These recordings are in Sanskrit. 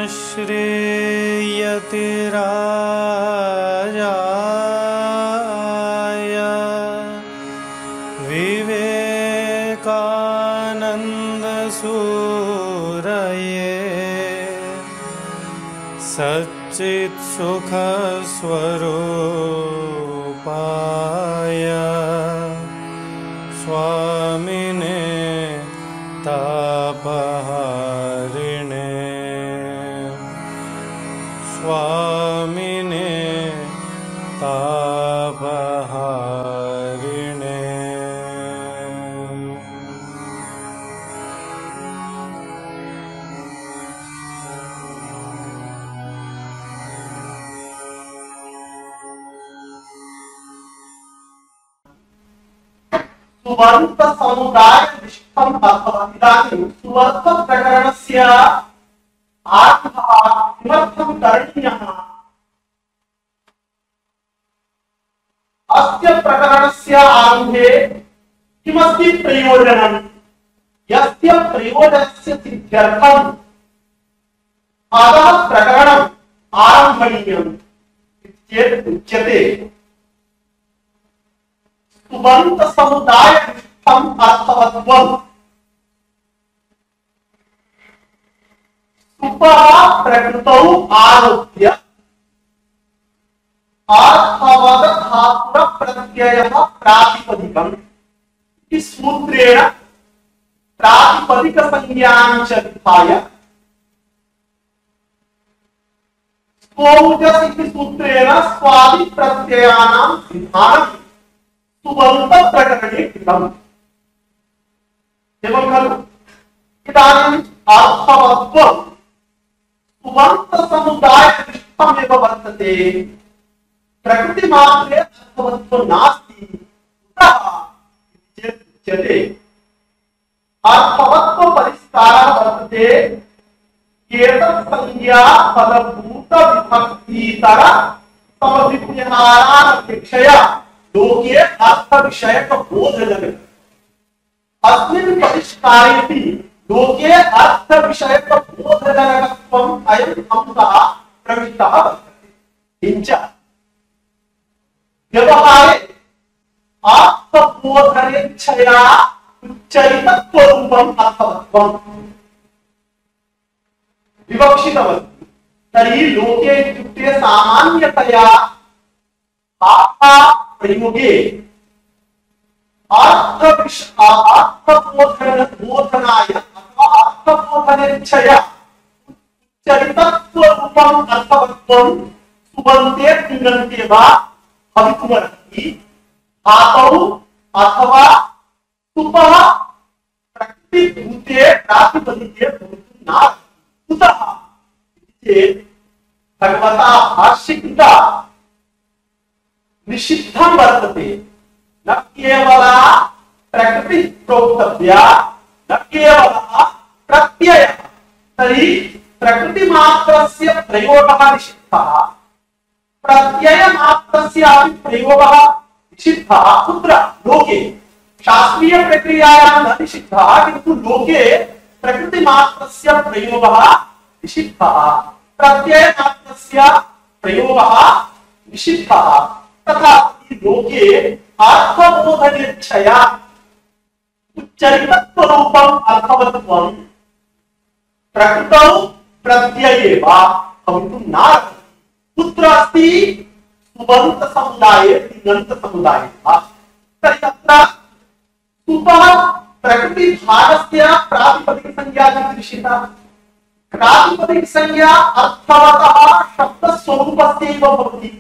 श्रेयति राजाय विवेकानंद सूरये सच्चित सुख स्वरूपाय स्वामिने तापहारिणे स्वामिने तापहारिणे। सुवर्त समुदाय निष्ठम अथवा इदानीं सुवर्त प्रकरणस्य आरम्भः किमर्थं करणीयः? अस्य प्रकरणस्य आरम्भे किमस्ति प्रयोजनं? यस्य प्रयोजनस्य सिद्ध्यर्थम् अतः प्रकरणम् आरम्भणीयम् इत्येतत् उच्यते। सुबन्त समुदाय निष्ठम अर्थवत्वम्। सुपः प्रकृतौ आरोप्य अर्थवद धातुर प्रत्ययः प्रातिपदिकम् इति सूत्रेण प्रातिपदिक संज्ञां च विधाय स्वौजस् इति सूत्रेण स्वादि प्रत्ययानां विधानम् सुबन्त प्रकरणे कृतम्। एवं खलु इदानीम् अर्थवत्वम् सुबन्त समुदाय निष्ठमेव वर्तते। प्रकृति मात्रे अर्थवत्वं नास्ति। कुतः चेत् उच्यते अर्थवत्व परिष्कारः वर्तते एतत् संज्ञा फलभूत विभक्तितर समभिव्यहारानपेक्षया लोके अर्थ विषयक बोधजनक। अस्मिन् परिष्कारेऽपि लोके अर्थ विषयक बोधजनकत्वम् अयम् अंशः प्रविष्टः वर्तते। किञ्च व्यवहारे अर्थबोधनेच्छया उच्चरितत्वरूपम् अर्थवत्वम् विवक्षितमस्ति। तर्हि लोके इत्युक्ते सामान्यतया प्रयोगे अर्थबोधनाय अथवा अर्थबोधनेच्छया उच्चरितत्वरूपम् अर्थवत्वं सुबन्ते तिङन्ते वा भवितुमर्हति। धातौ अथवा सुपः प्रकृतिभूते प्रातिपदिके भवितुं नार्हति। कुतः चेत् भगवता भाष्यकृता निषिद्धं वर्तते। न केवला प्रकृति प्रोक्तव्या न केवलः प्रत्ययः। तर्हि प्रकृति मात्रस्य प्रयोगः निषिद्धः, प्रत्यय मात्रस्य अपि प्रयोगः निषिद्धः। कुत्र? लोके। शास्त्रीय प्रक्रियायां न निषिद्धः, किन्तु लोके प्रकृति मात्रस्य प्रयोगः निषिद्धः, प्रत्यय मात्रस्य प्रयोगः निषिद्धः। तथा लोके अर्थबोधनेच्छया उच्चरितत्वरूपम् अर्थवत्वम् प्रकृतौ प्रत्यये वा भवितुं नार्हति। कुत्र अस्ति? सुबन्त समुदाये तिङन्त समुदाये वा। तर्हि अत्र सुपः प्रकृति भागस्य प्रातिपदिक संज्ञा कीदृशिता? प्रातिपदिक संज्ञा अर्थवतः शब्दस्वरूपस्यैव भवति।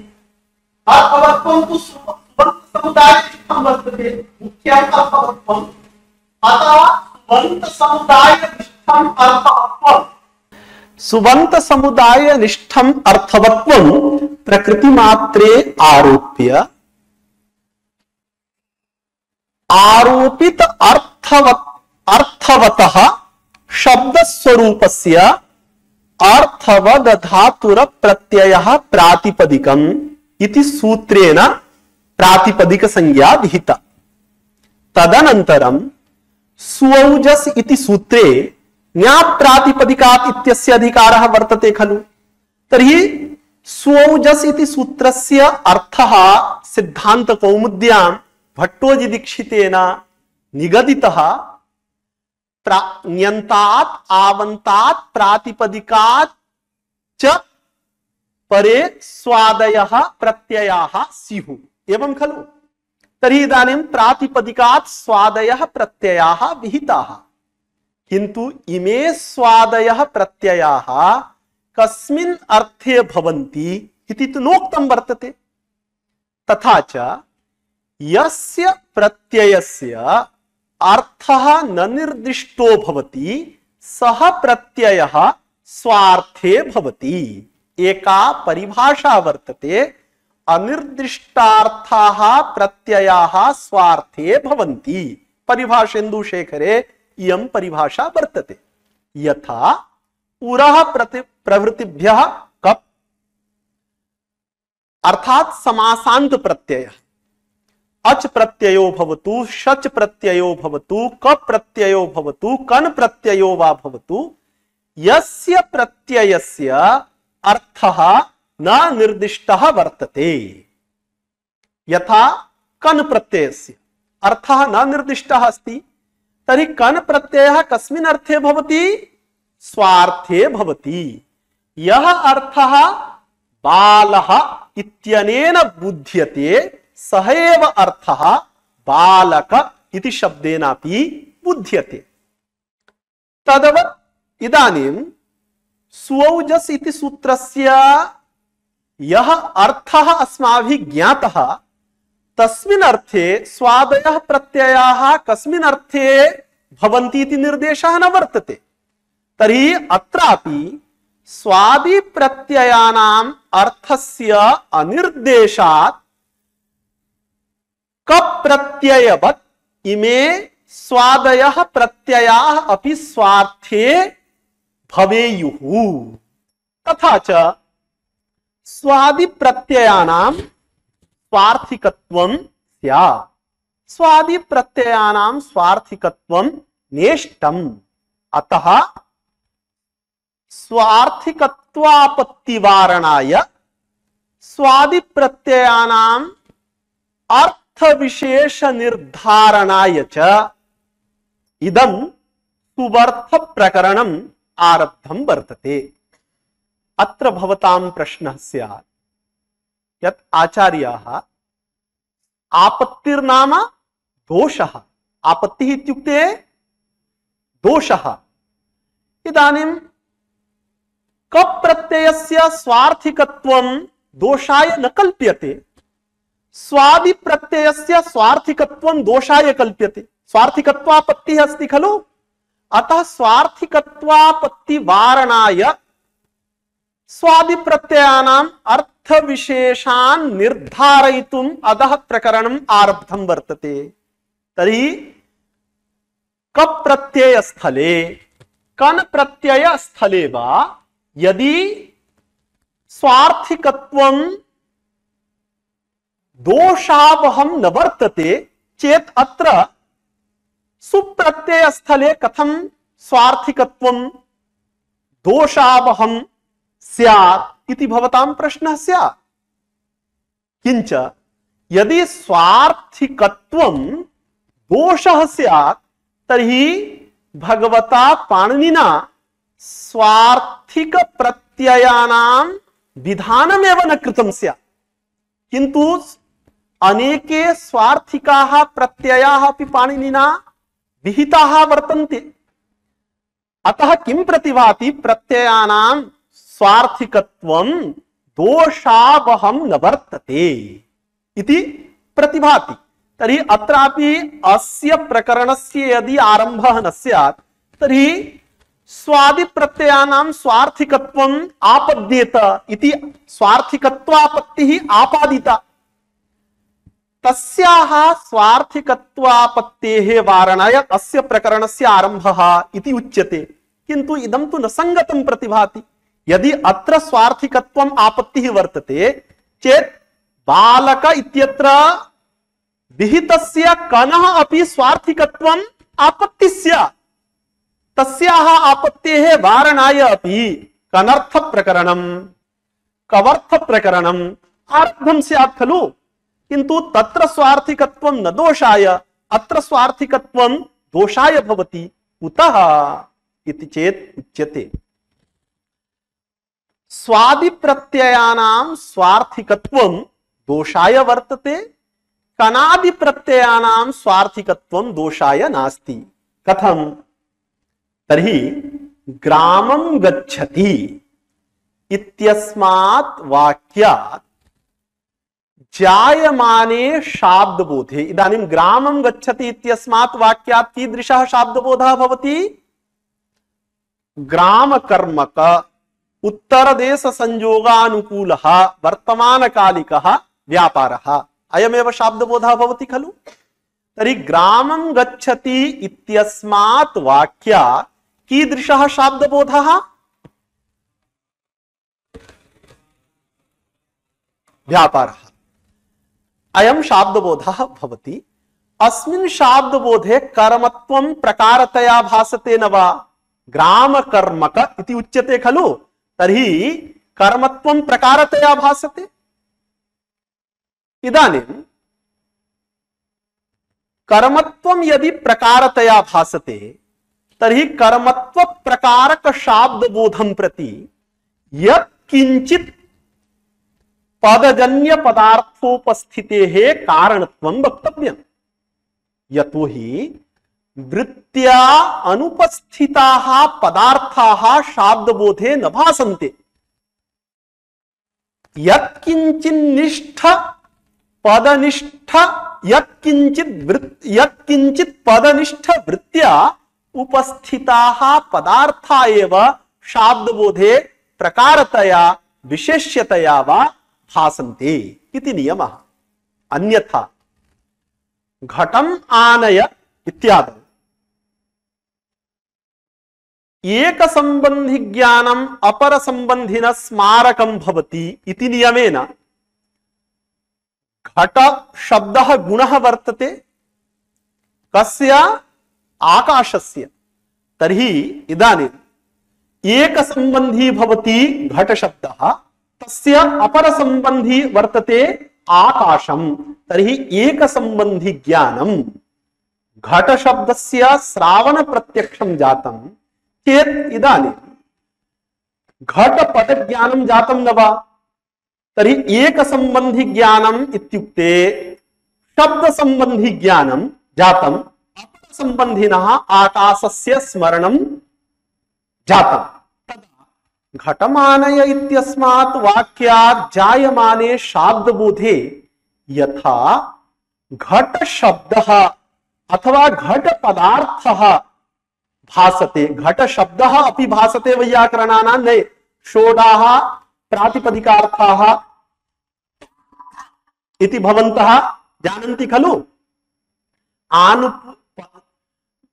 अर्थवत्वं तु सुबन्त समुदायनिष्ठं वर्तते, मुख्यम् अर्थवत्वम्। अतः सुबन्त समुदायनिष्ठम् अर्थवत्वम् सुबन्त समुदायनिष्ठम् अर्थवत्वं प्रकृतिमात्रे आरोप्य आरोपित अर्थवतः शब्दस्वरूपस्य अर्थवद धातुर प्रत्ययः प्रातिपदिकम् इति सूत्रेण प्रातिपदिक संज्ञा विहिता। तदनन्तरं सुऔजस् इति सूत्रे न्याप्रातिपदिकात् इत्यस्य अधिकारः वर्तते खलु। तर्हि स्वौजस् इति सूत्रस्य अर्थः सिद्धान्तकौमुद्यां भट्टोजीदीक्षितेन निगदितः न्यन्तात् आवन्तात् प्रातिपदिकात् च परे स्वादयः प्रत्ययाः स्युः एवं खलु। तर्हि इदानीं प्रातिपदिकात् स्वादयः प्रत्ययाः विहिताः, किन्तु इमे स्वादयः प्रत्ययाः कस्मिन् अर्थे भवन्ति इति तु नोक्तं वर्तते। तथा च यस्य प्रत्ययस्य अर्थः न निर्दिष्टो भवति सः प्रत्ययः स्वार्थे भवति। एका परिभाषा वर्तते, अनिर्दिष्टार्थाः प्रत्ययाः स्वार्थे भवन्ति। परिभाषेन्दुशेखरे इयं परिभाषा वर्तते। यथा पुरः प्रवृत्तिभ्यः कप् अर्थात समासान्त प्रत्ययः अच प्रत्ययो भवतु, शच प्रत्ययो भवतु, कप प्रत्ययो भवतु, कन प्रत्ययो वा भवतु, यस्य प्रत्ययस्य अर्थः न निर्दिष्टः वर्तते। यथा कन प्रत्ययस्य अर्थः न निर्दिष्टः अस्ति, तर्हि कन प्रत्ययः कस्मिन् अर्थे भवति? स्वार्थे भवति। यः अर्थः बालः इत्यनेन बुध्यते सः एव अर्थः बालक इति शब्देनापि बुध्यते। तदवत् इदानीं स्वौजस् इति सूत्रस्य यः अर्थः अस्माभिः ज्ञातः, तस्मिन् अर्थे स्वादयः प्रत्ययाः कस्मिन् अर्थे भवन्ति इति निर्देशः न वर्तते। तर्हि अत्रापि स्वादि प्रत्ययानाम् अर्थस्य अनिर्देशात् कप् प्रत्ययवत् इमे स्वादयः प्रत्ययाः अपि स्वार्थे भवेयुः। तथा च स्वादि प्रत्ययानां स्वार्थिकत्वं स्यात्। स्वादि प्रत्ययानां स्वार्थिकत्वं नेष्टम्। अतः स्वार्थिकत्वापत्तिवारणाय स्वादि प्रत्ययानां अर्थ विशेष निर्धारणाय च इदं सुवर्थ प्रकरणम् आरब्धं वर्तते। अत्र भवतां प्रश्नः स्यात् यत् आचार्याः आपत्तिर्नाम दोषः, आपत्तिः इत्युक्ते दोषः। इदानीं कप् प्रत्ययस्य स्वार्थिकत्वं दोषाय न कल्प्यते, स्वादि प्रत्ययस्य स्वार्थिकत्वं दोषाय कल्प्यते। स्वार्थिकत्वापत्तिः अस्ति खलु। अतः स्वार्थिकत्वापत्ति वारणाय स्वादि प्रत्ययानाम् अर्थ विशेषान् निर्धारयितुम् अधः प्रकरणम् आरब्धं वर्तते। तर्हि कप् प्रत्यय स्थले कन प्रत्यय स्थले वा यदि स्वार्थिकत्वं दोषावहं न वर्तते चेत् अत्र सुप्रत्यय स्थले कथं स्वार्थिकत्वं दोषावहं स्यात् इति भवतां प्रश्नः स्यात्। किंच यदि स्वार्थिकत्वं दोषः स्यात् तर्हि भगवता पाणिनिना स्वार्थिक प्रत्ययानां विधानमेव न कृतं स्यात्, किन्तु अनेके स्वार्थिकाः प्रत्ययाः अपि पाणिनिना विहिताः वर्तन्ते। अतः किं प्रतिभाति? प्रत्ययानां स्वार्थिकत्वं दोषावहं न वर्तते इति प्रतिभाति। तर्हि अत्रापि अस्य प्रकरणस्य यदि आरम्भः न स्यात् तर्हि स्वादि प्रत्ययानां स्वार्थिकत्वम् आपद्येत इति स्वार्थिकत्वापत्तिः आपादिता। तस्याः स्वार्थिकत्वापत्तेः वारणाय अस्य प्रकरणस्य आरम्भः इति उच्यते, किन्तु इदं तु न संगतं प्रतिभाति। यदि अत्र स्वार्थिकत्वम् आपत्तिः वर्तते चेत् बालक इत्यत्र विहितस्य कनः अपि स्वार्थिकत्वम् आपत्तिः स्यात्। तस्याः आपत्तेः वारणाय अपि कनर्थ प्रकरणं कवर्थ प्रकरणम् आरब्धं स्यात् खलु, किन्तु तत्र स्वार्थिकत्वं न दोषाय, अत्र स्वार्थिकत्वं दोषाय भवति। कुतः इति चेत् उच्यते स्वादि प्रत्ययानां स्वार्थिकत्वं दोषाय वर्तते, कनादि प्रत्ययानां स्वार्थिकत्वं दोषाय नास्ति। कथं? तर्हि ग्रामं गच्छति इत्यस्मात् वाक्यात् जायमाने शाब्दबोधे, इदानीं ग्रामं गच्छति इत्यस्मात् वाक्यात् कीदृशः शाब्दबोधः भवति? ग्रामकर्मक उत्तरदेश संयोगानुकूलः वर्तमानकालिकः व्यापारः, अयमेव शाब्दबोधः भवति खलु। तर्हि ग्रामं गच्छति इत्यस्मात् वाक्यात् कीदृशः शाब्दबोधः? व्यापारः, अयं शाब्दबोधः भवति। अस्मिन् शाब्दबोधे कर्मत्वं प्रकारतया भासते न वा? ग्रामकर्मक इति उच्यते खलु, तर्हि कर्मत्वं प्रकारतया भासते। इदानीं कर्मत्वं यदि प्रकारतया भासते तर्हि कर्मत्व प्रकारक शाब्दबोधं प्रति यत् किंचित् पदजन्य पदार्थोपस्थितेः कारणत्वं वक्तव्यम्। यतोहि वृत्त्या अनुपस्थिताः पदार्थाः शाब्दबोधे न भासन्ते। यत्किंचिन्निष्ठ पदनिष्ठ यत्किंचित् पदनिष्ठ वृत्त्या उपस्थिताः पदार्था एव शाब्दबोधे प्रकारतया विशेष्यतया वा भासन्ते इति नियमः। अन्यथा घटम आनय इत्यादि एक संबंधी ज्ञानम अपर संबंधिन स्मारकम भवति इति नियमेन घट शब्दः गुणः वर्तते कस्य? आकाशस्य। तर्हि इदानीम् एक संबंधी भवति घट शब्दः, तस्य अपर संबंधी वर्तते आकाशम। तर्हि एक संबंधी ज्ञानम घट शब्दस्य श्रावण प्रत्यक्षं जातं चेत् इदानीं घट पद ज्ञानं जातं न वा? तर्हि एक संबंधी ज्ञानम् इत्युक्ते शब्द संबंधी ज्ञानं जातं, अपर संबंधिनः आकाशस्य स्मरणं जातं। तदा घटमानय इत्यस्मात् वाक्यात् जायमाने शाब्दबोधे यथा घट शब्दः अथवा घट पदार्थः भासते, घट शब्दः अपि भासते वैयाकरणानां न षोडाः प्रातिपदिकार्थाः इति भवन्तः जानन्ति खलु।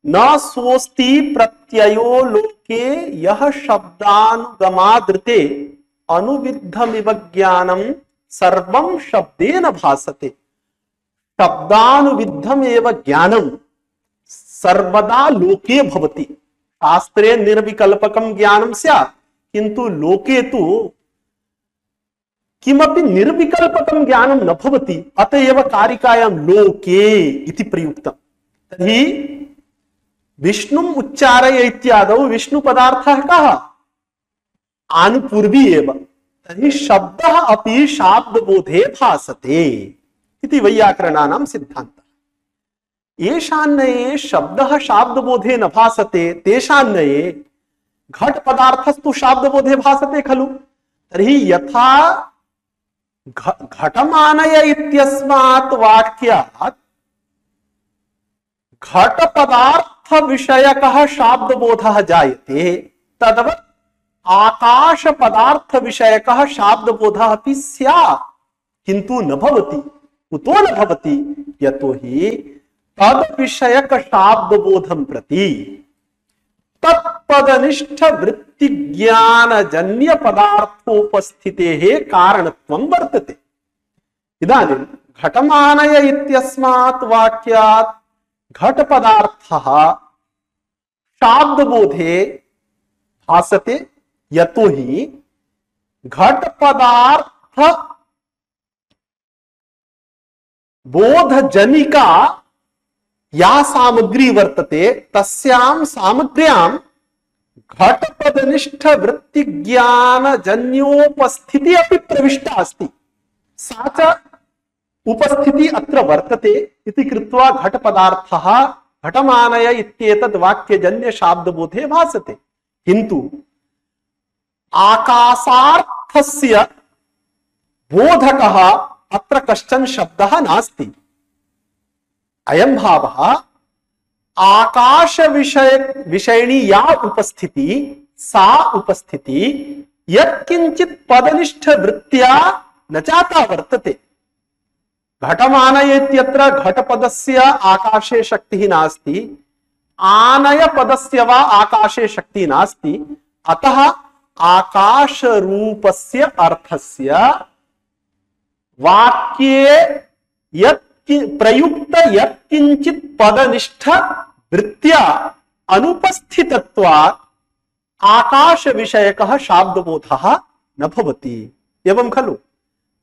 न सोस्ति प्रत्ययो लोके यः शब्दानुगमादृते अनुविद्धमिव ज्ञानं सर्वं शब्देन भासते। शब्दानुविद्धमेव ज्ञानं सर्वदा लोके भवति। शास्त्रे निर्विकल्पकं ज्ञानं स्यात्, किन्तु लोके तु किमपि निर्विकल्पकं ज्ञानं न भवति। अतएव कारिकायां लोके इति प्रयुक्तम्। तर्हि विष्णुम् उच्चारय इत्यादौ विष्णु पदार्थः कः? आनुपूर्वी एव। तर्हि शब्दः अपि शाब्दबोधे भासते इति वैयाकरणानां सिद्धान्तः। येषान्नये शब्दः शाब्दबोधे न भासते तेषान्नये घट पदार्थस्तु शाब्दबोधे भासते खलु। तर्हि यथा घटमानय इत्यस्मात् वाक्यात् घट पदार्थ विषयकः शाब्दबोधः जायते, तद्वत् आकाश पदार्थ विषयकः शाब्दबोधः अपि स्यात्, किन्तु न भवति। कुतो न भवति? यतोहि तद विषयक शाब्दबोधं प्रति तत्पदनिष्ठ वृत्ति ज्ञान जन्य पदार्थोपस्थितेः कारणत्वं वर्तते। इदानीं घटमानय इत्यस्मात् वाक्यात् घट पदार्थः शाब्दबोधे भासते यतो हि घट पदार्थ बोधजनिका या सामग्री वर्तते तस्यां सामग्र्यां घटपदनिष्ठ वृत्ति ज्ञान जन्योपस्थिति अपि प्रविष्टा अस्ति। सा च उपस्थिति अत्र वर्तते इति कृत्वा घटपदार्थः घटमानय इत्येतद् वाक्यजन्य शाब्दबोधे भासते। किन्तु आकाशार्थस्य बोधकः अत्र कश्चन शब्दः नास्ति। अयं भावः आकाश विषयिणी या उपस्थिति सा उपस्थिति यत्किंचित् पदनिष्ठ वृत्त्या न जाता वर्तते। घटमानय इत्यत्र घटपदस्य आकाशे शक्तिः नास्ति, आनय पदस्य वा आकाशे शक्तिः नास्ति। अतः आकाश रूपस्य अर्थस्य वाक्ये प्रयुक्त यत्किंचित् पदनिष्ठ वृत्त्या अनुपस्थितत्वात् आकाश विषयकः शाब्दबोधः न भवति। एवं खलु?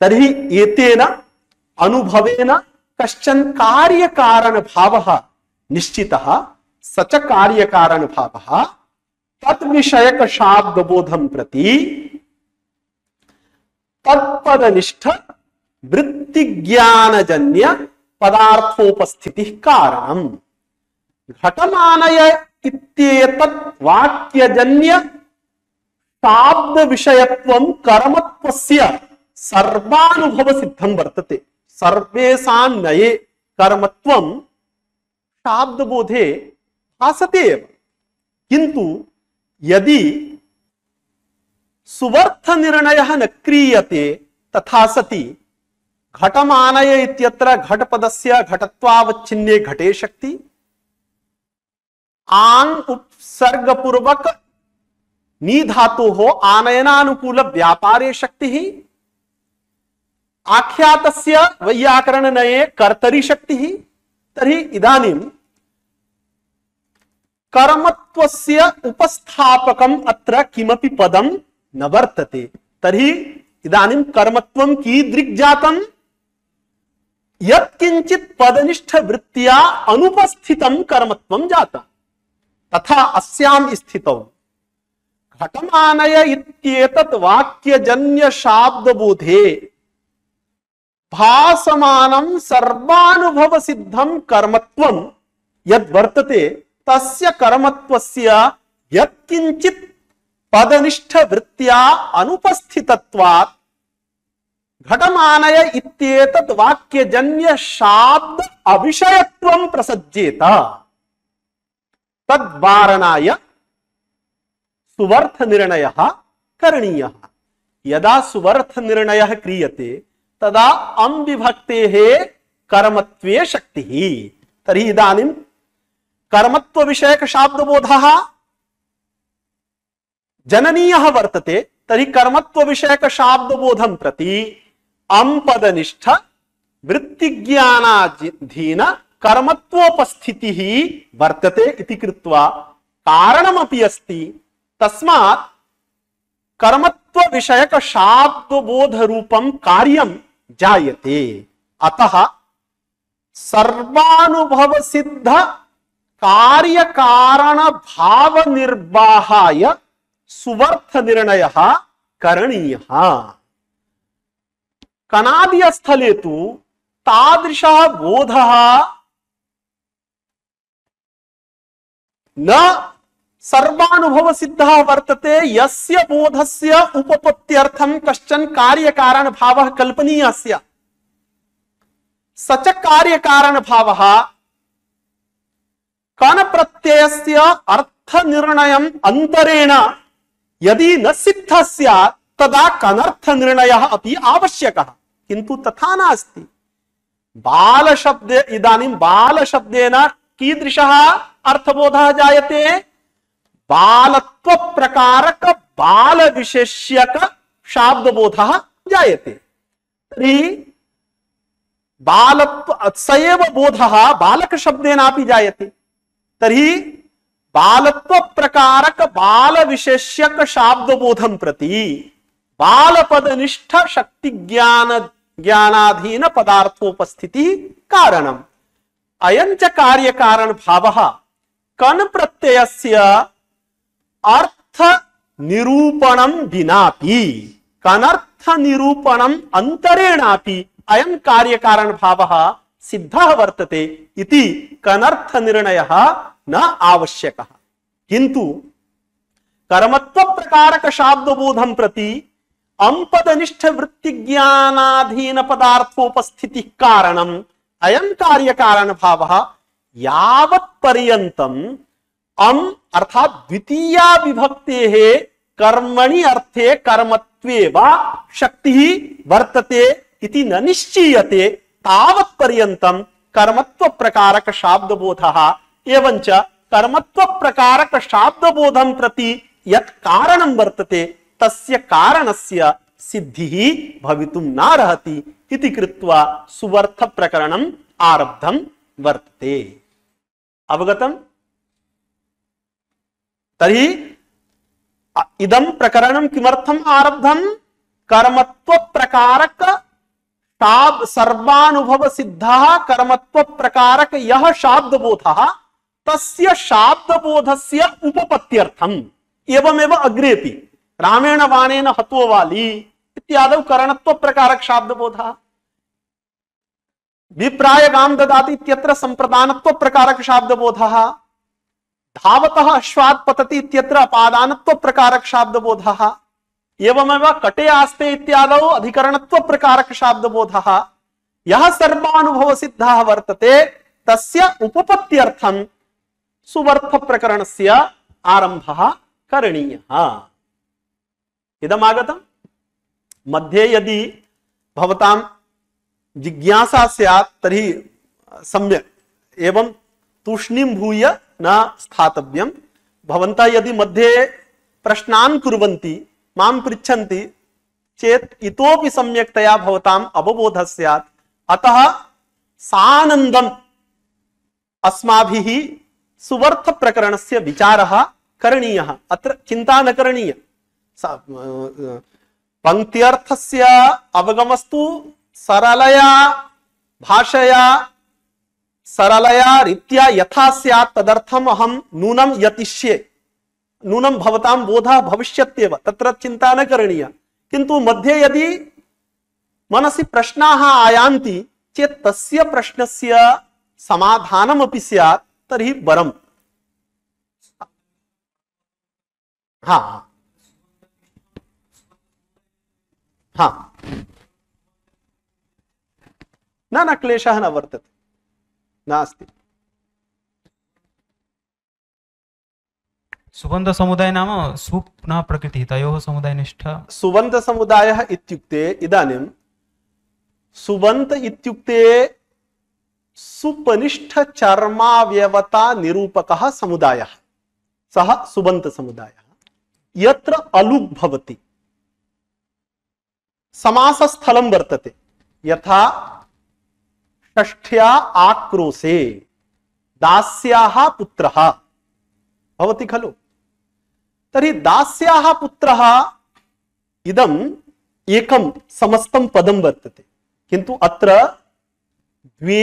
तर्हि एतेन अनुभवेन कश्चन कार्यकारण भावः निश्चितः। स च कार्यकारण भावः तद्विषयक शाब्दबोधं प्रति तत्पदनिष्ठ वृत्ति ज्ञानजन्य पदार्थोपस्थितिः कारणम्। घटमानय इत्येतत् वाक्यजन्य शाब्द विषयत्वं कर्मत्वस्य सर्वानुभव सिद्धं वर्तते। सर्वेषां नये कर्मत्वं शाब्दबोधे भासते एव। किन्तु यदि सुवर्थ निर्णयः न क्रियते तथा सति घटमानय इत्यत्र घटपदस्य घटत्वावच्छिन्ने घटे शक्ति, आंग उपसर्गपूर्वक नी धातोः आनयनानुकूल व्यापारे शक्तिः, आख्यातस्य वैयाकरणनये कर्तरि शक्तिः। तर्हि इदानीं कर्मत्वस्य उपस्थापकम् अत्र किमपि पदं न वर्तते। तर्हि इदानीं कर्मत्वं कीदृक् जातम्? यत्किंचित् पदनिष्ठ वृत्त्या अनुपस्थितं कर्मत्वं जातम्। तथा अस्यां स्थितौ घटमानय इत्येतत् वाक्यजन्य शाब्दबोधे भासमानं सर्वानुभव सिद्धं कर्मत्वं यद्वर्तते तस्य कर्मत्वस्य यत्किंचित् पदनिष्ठ वृत्त्या अनुपस्थितत्वात् घटमानय इत्येतत् वाक्यजन्य शाब्द अविषयत्वं प्रसज्येत। तद्वारणाय सुवर्थ निर्णयः करणीयः। यदा सुवर्थ निर्णयः क्रियते तदा अम्बिभक्तेः कर्मत्वे शक्तिः। तर्हि इदानीं कर्मत्व विषयक शाब्दबोधः जननीयः वर्तते। तर्हि कर्मत्व विषयक शाब्दबोधं प्रति अम्पदनिष्ठ वृत्तिज्ञानाधीन कर्मत्वोपस्थितिः वर्तते इति कृत्वा कारणमपि अस्ति। तस्मात् कर्मत्व विषयक शाब्दबोध रूपं कार्यं जायते। अतः सर्वानुभव सिद्ध कार्य कारण भाव निर्वाहाय सुवर्थ निर्णयः करणीयः। कनादीय स्थले तु तादृशः बोधः न सर्वानुभव सिद्धः वर्तते, यस्य बोधस्य उपपत्त्यर्थं कश्चन कार्यकारण भावः कल्पनीयः स्यात्। स च कार्यकारण भावः कन प्रत्ययस्य अर्थ निर्णयम् अंतरेण यदि न सिद्धः स्यात् तदा कनर्थ निर्णयः अपि आवश्यकः। किन्तु तथा नास्ति। बाल शब्दे इदानीं बाल शब्देन कीदृशः अर्थबोधः जायते? बालत्व प्रकारक बाल विशेष्यक शाब्दबोधः जायते। तर्हि बालत्व स एव बोधः बालक शब्देनापि जायते। तर्हि बालत्व प्रकारक बाल विशेष्यक शाब्दबोधं प्रति बालपदनिष्ठ शक्ति ज्ञानाधीन पदार्थोपस्थिति कारणम। अयं च कार्य कारण भावः कन प्रत्ययस्य अर्थ निरूपणं विनापि कनर्थ निरूपणं अंतरेणापि अयं कार्य कारण भावः सिद्धः वर्तते इति कनर्थ निर्णयः न आवश्यकः। किंतु कर्मत्व प्रकारक शाब्दबोधं प्रति अंपदनिष्ठ वृत्ति ज्ञानाधीन पदार्थोपस्थिति कारणम अयं कार्य कारण भावः यावत् पर्यन्तम अम अर्थात द्वितीया विभक्तेः कर्मणि अर्थे कर्मत्वे वा शक्तिः वर्तते इति न निश्चीयते तावत् पर्यन्तम कर्मत्व प्रकारक शाब्दबोधः एवंच कर्मत्व प्रकारक शाब्दबोधं प्रति यत् कारणं वर्तते तस्य कारणस्य सिद्धिः भवितुं नार्हति इति कृत्वा सुवर्थ प्रकरणम् आरब्धं वर्तते। अवगतम्? तर्हि इदं प्रकरणं किमर्थम् आरब्धं? कर्मत्व प्रकारक सर्वानुभव सिद्धः कर्मत्व प्रकारक यः शाब्दबोधः तस्य शाब्दबोधस्य उपपत्त्यर्थम्। एवमेव अग्रेपि रामेण बाणेन हतो वाली इत्यादौ करणत्व प्रकारक शाब्दबोधः, विप्राय गां ददाति इत्यत्र संप्रदानत्व प्रकारक शाब्दबोधः, धावतः अश्वात् पतति इत्यत्र अपादानत्व प्रकारक शाब्दबोधः, एवमेव कटे आस्ते इत्यादौ अधिकरणत्व प्रकारक शाब्दबोधः। यः सर्वानुभव सिद्धः वर्तते तस्य उपपत्त्यर्थं सुवर्थ प्रकरणस्य आरम्भः करणीयः। इदमागतम्। मध्ये यदि भवतां जिज्ञासा स्यात् तर्हि सम्यक् एवं तूष्णीं भूय न स्थातव्यम्। भवन्तः यदि मध्ये प्रश्नान् कुर्वन्ति मां पृच्छन्ति चेत् इतोपि सम्यक्तया भवताम् अवबोधः स्यात्। अतः सानन्दम् अस्माभिः सुवर्थ प्रकरणस्य विचारः करणीयः। अत्र चिन्ता न करणीया। पंक्त्यर्थस्य अवगमस्तु सरलया भाषया सरलया रीत्या यथा स्यात् तदर्थम् अहं नूनं यतिष्ये। नूनं भवतां बोधः भविष्यत्येव, तत्र चिन्ता न करणीया। किन्तु मध्ये यदि मनसि प्रश्नाः आयान्ति चेत् तस्य प्रश्नस्य समाधानमपि स्यात् तर्हि वरम्। हाँ हाँ न क्लेशः न वर्तते, नास्ति। सुबन्ध समुदाय नाम सुप्नः प्रकृति तयोः समुदायनिष्ठ। सुबन्ध समुदायः इत्युक्ते इदानीं सुबन्त इत्युक्ते सुपनिष्ठ चर्मावयवता निरूपकः समुदायः, सः सुबन्त समुदायः। यत्र अलुग् भवति समासस्थलं वर्तते, यथा षष्ठ्या आक्रोशे दास्याः पुत्रः भवति खलु। तर्हि दास्याः पुत्रः इदम् एकं समस्तं पदं वर्तते, किन्तु अत्र द्वे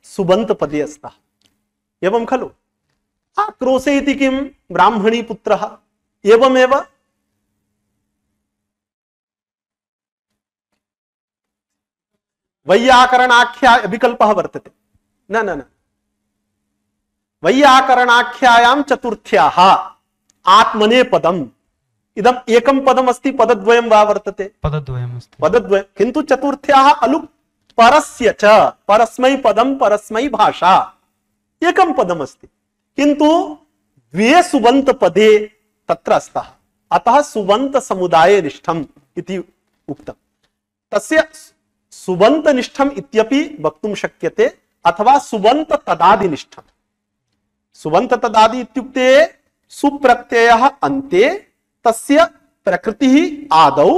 सुबन्त पदे स्तः। एवं खलु। आक्रोशे इति किं? ब्राह्मणी पुत्रः। एवमेव वैयाकरणाख्या विकल्पः वर्तते। न न न वैयाकरणाख्यायां चतुर्थ्याः आत्मने पदम्। इदम् एकं पदम् अस्ति, पदद्वयं वा वर्तते? पदद्वयमस्ति। पदद्वयं, किन्तु चतुर्थ्याः अलुक् परस्य च परस्मै पदं परस्मै भाषा एकं पदम् अस्ति, किन्तु द्वे सुबन्त पदे तत्र स्तः। अतः सुबन्त समुदाय निष्ठम् इति उक्तम्। तस्य सुबन्त निष्ठम् इत्यपि वक्तुं शक्यते, अथवा सुबन्त तदादि निष्ठम्। सुबन्त तदादि इत्युक्ते सुप्रत्ययः अन्ते तस्य प्रकृतिः आदौ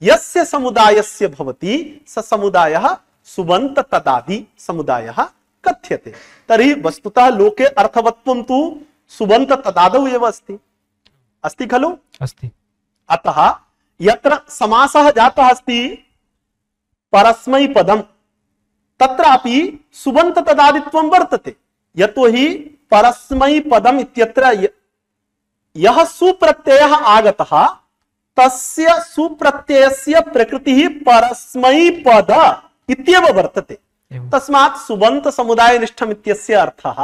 यस्य समुदायस्य भवति स समुदायः सुबन्त तदादि समुदायः कथ्यते। तर्हि वस्तुतः लोके अर्थवत्वं तु सुबन्त तदादौ एव अस्ति, अस्ति खलु? अस्ति। अतः यत्र समासः जातः अस्ति परस्मैपदम् तत्रापि सुबन्त तदादित्वं वर्तते। यतोहि परस्मैपदम् इत्यत्र यः सुप्रत्ययः आगतः तस्य सुप्रत्ययस्य प्रकृतिः परस्मैपद इत्येव वर्तते। तस्मात् सुबन्त समुदायनिष्ठम् इत्यस्य अर्थः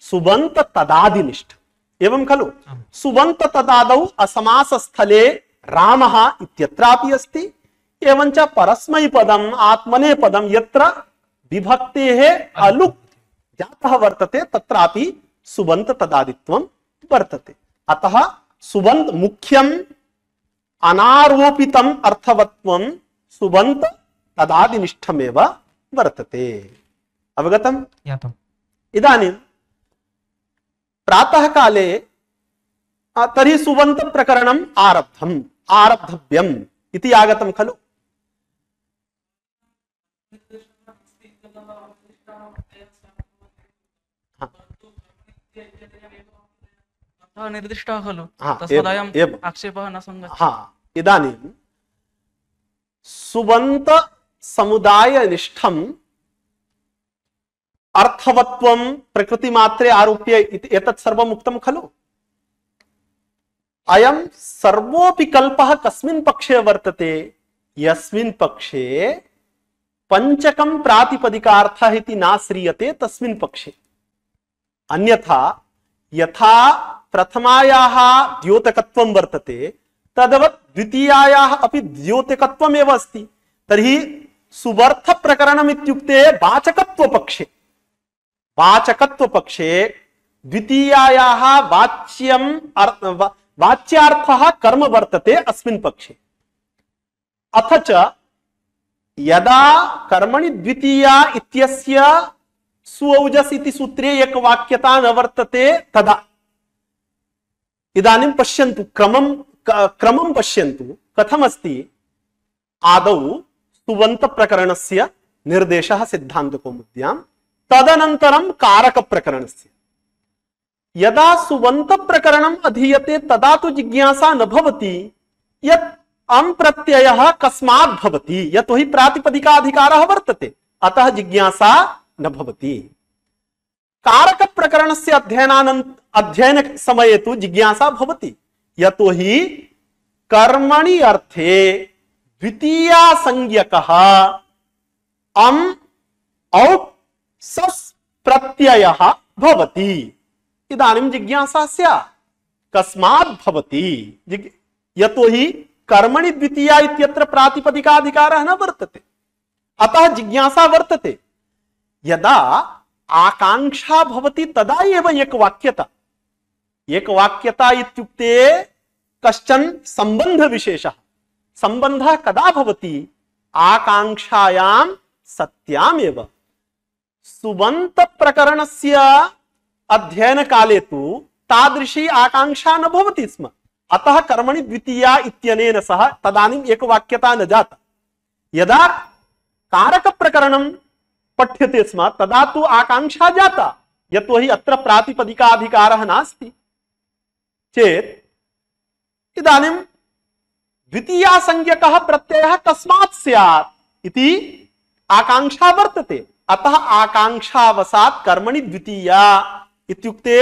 सुबन्त तदादिनिष्ठ एवं खलु? सुबन्त तदादौ असमासस्थले रामः इत्यत्रापि अस्ति, एवञ्च परस्मैपदम् आत्मनेपदं यत्र विभक्तेः अलुक् जातः वर्तते तत्रापि सुबन्त तदादित्वं वर्तते। अतः सुबन्त मुख्यम् अनारोपितम् अर्थवत्वं सुबन्त तदादिनिष्ठमेव वर्तते। अवगतम्? ज्ञातम्। इदानीं प्रातः काले तर्हि सुबन्त प्रकरणम् आरब्धव्यम् इति आगतं खलु? निर्दिष्टः खलु, हाँ, तस्मादयम् एवं। आक्षेपः न सङ्गच्छति। हाँ, इदानीं सुबन्त समुदायनिष्ठम् अर्थवत्वं प्रकृतिमात्रे आरोप्य एतत् सर्वम् उक्तं खलु? अयं सर्वोऽपि कल्पः कस्मिन् पक्षे वर्तते? यस्मिन् पक्षे पंचकं प्रातिपदिकार्थः इति नाश्रीयते तस्मिन् पक्षे। अन्यथा यथा प्रथमायाः द्योतकत्वं वर्तते तद्वत् द्वितीयायाः अपि द्योतकत्वमेव अस्ति। तर्हि सुबर्थ प्रकरणम् इत्युक्ते वाचकत्व पक्षे द्वितीयायाः वाच्यार्थः कर्म वर्तते अस्मिन् पक्षे। अथ च यदा कर्मणि द्वितीया इत्यस्य सुऔजस् इति सूत्रे एकवाक्यता न वर्तते तदा इदानीं पश्यन्तु, क्रमं पश्यन्तु कथमस्ति। आदौ सुबन्त प्रकरणस्य निर्देशः सिद्धान्तकौमुद्यां, तदनन्तरं कारक प्रकरणस्य। यदा सुबन्त प्रकरणम् अधीयते तदा तु जिज्ञासा न भवति यत् अम् प्रत्ययः कस्मात् भवति, यतोहि प्रातिपदिकाधिकारः वर्तते, अतः जिज्ञासा न भवति। कारक प्रकरणस्य अध्ययन समये तु जिज्ञासा भवति, यतोहि कर्मणि अर्थे द्वितीया संज्ञकः अम् औट् सस् प्रत्ययः भवति। इदानीं जिज्ञासा स्यात् कस्मात् भवति, यतोहि कर्मणि द्वितीया इत्यत्र प्रातिपदिकाधिकारः न वर्तते, अतः जिज्ञासा वर्तते। यदा आकांक्षा भवति तदा एव एकवाक्यता इत्युक्ते कश्चन संबंध विशेषः। संबंधः कदा भवति? आकांक्षायां सत्यामेव। सुबन्त प्रकरणस्य अध्ययन काले तु तादृशी आकांक्षा न भवति स्म, अतः कर्मणि द्वितीया इत्यनेन सह तदानीम् एकवाक्यता न जाता। यदा कारक प्रकरणं पठ्यते स्म तदा तु आकांक्षा जाता, यतोहि अत्र प्रातिपदिकाधिकारः नास्ति चेत् इदानीं द्वितीया संज्ञकः प्रत्ययः कस्मात् स्यात् इति आकांक्षा वर्तते। अतः आकांक्षावसात् कर्मणि द्वितीया इत्युक्ते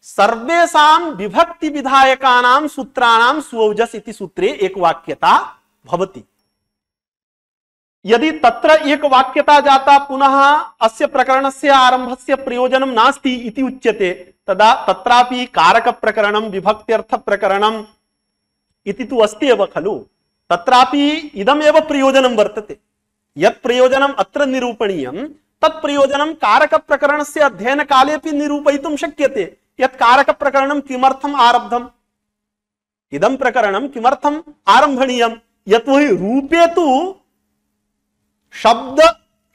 सर्वेषां विभक्ति विधायकानां सूत्राणां सुऔजस् इति सूत्रे एकवाक्यता भवति। यदि तत्र एकवाक्यता जाता पुनः अस्य प्रकरणस्य आरंभस्य प्रयोजनं नास्ति इति उच्यते, तदा तत्रापि कारक प्रकरणं विभक्त्यर्थ प्रकरणम् इति तु अस्ति एव खलु, तत्रापि इदमेव प्रयोजनं वर्तते। यत् प्रयोजनम् अत्र निरूपणीयं तत् प्रयोजनं कारक प्रकरणस्य अध्ययन कालेपि निरूपयितुं शक्यते। यत् कारक प्रकरणं किमर्थम् आरब्धम्, इदं प्रकरणं किमर्थम् आरम्भणीयं, यतोहि रूपे तु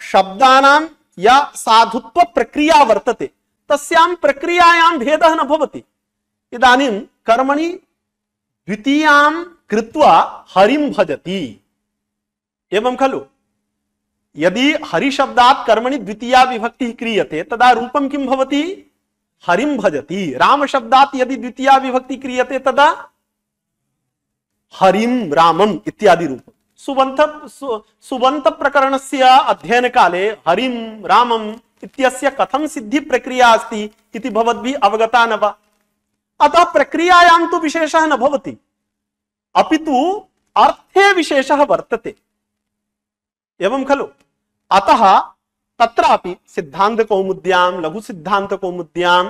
शब्दानां या साधुत्व प्रक्रिया वर्तते तस्यां प्रक्रियायां भेदः न भवति। इदानीं कर्मणि द्वितीयां कृत्वा हरिं भजति एवं खलु। यदि हरिशब्दात् कर्मणि द्वितीया विभक्तिः क्रियते तदा रूपं किं भवति? हरिं भजति। राम शब्दात् यदि द्वितीया विभक्ति क्रियते तदा हरिं रामम् इत्यादि रूप। सुबन्त प्रकरणस्य अध्ययन काले हरिं रामम् इत्यस्य कथं सिद्धि प्रक्रिया अस्ति इति भवद्भिः अवगता न वा? अतः प्रक्रियायां तु विशेषः न भवति, अपितु अर्थे विशेषः वर्तते, एवं खलु? अतः तत्रापि सिद्धांत कौमुद्यां, लघु सिद्धांत कौमुद्यां,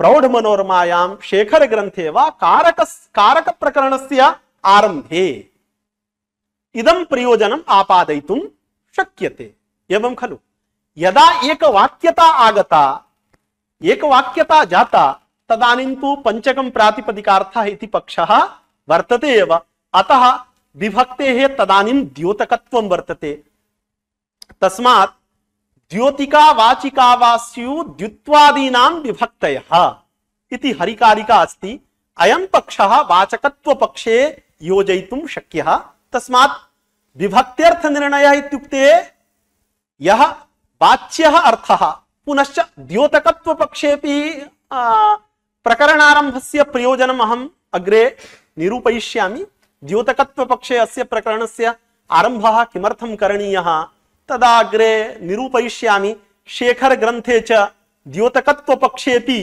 प्रौढ़ मनोरमायां, शेखर ग्रंथे वा कारक प्रकरणस्य आरंभे इदं प्रयोजनम् आपादयितुं शक्यते, एवं खलु? यदा एकवाक्यता आगता, एकवाक्यता जाता, तदानीं तु पंचकं प्रातिपदिकार्थः इति पक्षः वर्तते एव। अतः विभक्तेः तदानीं द्योतकत्वं वर्तते। तस्मात् द्योतिका वाचिका वा स्युः द्युत्वादीनां विभक्तयः इति हरिकारिका अस्ति। अयं पक्षः वाचकत्व पक्षे योजयितुं शक्यः। तस्मात् विभक्त्यर्थ निर्णयः इत्युक्ते यः वाच्यः अर्थः, पुनश्च द्योतकत्व पक्षेपि प्रकरणारंभस्य प्रयोजनम् अहम् अग्रे निरूपयिष्यामि। द्योतकत्व पक्षे अस्य प्रकरणस्य आरंभः किमर्थं करणीयः तदा अग्रे निरूपयिष्यामि। शेखर ग्रंथे च द्योतकत्व पक्षेपि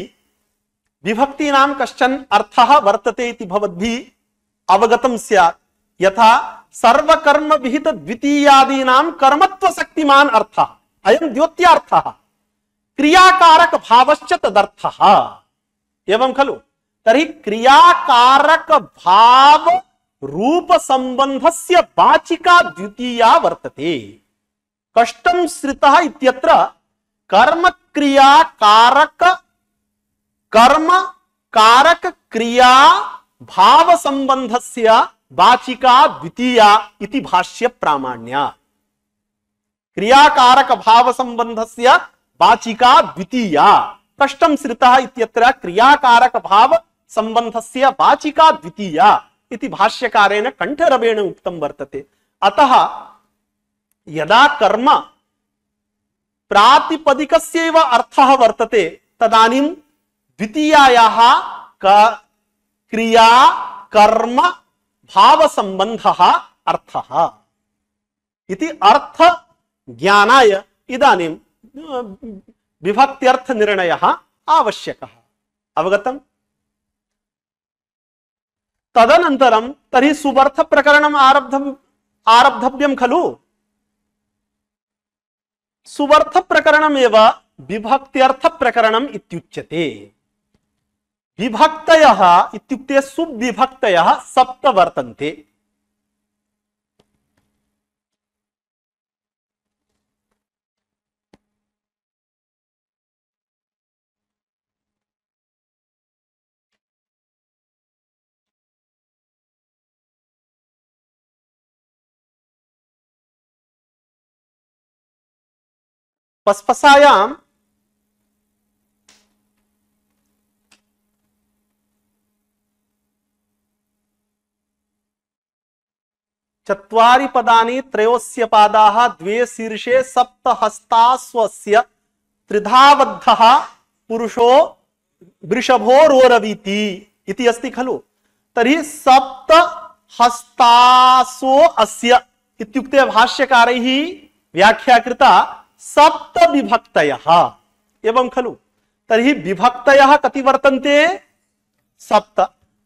विभक्तीनां कश्चन अर्थः वर्तते इति भवद्भिः अवगतं स्यात्। यथा सर्वकर्म विहित द्वितीयादीनां कर्मत्व शक्तिमान अर्थः, अयं द्योत्यार्थः, क्रियाकारक भावश्च तदर्थः, एवं खलु? तर्हि क्रियाकारक भाव रूप संबंधस्य वाचिका द्वितीया वर्तते। कष्टं श्रितः इत्यत्र कर्म क्रिया कारक क्रिया भाव संबंधस्य वाचिका द्वितीया इति भाष्य प्रामाण्या। क्रियाकारक भाव संबंधस्य वाचिका द्वितीया, कष्टं श्रितः इत्यत्र क्रियाकारक भाव संबंधस्य वाचिका द्वितीया इति भाष्यकारेण कंठरवेण उक्तं वर्तते। अतः यदा कर्म प्रातिपदिकस्यैव अर्थः वर्तते तदानीं द्वितीयायाः क्रिया कर्म भाव संबंधः अर्थः इति अर्थ ज्ञानाय इदानीं विभक्त्यर्थ निर्णयः आवश्यकः। अवगतम्? तदनन्तरं तर्हि सुबर्थ प्रकरणम् आरब्धव्यं खलु? सुबर्थ प्रकरणमेव विभक्त्यर्थ प्रकरणम् इत्युच्यते। विभक्तयः इत्युक्ते सुविभक्तयः सप्त वर्तन्ते। पस्पसायां चत्वारि पदानि त्रयोस्य पादाः द्वे शीर्षे सप्त हस्तास्वस्य त्रिधाबद्धः पुरुषो वृषभो रोरवीति इति अस्ति खलु? तर्हि सप्त हस्तासो अस्य इत्युक्ते भाष्यकारैः व्याख्या कृता सप्त विभक्तयः, एवं खलु? तर्हि विभक्तयः कति वर्तन्ते? सप्त।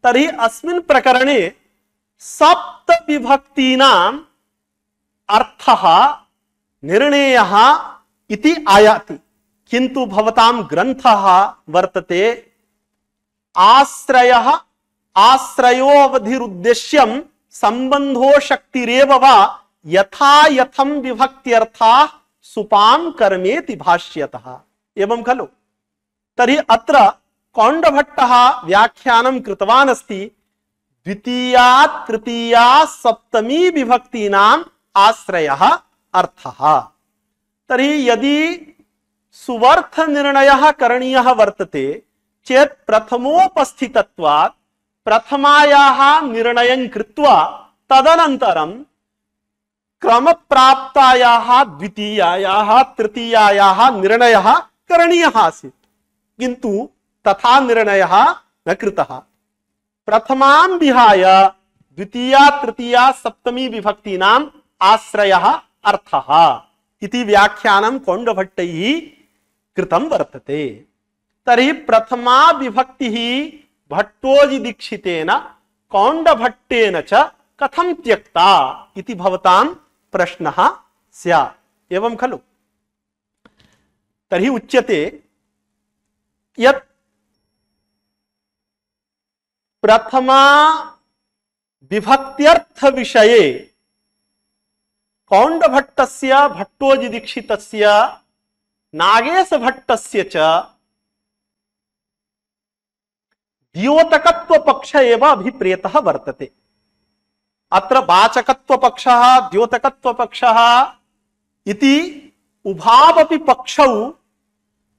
तर्हि अस्मिन् प्रकरणे सप्त विभक्तीनाम् अर्थः निर्णयः इति आयाति, किन्तु भवतां ग्रन्थः वर्तते आश्रयः आश्रयो अवधिरुद्देश्यं संबंधो शक्तिरेव वा यथा यथं विभक्त्यर्थाः सुपां कर्मेति भाष्यतः, एवं खलु? तर्हि अत्र कौण्डभट्टः व्याख्यानं कृतवान् अस्ति द्वितीया तृतीया सप्तमी विभक्तीनाम् आश्रयः अर्थः। तर्हि यदि सुवर्थ निर्णयः करणीयः वर्तते चेत् प्रथमोपस्थितत्वात् प्रथमायाः निर्णयं कृत्वा तदनन्तरं क्रमप्राप्तायाः द्वितीयायाः तृतीयायाः निर्णयः करणीयः आसीत्। किन्तु तथा निर्णयः न कृतः। प्रथमां विहाय द्वितीया तृतीया सप्तमी विभक्तीनाम् आश्रयः अर्थः इति व्याख्यानं कौण्डभट्टैः कृतं वर्तते। तर्हि प्रथमा विभक्तिः भट्टोजि दीक्षितेन कौण्डभट्टेन च कथं त्यक्ता इति भवतां प्रश्नः स्यात्। एवं खलु? तर्हि उच्यते यत् प्रथमा विभक्त्यर्थ विषये कौण्डभट्टस्य भट्टोजि दीक्षितस्य नागेश भट्टस्य च द्योतकत्व पक्ष एव अभिप्रेतः वर्तते। अत्र वाचकत्व पक्षः द्योतकत्व पक्षः इति उभावपि पक्षौ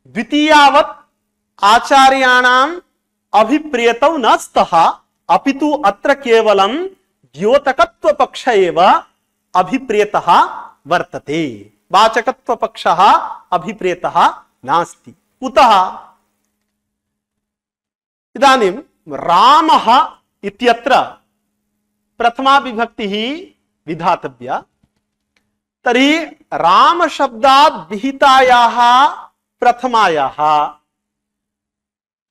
द्वितीयावत् आचार्याणाम् अभिप्रेतौ न स्तः, अपितु अत्र केवलं द्योतकत्व पक्ष एव अभिप्रेतः वर्तते। वाचकत्व पक्षः अभिप्रेतः नास्ति। कुतः? इदानीं रामः इत्यत्र प्रथमा विभक्तिः विधातव्या। तर्हि राम शब्दात् विहितायाः प्रथमायाः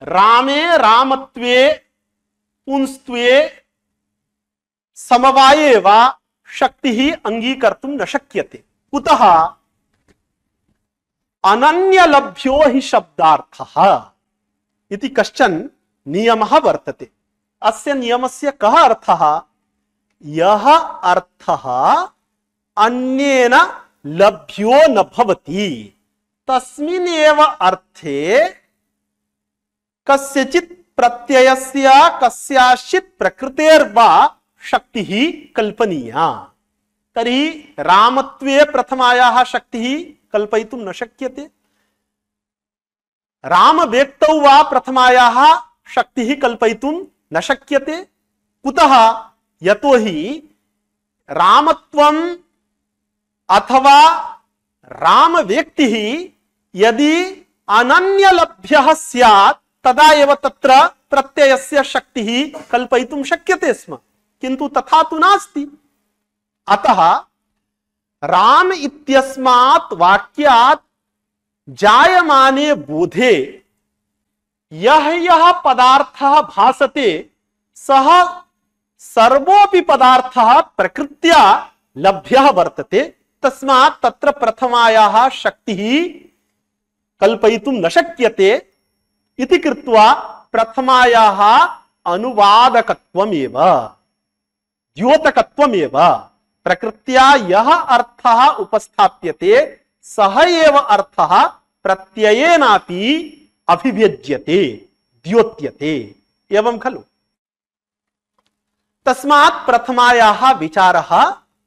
रामे रामत्वे पुंस्त्वे समवाये वा शक्तिः अंगीकर्तुं न शक्यते। कुतः? अनन्यलभ्यो हि शब्दार्थः इति कश्चन नियमः वर्तते। अस्य नियमस्य कः अर्थः? यः अर्थः अन्येन लभ्यो न भवति तस्मिन्नेव अर्थे कस्यचित् प्रत्ययस्य कस्याचित् प्रकृतेर्वा शक्तिः कल्पनीया। तर्हि रामत्वे प्रथमायाः शक्तिः कल्पयितुं न शक्यते, राम व्यक्तौ वा प्रथमायाः शक्तिः कल्पयितुं न शक्यते। कुतः? यतोहि रामत्वम् अथवा राम व्यक्तिः यदि अनन्यलभ्यः स्यात् तदा एव तत्र प्रत्ययस्य शक्तिः कल्पयितुं शक्यते स्म, किन्तु तथा तु नास्ति। अतः राम इत्यस्मात् वाक्यात् जायमाने बोधे यः यः पदार्थः भासते सः सर्वोऽपि पदार्थः प्रकृत्या लभ्यः वर्तते। तस्मात् तत्र प्रथमायाः शक्तिः कल्पयितुं न शक्यते इति कृत्वा प्रथमायाः अनुवादकत्वमेव द्योतकत्वमेव प्रकृत्या यः अर्थः उपस्थाप्यते सः एव अर्थः प्रत्ययेनापि अभिव्यज्यते द्योत्यते। एवं खलु? तस्मात् प्रथमायाः विचारः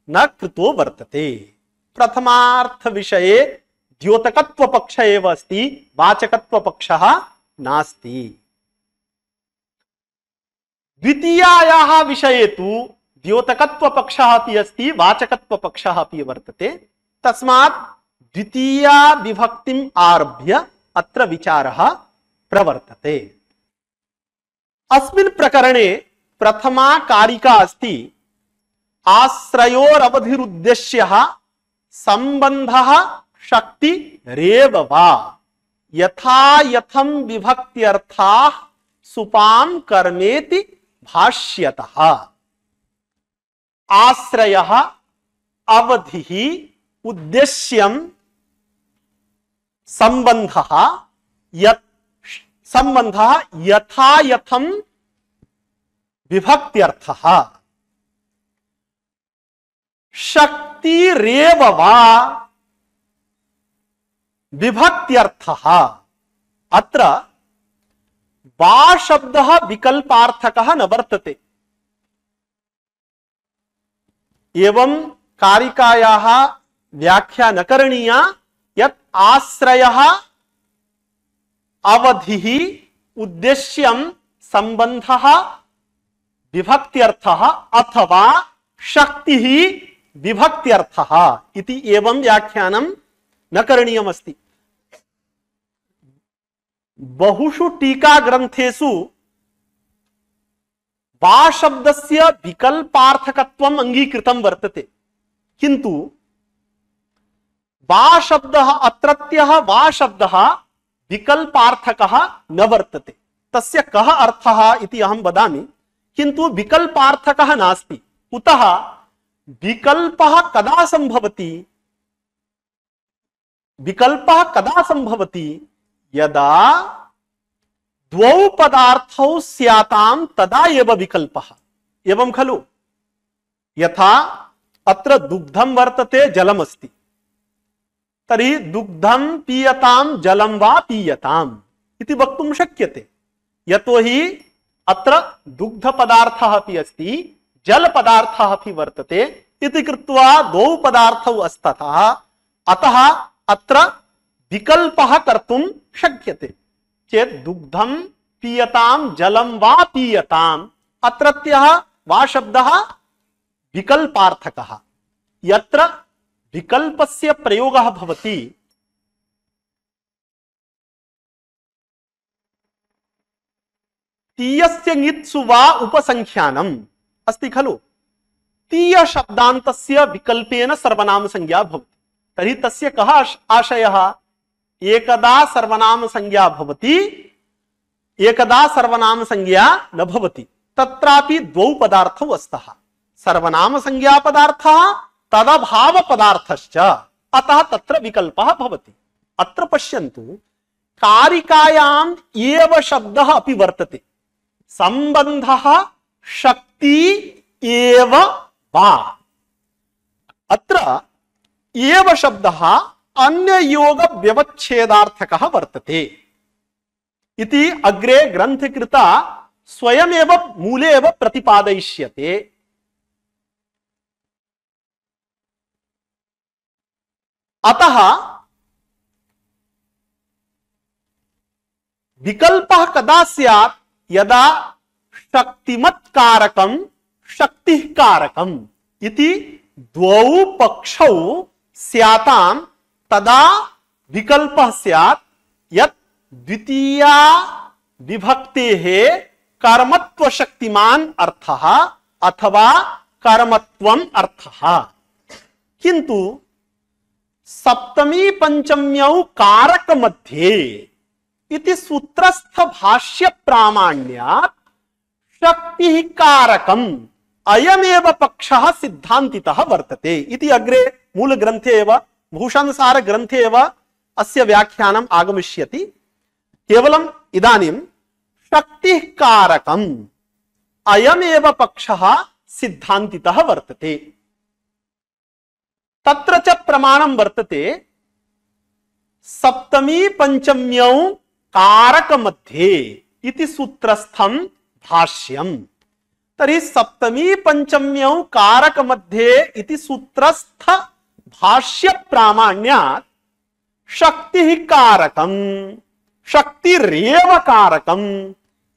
न कृतो वर्तते। प्रथमार्थ विषये द्योतकत्व पक्ष एव अस्ति, वाचकत्व पक्षः नास्ति। द्वितीयायाः विषये तु द्योतकत्व पक्षः अपि अस्ति, वाचकत्व पक्षः अपि वर्तते। तस्मात् द्वितीया विभक्तिम् आरभ्य अत्र विचारः प्रवर्तते। अस्मिन् प्रकरणे प्रथमा कारिका अस्ति आश्रयोरवधिरुद्देश्यः संबंधः शक्ति रेव वा यथा यथं विभक्त्यर्थाः सुपां कर्मेति भाष्यतः। आश्रयः अवधिः उद्देश्यं संबंधः यथा यथं विभक्त्यर्थः शक्तिरेव वा विभक्त्यर्थः। अत्र वा शब्दः विकल्पार्थकः न वर्तते। एवं कारिकायाः व्याख्या न करणीया यत् आश्रयः अवधिः उद्देश्यं संबंधः विभक्त्यर्थः अथवा शक्तिः विभक्त्यर्थः इति एवं व्याख्यानं न करणीयमस्ति। बहुषु टीका ग्रंथेषु वा शब्दस्य विकल्पार्थकत्वम् अंगीकृतं वर्तते, किंतु वा शब्दः अत्रत्यः वा शब्दः विकल्पार्थकः न वर्तते। तस्य कः अर्थः इति अहं वदामि, किंतु विकल्पार्थकः नास्ति। कुतः? विकल्पः कदा संभवति? विकल्पः कदा संभवति? यदा द्वौ पदार्थौ स्यातां तदा एव विकल्पः। एवं खलु? यथा अत्र दुग्धं वर्तते, जलमस्ति, तर्हि दुग्धं पीयतां जलं वा पीयताम् इति वक्तुं शक्यते। यतोहि अत्र दुग्ध पदार्थः अपि अस्ति, जल पदार्थः अपि वर्तते इति कृत्वा द्वौ पदार्थौ स्तः, अतः अत्र विकल्पः कर्तुं शक्यते। चेत् दुग्धं पीयतां जलं वा पीयताम्, अत्रत्यः वा शब्दः विकल्पार्थकः। यत्र विकल्पस्य प्रयोगः भवति तीयस्य ङित्सु वा उपसंख्यानम् अस्ति खलु, तीय शब्दान्तस्य विकल्पेन सर्वनाम संज्ञा भवति। तर्हि तस्य कः आशयः? एकदा सर्वनाम संज्ञा भवति, एकदा सर्वनाम संज्ञा न भवति। तत्रापि द्वौ पदार्थौ स्तः, सर्वनाम संज्ञा पदार्थः तदभाव पदार्थश्च, अतः तत्र विकल्पः भवति। अत्र पश्यन्तु, कारिकायाम् एव शब्दः अपि वर्तते, संबन्धः शक्ति एव वा। अत्र एव शब्दः अन्ययोग व्यवच्छेदार्थकः वर्तते इति अग्रे ग्रंथकृता स्वयमेव मूले एव प्रतिपादयिष्यते। अतः विकल्पः कदा स्यात्? यदा शक्तिमत् कारकं शक्तिः कारकम् इति द्वौ पक्षौ स्यातां तदा विकल्पः स्यात्, यत् द्वितीया विभक्तेः कर्मत्व शक्तिमान अर्थः अथवा कर्मत्वम् अर्थः। किंतु सप्तमी पंचम्यौ कारक मध्ये इति सूत्रस्थ भाष्य प्रामाण्यात् शक्तिः कारकम् अयमेव पक्षः सिद्धान्तितः वर्तते इति अग्रे मूल ग्रंथे एव भूषणसार ग्रंथे एव अस्य व्याख्यानम् आगमिष्यति। केवलम् इदानीं शक्तिः कारकम् अयमेव पक्षः सिद्धान्तितः वर्तते। तत्र च प्रमाणं वर्तते सप्तमी पंचम्यौ कारक मध्ये इति सूत्रस्थं भाष्यम्। तर्हि सप्तमी पंचम्यौ कारक मध्ये इति सूत्रस्थ भाष्य प्रामाण्यात् शक्तिः कारकम् शक्तिरेव कारकम्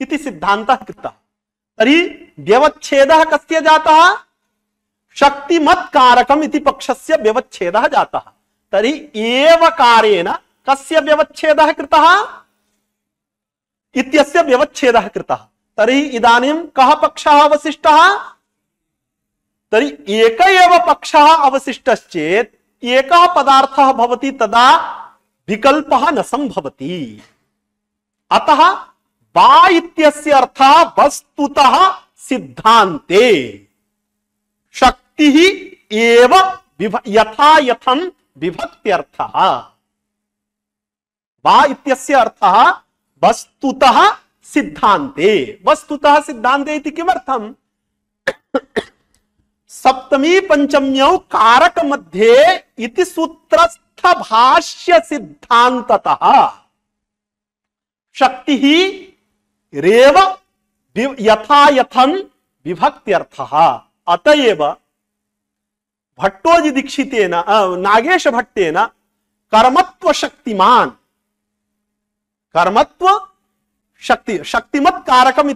इति सिद्धान्तः कृतः। तर्हि व्यवच्छेदः कस्य जातः? शक्तिमत् कारकम् इति पक्षस्य व्यवच्छेदः जातः। तर्हि एवकारेण कस्य व्यवच्छेदः कृतः? इत्यस्य व्यवच्छेदः कृतः। तर्हि इदानीं कः पक्षः अवशिष्टः? तर्हि एक एव पक्षः अवशिष्टश्चेत् एकः पदार्थः भवति, तदा विकल्पः न संभवति। अतः वा इत्यस्य अर्थः वस्तुतः सिद्धान्ते शक्तिः एव यथा यथं विभक्त्यर्थः। वा इत्यस्य अर्थः वस्तुतः सिद्धान्ते। वस्तुतः सिद्धान्ते इति किमर्थम्? सप्तमी पंचम्यौ कारक मध्ये इति सूत्रस्थ भाष्य सिद्धान्ततः शक्तिः रेव यथा यथं विभक्त्यर्थः। अतएव भट्टोजि दीक्षितेन नागेश भट्टेन कर्मत्व शक्तिमान कर्मत्व शक्ति शक्तिमत् कारकम्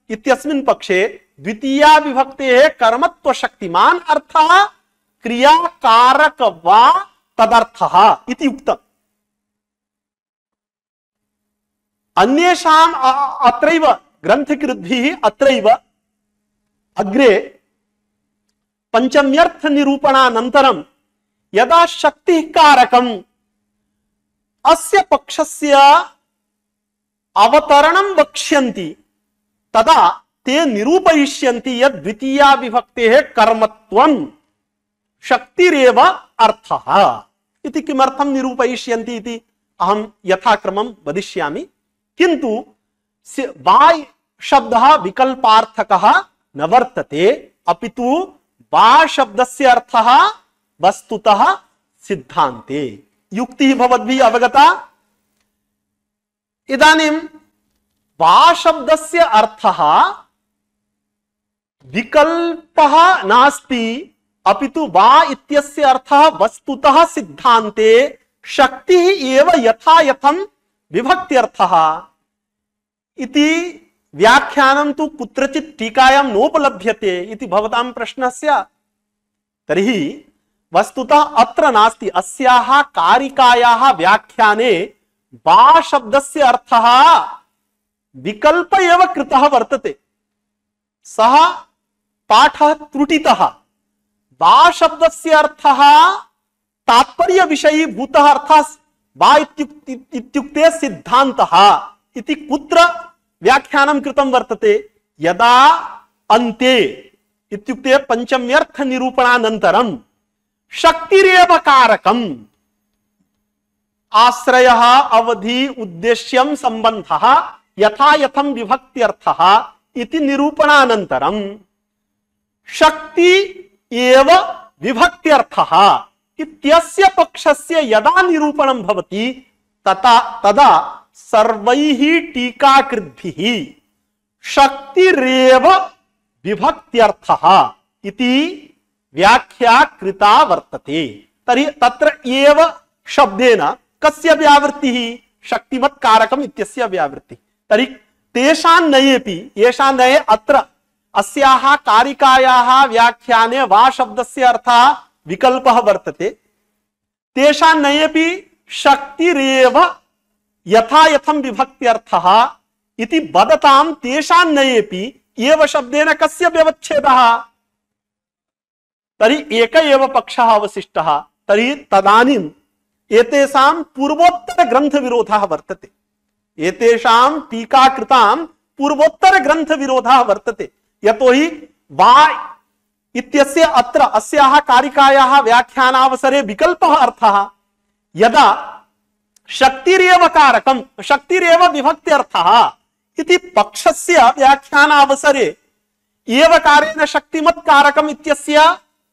इत्यस्मिन् पक्षे द्वितीया विभक्तेः कर्मत्व शक्तिमान अर्थः क्रियाकारक वा तदर्थः इति उक्तम्। अन्येषाम् अत्रैव ग्रन्थकृद्भिः अत्रैव अग्रे पंचम्यर्थ निरूपणानन्तरं यदा शक्तिः कारकम् अस्य पक्षस्य अवतरणं वक्ष्यन्ति तदा ते निरूपयिष्यन्ति यद् द्वितीया विभक्तेः कर्मत्वं शक्तिरेव अर्थः इति। किमर्थं निरूपयिष्यन्ति इति अहं यथाक्रमं वदिष्यामि, किन्तु वा शब्दः विकल्पार्थकः न वर्तते, अपितु वा शब्दस्य अर्थः वस्तुतः सिद्धान्ते। युक्तिः भवद्भिः अवगता? इदानीं वा शब्दस्य अर्थः विकल्पः नास्ति, अपितु वा इत्यस्य अर्थः वस्तुतः सिद्धान्ते शक्तिः एव यथा यथं विभक्त्यर्थः इति व्याख्यानं तु कुत्रचित् टीकायां नोपलभ्यते इति भवतां प्रश्नः स्यात्। तर्हि वस्तुतः अत्र नास्ति, अस्याः कारिकायाः व्याख्याने वा शब्दस्य अर्थः विकल्प एव कृतः वर्तते। सः पाठः त्रुटितः। वा शब्दस्य अर्थः तात्पर्य विषयी भूतः अर्थः वा इत्युक्ते सिद्धान्तः इति कुत्र व्याख्यानं कृतं वर्तते? यदा अन्ते इत्युक्ते पंचम्यर्थ निरूपणानन्तरं शक्तिरेव कारकम् आश्रयः अवधि उद्देश्यं संबन्धः यथा यथं विभक्त्यर्थः इति निरूपणानन्तरं शक्ति एव विभक्त्यर्थः इत्यस्य पक्षस्य यदा निरूपणं भवति तदा सर्वैः टीकाकृद्भिः शक्तिरेव विभक्त्यर्थः इति व्याख्या कृता वर्तते। तर्हि तत्र एव शब्देन कस्य व्यावृत्तिः? शक्तिमत्कारकम् इत्यस्य व्यावृत्तिः। तर्हि तेषान्नयेपि येषां नये अत्र अस्याः कारिकायाः व्याख्याने वा शब्दस्य अर्थः विकल्पः वर्तते, तेषान्नयेपि शक्तिरेव यथा यथं विभक्त्यर्थः इति वदतां तेषान्नयेपि एव शब्देन कस्य व्यवच्छेदः? तर्हि एक एव पक्षः अवशिष्टः। तर्हि तदानीम् एतेषां पूर्वोत्तर ग्रंथ विरोधः वर्तते, एतेषां टीकाकृतां पूर्वोत्तर ग्रंथ विरोधः वर्तते। यतोहि वा इत्यस्य अत्र अस्याः कारिकायाः व्याख्यानावसरे विकल्पः अर्थः, यदा शक्तिरेव कारकं शक्तिरेव विभक्त्यर्थः इति पक्षस्य व्याख्यानावसरे एवकारेण शक्तिमत्कारकम् इत्यस्य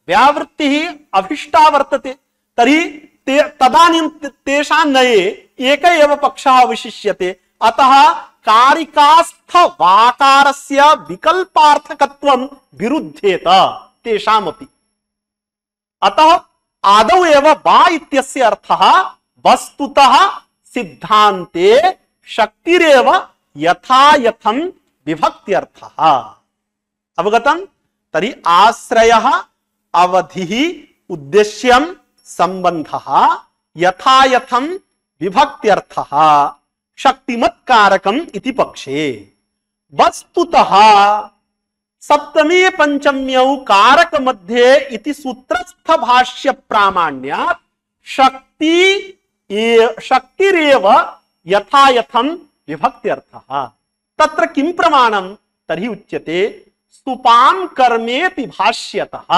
व्यावृत्तिः अभिष्टा वर्तते। तर्हि तदानीं तेषां नये एक एव पक्षः अवशिष्यते। अतः कारिकास्थ वाकारस्य विकल्पार्थकत्वं विरुध्येत तेषामपि। अतः आदौ एव वा इत्यस्य अर्थः वस्तुतः सिद्धान्ते शक्तिरेव यथा यथं विभक्त्यर्थः। अवगतम्? तर्हि आश्रयः अवधिः उद्देश्यं संबंधः यथा यथं विभक्त्यर्थः शक्तिमत्कारकम् इति पक्षे। वस्तुतः सप्तमी पंचम्यौ कारक मध्ये इति सूत्रस्थ भाष्य प्रामाण्यात् शक्तिरेव यथा यथं विभक्त्यर्थः। तत्र किं प्रमाणं? तर्हि उच्यते सुपां कर्मेति भाष्यतः।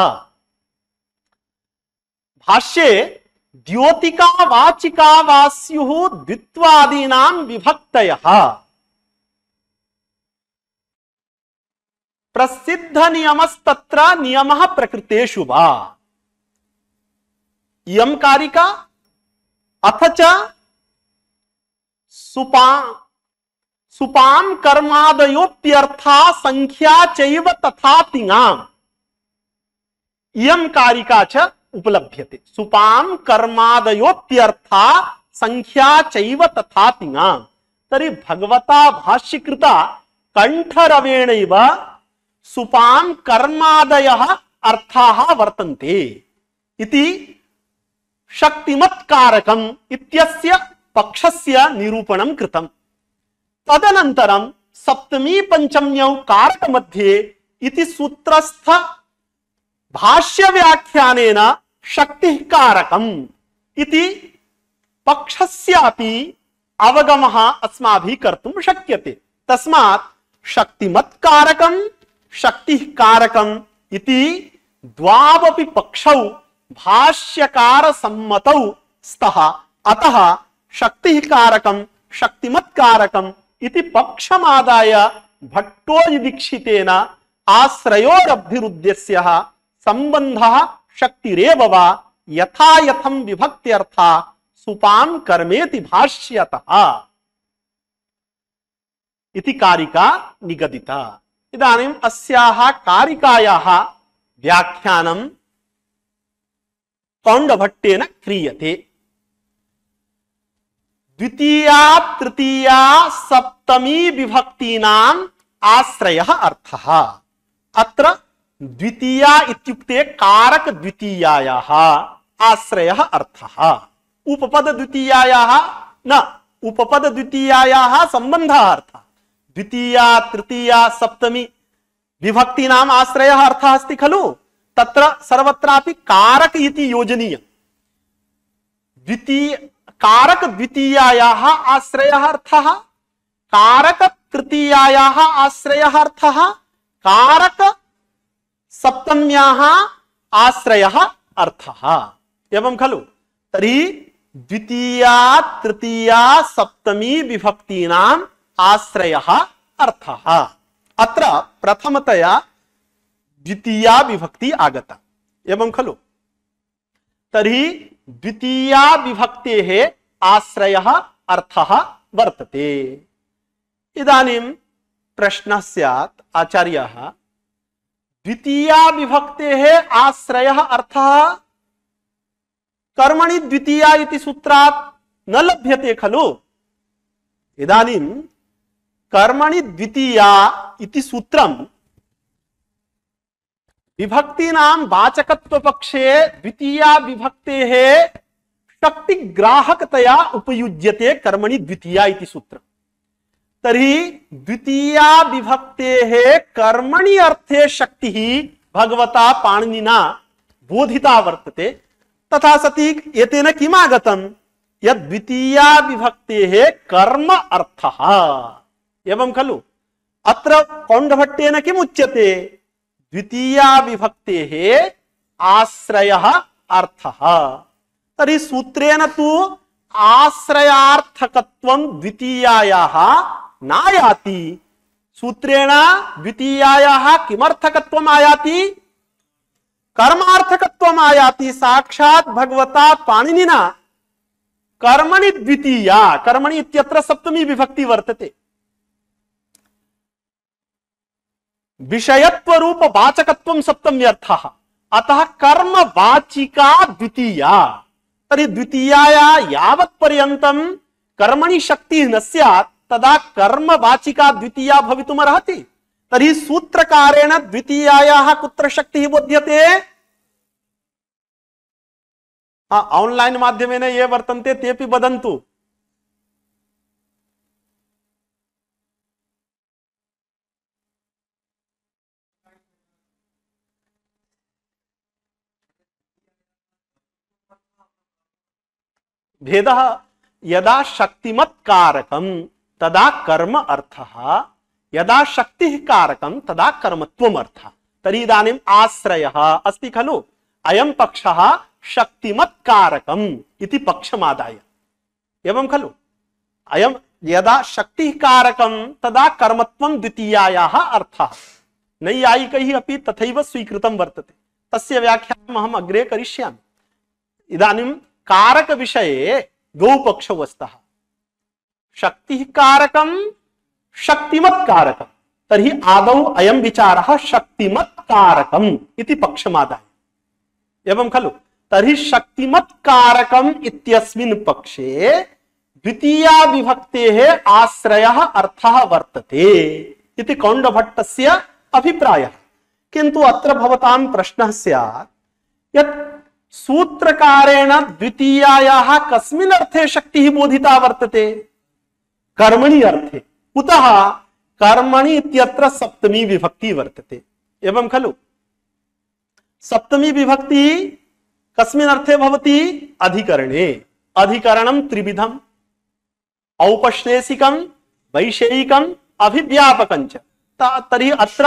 भाष्ये द्योतिका वाचिका वा स्युः द्वित्वादीनां विभक्तयः प्रसिद्ध नियमस्तत्र नियमः प्रकृतेषु वा। इयं कारिका अथ च सुपां कर्मादयोप्यर्था संख्या चैव तथा तिङाम्। इयं कारिका च उपलभ्यते। सुपां कर्मादयोप्यर्था संख्या चैव तथा तिङाम्। तर्हि भगवता भाष्यकृता कंठरवेणैव सुपां कर्मादयः अर्थाः वर्तन्ते इति शक्तिमत्कारकम् इत्यस्य पक्षस्य निरूपणं कृतम्। तदनन्तरं सप्तमी पंचम्यौ कारक मध्ये इति सूत्रस्थ भाष्य व्याख्यानेन शक्तिः कारकम् इति पक्षस्यापि अवगमः अस्माभिः कर्तुं शक्यते। तस्मात् शक्तिमत् कारकं शक्तिः कारकम् इति द्वावपि पक्षौ भाष्यकार सम्मतौ स्तः। अतः शक्तिः कारकं शक्तिमत् कारकम् इति पक्षमादाय भट्टोजिदीक्षितेन आश्रयोरब्धिरुद्देश्यः संबंधः शक्तिरेव वा यथा यथं विभक्त्यर्था सुपां कर्मेति भाष्यतः इति कारिका निगदिता। इदानीम् अस्याः कारिकायाः व्याख्यानं कौण्डभट्टेन क्रियते। द्वितीया तृतीया सप्तमी विभक्तीनाम् आश्रयः अर्थः। अत्र द्वितीया इत्युक्ते कारक द्वितीयायाः आश्रयः अर्थः। उपपद द्वितीयायाः न, उपपद द्वितीयायाः सम्बन्धः अर्थः। द्वितीया तृतीया सप्तमी विभक्तीनाम् आश्रयः अर्थः अस्ति खलु, तत्र सर्वत्रापि कारक इति योजनीयम्। द्वितीय कारक द्वितीयायाः आश्रयः अर्थः, कारक तृतीयायाः आश्रयः अर्थः, कारक सप्तम्याः आश्रयः अर्थः। एवं खलु। तर्हि द्वितीया तृतीया सप्तमी विभक्तीनाम् आश्रयः अर्थः। अत्र प्रथमतया द्वितीया विभक्ति आगता। एवं खलु। तर्हि द्वितीया विभक्तेः आश्रयः अर्थः वर्तते। इदानीं प्रश्नः स्यात् आचार्यः, द्वितीया विभक्तेः आश्रयः अर्थः कर्मणि द्वितीया इति सूत्रात् न लभ्यते खलु। इदानीं कर्मणि द्वितीया इति सूत्रं विभक्तीनां वाचकत्वपक्षे द्वितीया विभक्तेः शक्तिग्राहकतया उपयुज्यते कर्मणि द्वितीया इति सूत्रम्। तर्हि द्वितीया विभक्तेः कर्मणि अर्थे शक्तिः भगवता पाणिनिना बोधिता वर्तते। तथा सति एतेन किम् आगतं यद् द्वितीया विभक्तेः कर्म अर्थः। एवं खलु। अत्र कौण्डभट्टेन किम् उच्यते, द्वितीया विभक्तेः आश्रयः अर्थः। तर्हि सूत्रेण तु आश्रयार्थकत्वं द्वितीयायाः नायाति। सूत्रेण द्वितीयायाः किमर्थकत्वम् आयाति, कर्मार्थकत्वम् आयाति। साक्षात् भगवता पाणिनिना कर्मणि द्वितीया, कर्मणि इत्यत्र सप्तमी विभक्ति वर्तते, विषयत्व रूप वाचकत्वं सप्तम्यर्थः। अतः कर्म वाचिका द्वितीया। तर्हि द्वितीयाया यावत् पर्यन्तं कर्मणि शक्तिः न स्यात् तदा कर्म वाचिका द्वितीया भवितुमर्हति। तर्हि सूत्रकारेण द्वितीयायाः कुत्र शक्तिः बोध्यते। ऑनलाइन माध्यमेन ये वर्तन्ते तेपि वदन्तु। भेदः यदा शक्तिमत् कारकं तदा कर्म अर्थः, यदा शक्तिः कारकं तदा कर्मत्वम् अर्थः। तर्हि इदानीम् आश्रयः अस्ति खलु। अयं पक्षः शक्तिमत् कारकम् इति पक्षमादाय। एवं खलु। अयं यदा शक्तिः कारकं तदा कर्मत्वं द्वितीयायाः अर्थः। नैयायिकैः अपि तथैव स्वीकृतं वर्तते। तस्य व्याख्यानम् अहम् अग्रे करिष्यामि। इदानीं कारक विषये द्वौ पक्षौ स्तः। शक्तिः कारकं शक्तिमत् कारकं। तर्हि आदौ अयं विचारः शक्तिमत् कारकम् इति पक्षमादाय। एवं खलु। तर्हि शक्तिमत् कारकम् इत्यस्मिन् पक्षे द्वितीया विभक्तेः आश्रयः अर्थः वर्तते इति कौण्डभट्टस्य अभिप्रायः। किन्तु अत्र भवतां प्रश्नः स्यात् यत् सूत्रकारेण द्वितीयायाः कस्मिन् अर्थे शक्तिः बोधिता वर्तते, कर्मणि अर्थे। कुतः कर्मणि इत्यत्र सप्तमी विभक्ति वर्तते एवं खलु। सप्तमी विभक्ति कस्मिन् अर्थे भवति? अधिकरणे। अधिकरणं त्रिविधम्, औपश्लेषिकं, वैषयिकं, अभिव्यापकं च। तर्हि अत्र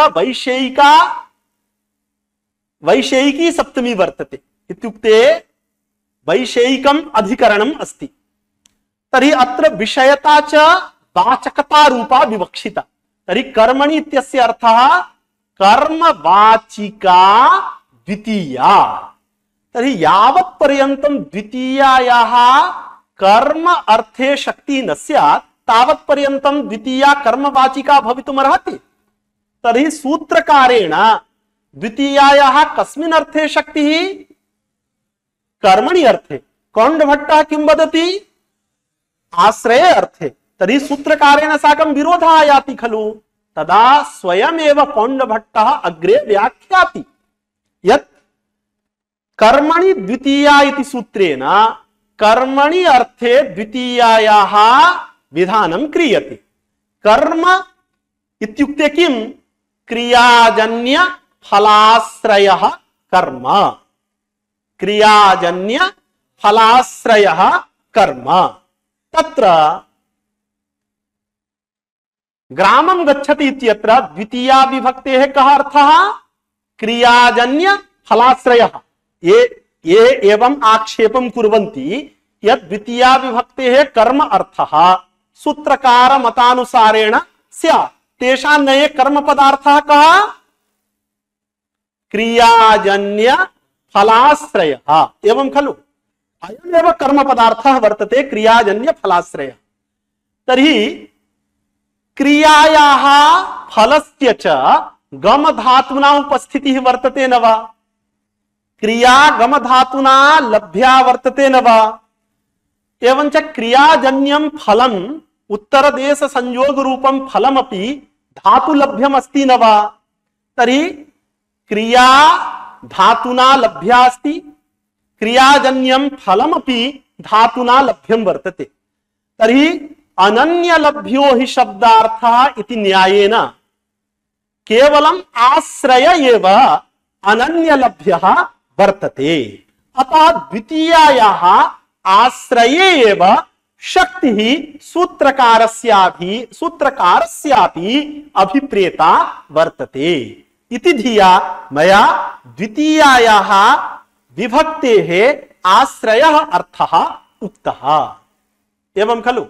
वैषयिकी सप्तमी वर्तते इत्युक्ते वैषयिकम् अधिकरणम् अस्ति। तर्हि अत्र विषयता च वाचकता रूपा विवक्षिता। तर्हि कर्मणि इत्यस्य अर्थः कर्मवाचिका द्वितीया। तर्हि यावत् पर्यन्तं द्वितीयायाः कर्म अर्थे शक्तिः न स्यात् तावत् पर्यन्तं द्वितीया कर्मवाचिका भवितुमर्हति। तर्हि सूत्रकारेण द्वितीयायाः कस्मिन् अर्थे शक्तिः? कर्मणि अर्थे। कौण्डभट्टः किं वदति? आश्रये अर्थे। तर्हि सूत्रकारेण साकं विरोधः आयाति खलु। तदा स्वयमेव कौण्डभट्टः अग्रे व्याख्याति यत् कर्मणि द्वितीया इति सूत्रेण कर्मणि अर्थे द्वितीयायाः विधानं क्रियते। कर्म इत्युक्ते किं? क्रियाजन्य फलाश्रयः कर्म। क्रियाजन्य फलाश्रयः कर्म। तत्र ग्रामं गच्छति इत्यत्र द्वितीया विभक्तेः कः अर्थः? क्रियाजन्य फलाश्रयः। ये एवं आक्षेपं कुर्वन्ति यत् द्वितीया विभक्तेः कर्म अर्थः सूत्रकार मतानुसारेण स्यात्, तेषां नये कर्म पदार्थः कः? क्रियाजन्य फलाश्रयः। एवं खलु। अयमेव कर्म पदार्थः वर्तते क्रियाजन्य फलाश्रयः। तर्हि क्रियायाः फलस्य च गम धातुना उपस्थितिः वर्तते न वा? क्रिया गम धातुना लभ्या वर्तते न वा? एवंच क्रियाजन्यं फलम् उत्तरदेश संयोग रूपं फलमपि धातुलभ्यम् अस्ति न वा? तर्हि क्रिया धातुना लभ्या अस्ति, क्रियाजन्यं फलमपि धातुना लभ्यं वर्तते। तर्हि अनन्यलभ्यो हि शब्दार्थः इति न्यायेन केवलम् आश्रय एव अनन्यलभ्यः वर्तते। अतः द्वितीयायाः आश्रये एव शक्तिः सूत्रकारस्यापि अभिप्रेता वर्तते इति धिया मया द्वितीयायाः विभक्तेः आश्रयः अर्थः उक्तः। एवं खलु।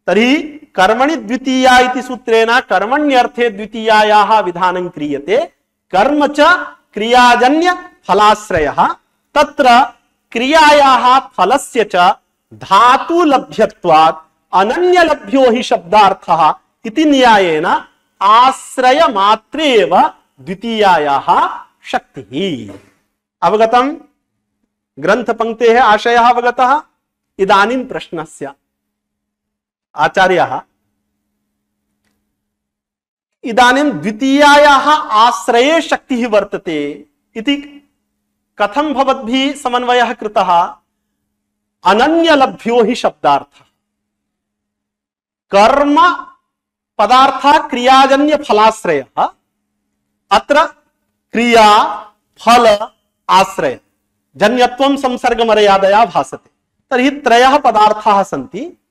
तर्हि कर्मणि द्वितीया इति सूत्रेण कर्मण्यर्थे द्वितीयायाः विधानं क्रियते। कर्म च क्रियाजन्य फलाश्रयः। तत्र क्रियायाः फलस्य च धातुलभ्यत्वात् अनन्यलभ्यो हि शब्दार्थः इति न्यायेन आश्रय मात्रे एव द्वितीयायाः शक्तिः। अवगतम्? ग्रन्थपङ्क्तेः आशयः अवगतः? इदानीं प्रश्नस्य आचार्यः इदानीं द्वितीयायाः आश्रये शक्तिः वर्तते इति कथं भवद्भिः समन्वयः कृतः? अनन्यलभ्यो हि शब्दार्थः। कर्म पदार्थः क्रियाजन्य फलाश्रयः। अत्र क्रिया फल आश्रय जन्यत्वं संसर्गमर्यादया भासते। तर्हि त्रयः पदार्थाः सन्ति।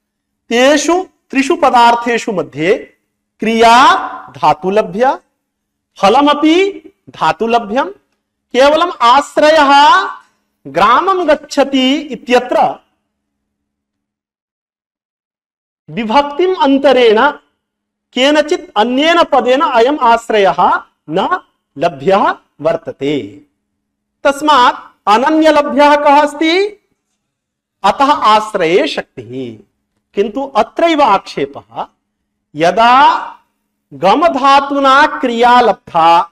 तेषु त्रिषु पदार्थेषु मध्ये क्रिया धातुलभ्य, फलमपि धातुलभ्यं, केवलम् आश्रयः ग्रामं गच्छति इत्यत्र विभक्तिम् अन्तरेण केनचित् अन्येन पदेन अयम् आश्रयः न लभ्यः वर्तते। तस्मात् अनन्यलभ्यः कः अस्ति? अतः आश्रये शक्तिः। किन्तु अत्रैव आक्षेपः, यदा गम धातुना क्रिया लब्धा,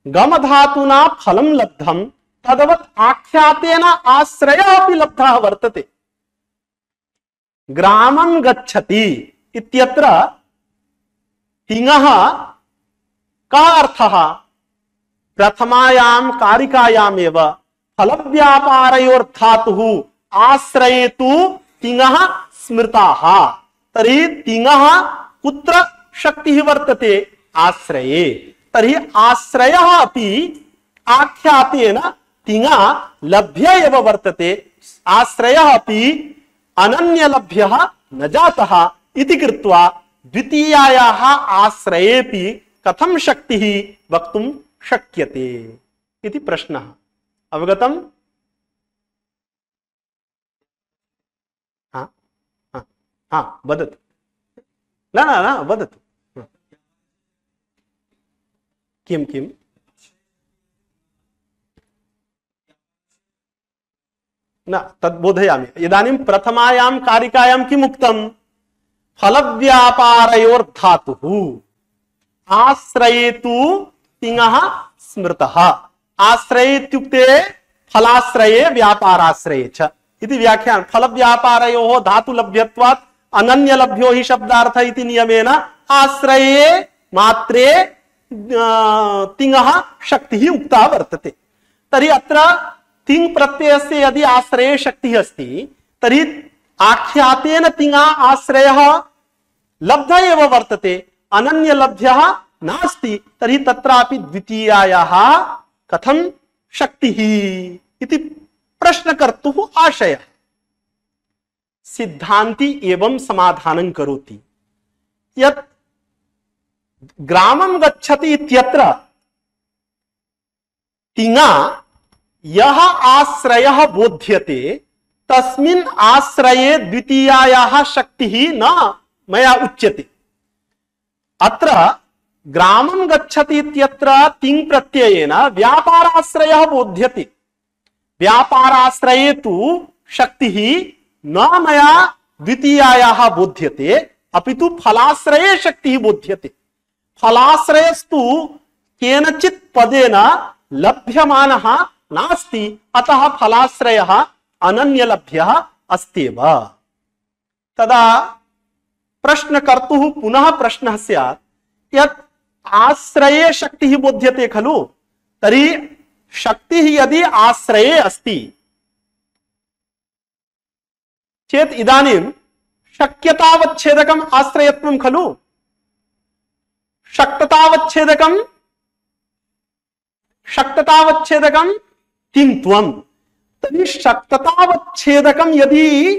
गम धातुना फलं लब्धं, तदवत् आख्यातेन आश्रयः अपि लब्धः वर्तते। ग्रामं गच्छति इत्यत्र तिङः कः अर्थः? प्रथमायां कारिकायामेव फलव्यापारयोर्धातुः आश्रये तु तिङः स्मृताः। तर्हि तिङः कुत्र शक्तिः वर्तते आश्रये, तर्हि आश्रयः अपि आख्यातेन तिङा लभ्य एव वर्तते, आश्रयः अपि अनन्यलभ्यः न जातः इति कृत्वा द्वितीयायाः आश्रयेऽपि कथं शक्तिः वक्तुं शक्यते इति प्रश्नः। अवगतम्? वदतु। न न न वदतु। किं किम्? न तद् बोधयामि। इदानीं प्रथमायां कारिकायां किम् उक्तम्? फलव्यापारयोर्धातुः आश्रये तु तिङः स्मृतः। आश्रये इत्युक्ते फलाश्रये व्यापाराश्रये च इति व्याख्यान। फलव्यापारयोः धातुलभ्यत्वात् अनन्यलभ्यो हि शब्दार्थ इति नियमेन आश्रये मात्रे तिङः शक्तिः उक्ता वर्तते। तर्हि अत्र तिङ् प्रत्ययस्य यदि आश्रये शक्तिः अस्ति तर्हि आख्यातेन तिङा आश्रयः लब्ध एव वर्तते, अनन्यलभ्यः नास्ति। तर्हि तत्रापि द्वितीयायाः कथं शक्तिः इति प्रश्नकर्तुः आशयः। सिद्धान्ती एवं समाधानं करोति यत् ग्रामं गच्छति इत्यत्र तिङा यः आश्रयः बोध्यते तस्मिन् आश्रये द्वितीयायाः शक्तिः न मया उच्यते। अत्र ग्रामं गच्छति इत्यत्र तिङ् प्रत्ययेन व्यापाराश्रयः बोध्यते। व्यापाराश्रये तु शक्तिः न मया द्वितीयायाः बोध्यते, अपितु फलाश्रये शक्तिः बोध्यते। फलाश्रयस्तु केनचित् पदेन लभ्यमानः नास्ति, अतः फलाश्रयः अनन्यलभ्यः अस्त्येव। तदा प्रश्नकर्तुः पुनः प्रश्नः स्यात् यत् आश्रये शक्तिः बोध्यते खलु, तर्हि शक्तिः यदि आश्रये अस्ति चेत् इदानीं शक्यतावच्छेदकम् आश्रयत्वं खलु, शक्ततावच्छेदकं तिङ्त्वम्। तर्हि शक्ततावच्छेदकं यदि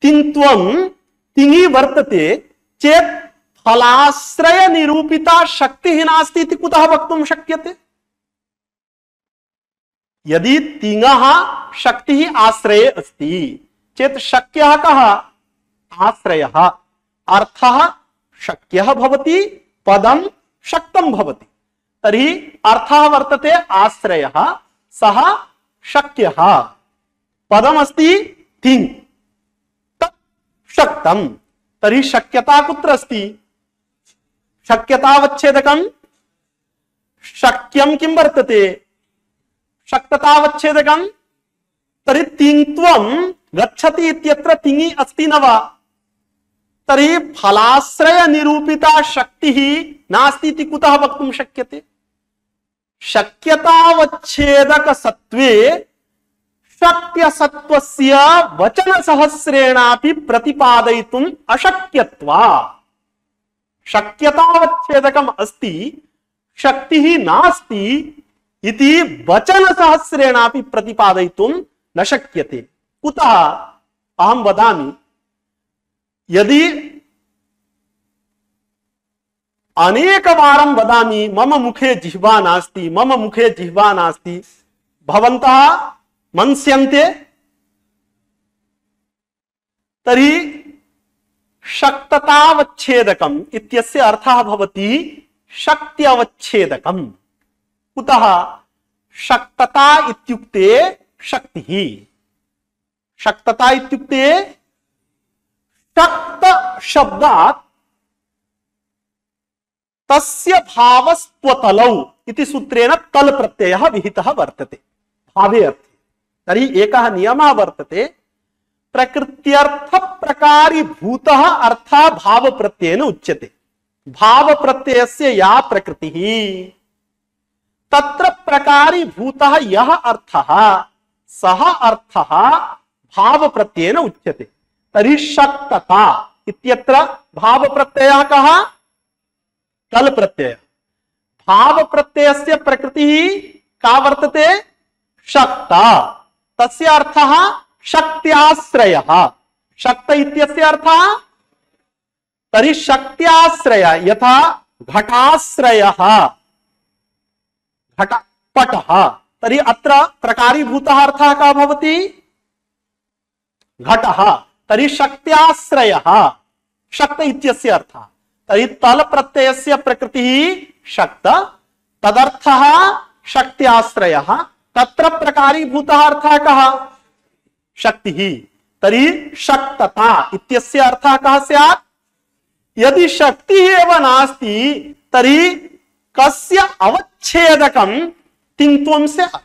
तिङ्त्वं तिङि वर्तते चेत् फलाश्रय निरूपिता शक्तिः नास्ति इति कुतः वक्तुं शक्यते? यदि तिङः शक्तिः आश्रये अस्ति चेत् शक्यः कः? आश्रयः। अर्थः शक्यः भवति, पदं शक्तं भवति। तर्हि अर्थः वर्तते आश्रयः, सः शक्यः। पदमस्ति तिङ्, तत् शक्तं। तर्हि शक्यता कुत्र अस्ति? शक्यतावच्छेदकं शक्यं किं वर्तते? शक्ततावच्छेदकं। तर्हि तिङ्त्वं गच्छति इत्यत्र तिङि अस्ति न वा? तर्हि फलाश्रय निरूपिता शक्तिः नास्ति इति कुतः वक्तुं शक्यते? शक्यतावच्छेदक सत्वे शक्यसत्त्वस्य वचनसहस्रेणापि प्रतिपादयितुम् अशक्यत्वात्। शक्यतावच्छेदकम् अस्ति, शक्तिः नास्ति इति वचनसहस्रेणापि प्रतिपादयितुं न शक्यते। कुतः? अहं वदामि, यदि अनेकवारं वदामि मम मुखे जिह्वा नास्ति, मम मुखे जिह्वा नास्ति, भवन्तः मन्स्यन्ते, तर्हि शक्ततावच्छेदकम् इत्यस्य अर्थः भवति शक्त्यवच्छेदकम्। कुतः? शक्तता इत्युक्ते शक्तिः। शक्तता इत्युक्ते शक्त शब्दात् तस्य भावस्त्वतलौ इति सूत्रेण तल प्रत्ययः विहितः वर्तते भावे अर्थे। तर्हि एकः नियमः वर्तते, प्रकृत्यर्थ प्रकारी भूतः अर्थः भाव प्रत्ययेन उच्यते। भाव प्रत्ययस्य या प्रकृतिः तत्र प्रकारी भूतः यः अर्थः सः अर्थः भाव प्रत्ययेन उच्यते। तर्हि शक्तता इत्यत्र भाव प्रत्ययः कः? तल प्रत्यय। भाव प्रत्ययस्य प्रकृतिः का वर्तते? शक्ता। तस्य अर्थः शक्त्याश्रयः। शक्त इत्यस्य अर्थः तर्हि शक्त्याश्रय, यथा घटाश्रयः घटपटः, तर्हि अत्र प्रकारीभूतः अर्थः का भवति? घटः। तर्हि शक्त्याश्रयः शक्त इत्यस्य अर्थः। तर्हि तल प्रत्ययस्य प्रकृतिः शक्त, तदर्थः शक्त्याश्रयः, तत्र प्रकारीभूतः अर्थः कः? शक्तिः। तर्हि शक्तता इत्यस्य अर्थः कः स्यात्? यदि शक्तिः एव नास्ति तर्हि कस्य अवच्छेदकं तिङ्त्वं स्यात्?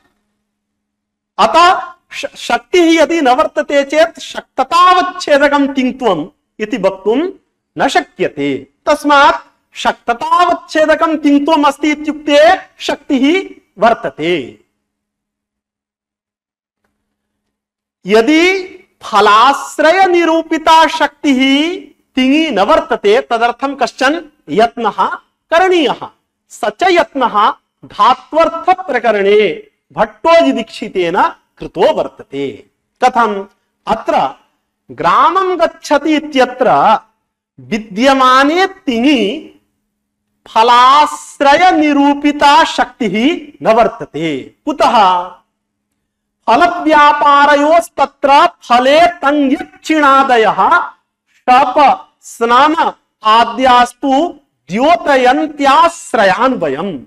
अतः शक्तिः यदि न वर्तते चेत् शक्ततावच्छेदकं तिङ्त्वम् इति वक्तुं न शक्यते। तस्मात् शक्ततावच्छेदकं तिङ्त्वम् अस्ति इत्युक्ते शक्तिः वर्तते। यदि फलाश्रय निरूपिता शक्तिः तिङि न वर्तते तदर्थं कश्चन यत्नः करणीयः। स च यत्नः धात्वर्थ प्रकरणे भट्टोजि दीक्षितेन कृतो वर्तते। कथम्? अत्र ग्रामं गच्छति इत्यत्र विद्यमाने तिङि फलाश्रय निरूपिता शक्तिः न वर्तते। कुतः? फल व्यापारयोस्तत्र फले तंयक्षिणादयः शप स्नान आद्यास्तु द्योतयन्त्याश्रयान्वयम्।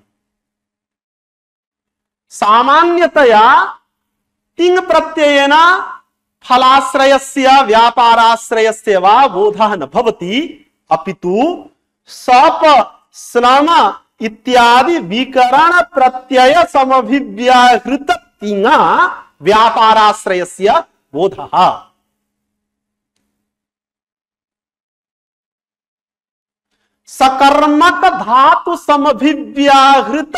सामान्यतया तिङ् प्रत्ययेन फलाश्रयस्य व्यापाराश्रयस्य वा बोधः न भवति, अपितु सप स्नान इत्यादि विकरण प्रत्यय समभिव्याहृत तिङा व्यापाराश्रयस्य बोधः। सकर्मक धातु समभिव्याहृत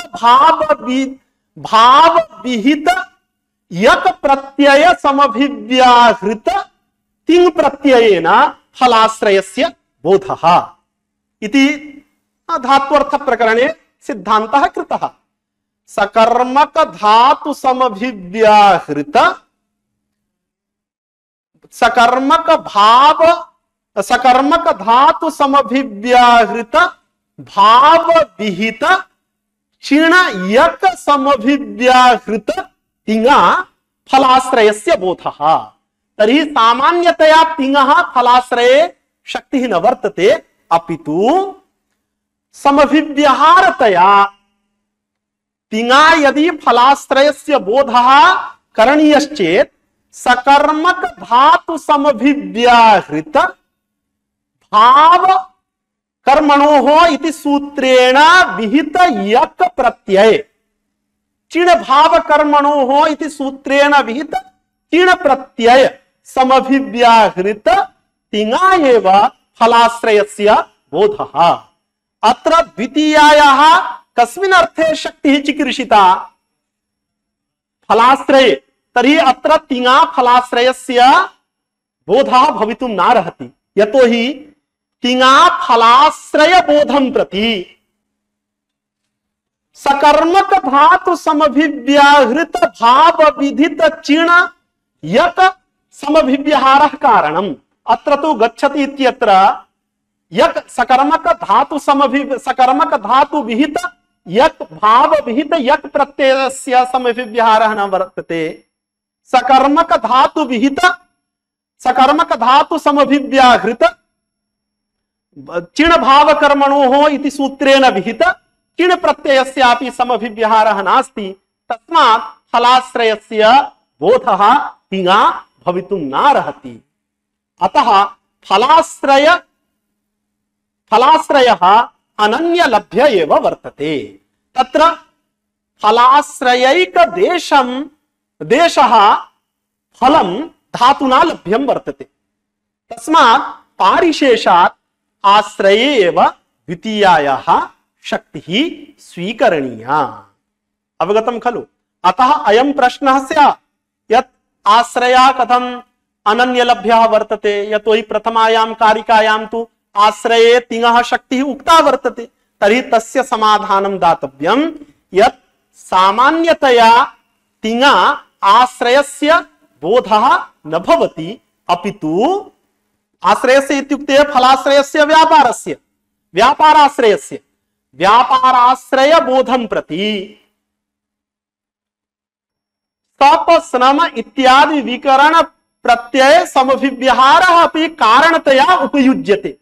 भाव विहित यक प्रत्यय समभिव्याहृत तिङ् प्रत्ययेन फलाश्रयस्य बोधः इति धात्वर्थ प्रकरणे सिद्धान्तः कृतः। सकर्मक धातु समभिव्याहृत सकर्मक धातु समभिव्याहृत भाव विहित चिण यक समभिव्याहृत तिङा फलाश्रयस्य बोधः। तर्हि सामान्यतया तिङः फलाश्रये शक्तिः न वर्तते, अपितु समभिव्यहारतया तिङा यदि फलाश्रयस्य बोधः करणीयश्चेत् सकर्मक धातु समभिव्याहृत भाव कर्मणोः इति सूत्रेण विहित यक प्रत्यय चिण भाव कर्मणोः इति सूत्रेण विहित चिण प्रत्यय समभिव्याहृत तिङा एव फलाश्रयस्य बोधः। अत्र द्वितीयायाः कस्मिन् अर्थे शक्तिः चिकीर्षिता? फलाश्रये। तर्हि अत्र तिङा फलाश्रयस्य बोधः भवितुं नार्हति, यतोहि तिङा फलाश्रय बोधं प्रति सकर्मक धातु समभिव्याहृत भाव विधित चिण यक समभिव्यहारः कारणम्। अत्र तु गच्छति इत्यत्र यक सकर्मक धातु विहित यक भाव विहित यक प्रत्ययस्य समभिव्यहारः न वर्तते। सकर्मक धातु समभिव्याहृत चिण भाव कर्मणोः इति सूत्रेण विहित चिण प्रत्ययस्यापि समभिव्यहारः नास्ति, तस्मात् फलाश्रयस्य बोधः तिङा भवितुं नार्हति। अतः फलाश्रयः अनन्यलभ्य एव वर्तते। तत्र फलाश्रयैक देशः फलं धातुना लभ्यं वर्तते। तस्मात् पारिशेषात् आश्रये एव द्वितीयायाः शक्तिः स्वीकरणीया। अवगतं खलु? अतः अयं प्रश्नः स्यात् यत् आश्रयः कथम् अनन्यलभ्यः वर्तते, यतोहि प्रथमायां कारिकायां तु आश्रये तिङः शक्तिः उक्ता वर्तते, तर्हि तस्य समाधानं दातव्यं यत् सामान्यतया तिङा आश्रयस्य बोधः न भवति, अपितु आश्रयस्य इत्युक्ते फलाश्रयस्य व्यापारस्य, व्यापाराश्रयस्य, व्यापाराश्रय बोधं प्रति तप श्रम इत्यादि विकरण प्रत्यय समभिव्यहारः अपि कारणतया उपयुज्यते।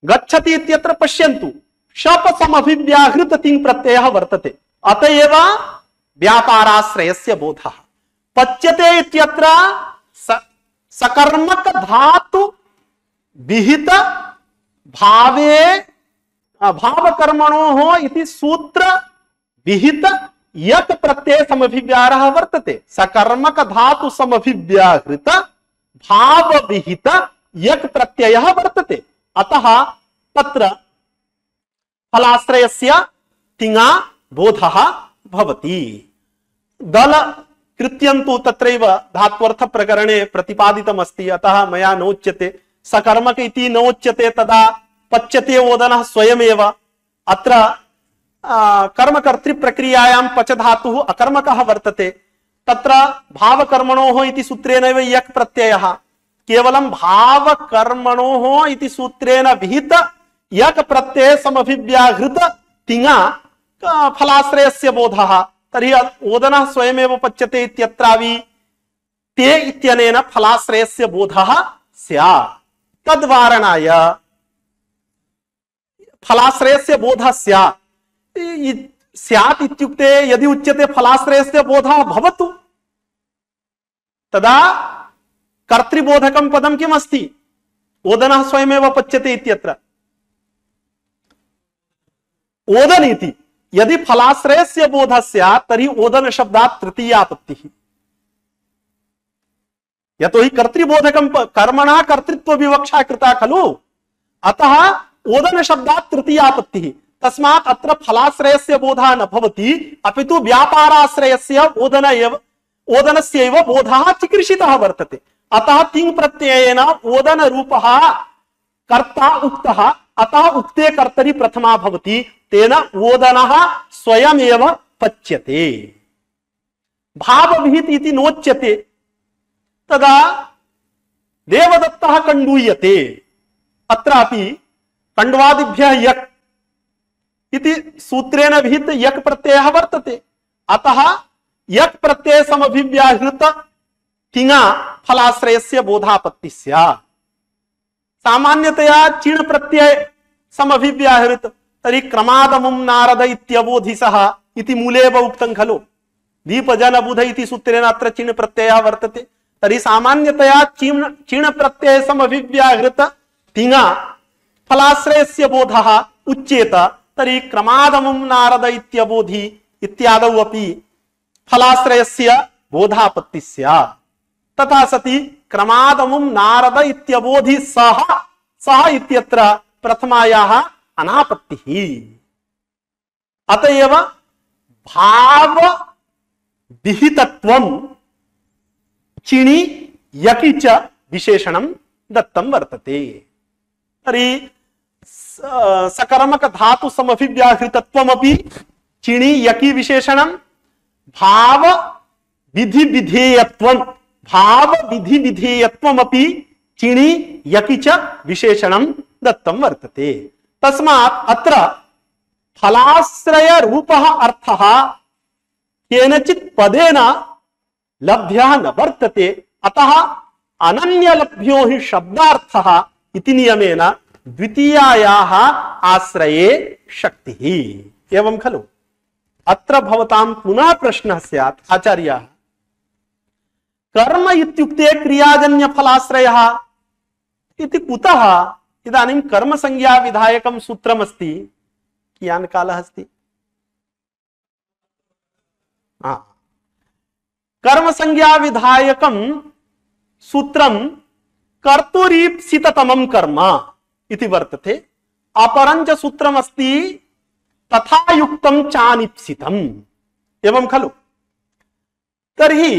गच्छति इत्यत्र पश्यन्तु शप समभिव्याहृत तिङ् प्रत्ययः वर्तते, अतएव व्यापाराश्रयस्य बोधः। पच्यते इत्यत्र सकर्मक धातु विहित भावे भावकर्मणोः इति सूत्र विहित यक प्रत्यय समभिव्याहरः वर्तते। सकर्मक धातु समभिव्याहृत भाव विहित यक प्रत्ययः वर्तते, अतः तत्र फलाश्रयस्य तिङा बोधः भवति। दल कृत्यन्तु तत्रैव धात्वर्थ प्रकरणे प्रतिपादितमस्ति, अतः मया नोच्यते। सकर्मक इति नोच्यते तदा पच्यते ओदनः स्वयमेव। अत्र कर्मकर्तृ प्रक्रियायां पच धातुः अकर्मकः वर्तते, तत्र भावकर्मणोः इति सूत्रेणैव यक् प्रत्ययः। केवलं भावकर्मणोः इति सूत्रेण विहित यक् प्रत्यय समभिव्याहृत तिङा फलाश्रयस्य बोधः। तर्हि ओदनः स्वयमेव पच्यते इत्यत्रापि ते इत्यनेन फलाश्रयस्य बोधः स्यात्। तद्वारणाय फलाश्रयस्य बोधः स्यात्। स्यात् इत्युक्ते यदि उच्यते फलाश्रयस्य बोधः भवतु, तदा कर्तृबोधकं पदं किम् अस्ति? ओदनः स्वयमेव पच्यते इत्यत्र ओदन इति। यदि फलाश्रयस्य बोधः स्यात् तर्हि ओदन शब्दात् तृतीयापत्तिः। यतोहि कर्तृबोधकं कर्मणः कर्तृत्व विवक्षा कृता खलु, अतः ओदन शब्दात् तृतीयापत्तिः। तस्मात् अत्र फलाश्रयस्य बोधः न भवति, अपितु व्यापाराश्रयस्य ओदनस्यैव बोधः चिकीर्षितः वर्तते। अतः तिङ् प्रत्ययेन ओदन रूपः कर्ता उक्तः, अतः उक्ते कर्तरि प्रथमा भवति, तेन ओदनः स्वयमेव पच्यते। भावविहित इति नोच्यते, तदा देवदत्तः कण्डूयते। अत्रापि कण्डवादिभ्यः यक् इति सूत्रेण विहित यक् प्रत्ययः वर्तते, अतः यक् प्रत्यय समभिव्याहृत तिङा फलाश्रयस्य बोधापत्तिः स्यात्। सामान्यतया चिण् प्रत्यय समभिव्याहृत तर्हि क्रमादमुं नारद इत्यबोधिसः इति मूलेव उक्तं खलु। दीपजनबुध इति सूत्रेण अत्र चिण् प्रत्ययः वर्तते। तर्हि सामान्यतया चिण् प्रत्यय समभिव्याहृत तिङा फलाश्रयस्य बोधः उच्येत, तर्हि क्रमादमुं नारद इत्यबोधि इत्यादौ अपि फलाश्रयस्य बोधापत्तिः स्यात्। तथा सति क्रमादमुं नारद इत्यबोधि सः इत्यत्र प्रथमायाः अनापत्तिः। अतएव भाव विहितत्वं चिणि यकि च विशेषणं दत्तं वर्तते। तर्हि सकर्मक धातु समभिव्याहृतत्वमपि चिणि यकि विशेषणं, भाव विधि विधेयत्वं भाव विधि विधेयत्वमपि चिणि यकि च विशेषणं दत्तं वर्तते। तस्मात् अत्र फलाश्रय रूपः अर्थः केनचित् पदेन लभ्यः न वर्तते, अतः अनन्यलभ्यो हि शब्दार्थः इति नियमेन द्वितीयायाः आश्रये शक्तिः। एवं खलु। अत्र भवतां पुनः प्रश्नः स्यात्, आचार्याः कर्म इत्युक्ते क्रियाजन्य फलाश्रयः इति कुतः? इदानीं कर्म संज्ञा विधायकं सूत्रमस्ति, कियान् कालः अस्ति? कर्म संज्ञा विधायकं सूत्रं कर्तुरीप्सिततमं कर्म इति वर्तते। अपरञ्च सूत्रमस्ति तथा युक्तं चानिप्सितम्। एवं खलु। तर्हि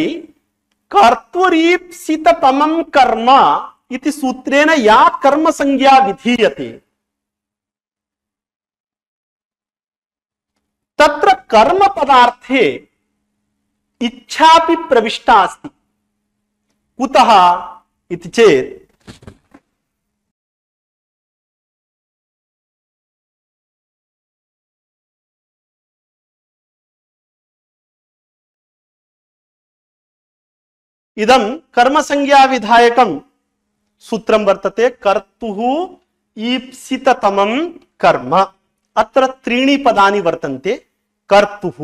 कर्तुरीप्सिततमं कर्म इति सूत्रेण या कर्म संज्ञा विधीयते कर्म पदार्थे इच्छापि प्रविष्टा अस्ति। कुतः इति चेत् इदं कर्मसंज्ञा विधायकं सूत्रं वर्तते। कर्तुः ईप्सिततमं कर्म। अत्र त्रीणि पदानि वर्तन्ते। कर्तुः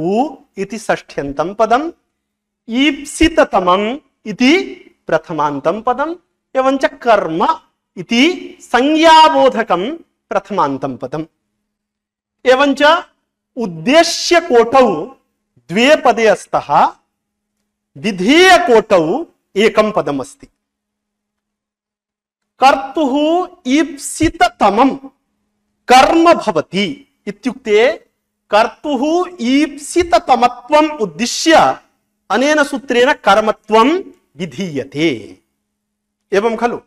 इति षष्ठ्यन्तं पदम्, ईप्सिततमम् इति प्रथमान्तं पदम्, एवञ्च कर्म इति संज्ञाबोधकं प्रथमान्तं पदम्। एवञ्च उद्देश्य कोटौ द्वे पदे स्तः, विधेय कोटौ एकं पदम् अस्ति। कर्तुः ईप्सिततमं कर्म भवति इत्युक्ते कर्तुः ईप्सिततमत्वम् उद्दिश्य अनेन सूत्रेण कर्मत्वं विधीयते एवं खलु।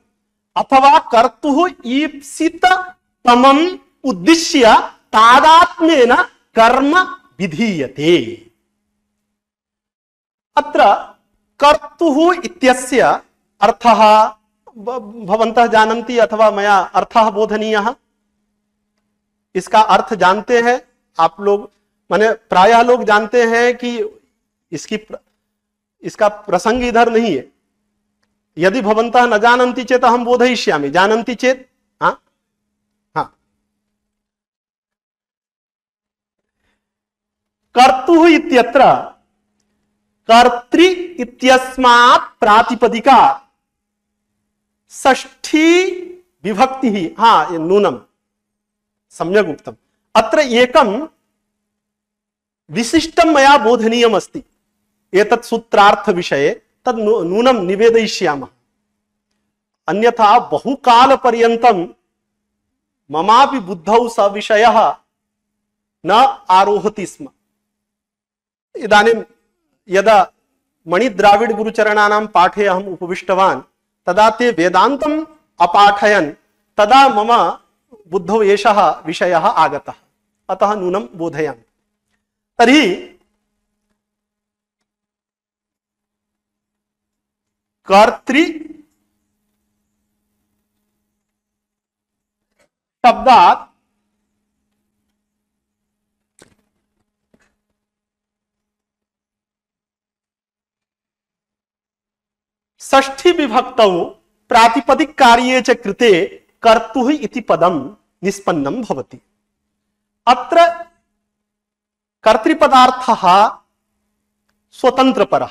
अथवा कर्तुः ईप्सिततमम् उद्दिश्य तादात्म्येन कर्म विधीयते। अत्र कर्तुः इत्यस्य अर्थः भवन्तः जानन्ति अथवा मया अर्थः बोधनीयः। इसका अर्थ जानते हैं आप लोग, माने प्रायः लोग जानते हैं कि इसका प्रसंग इधर नहीं है। यदि भवन्तः न जानन्ति चेत् अहं बोधयिष्यामि, जानन्ति चेत् हाँ हाँ। कर्तुः इत्यत्र कर्तृ इत्यस्मात् प्रातिपदिका षष्ठी विभक्ति ही, हाँ नूनम सम्यक् उक्तम्। अत्र एकं विशिष्टं मया बोधनीयम् अस्ति एतत् सूत्रार्थ विषये, तद् नूनं निवेदयिष्यामः। अन्यथा बहुकालपर्यन्तं ममापि बुद्धौ स विषयः न आरोहति स्म। इदानीं यदा मणिद्राविड गुरुचरणानां पाठे अहम् उपविष्टवान् तदा ते वेदान्तम् अपाठयन्, तदा मम बुद्धौ एषः विषयः आगतः, अतः नूनं बोधयामि। तर्हि कर्तृ शब्दात् षष्ठी विभक्तौ प्रातिपदिक कार्ये च कृते कर्तुः इति पदं निष्पन्नं भवति। अत्र कर्तृपदार्थः स्वतन्त्रपरः।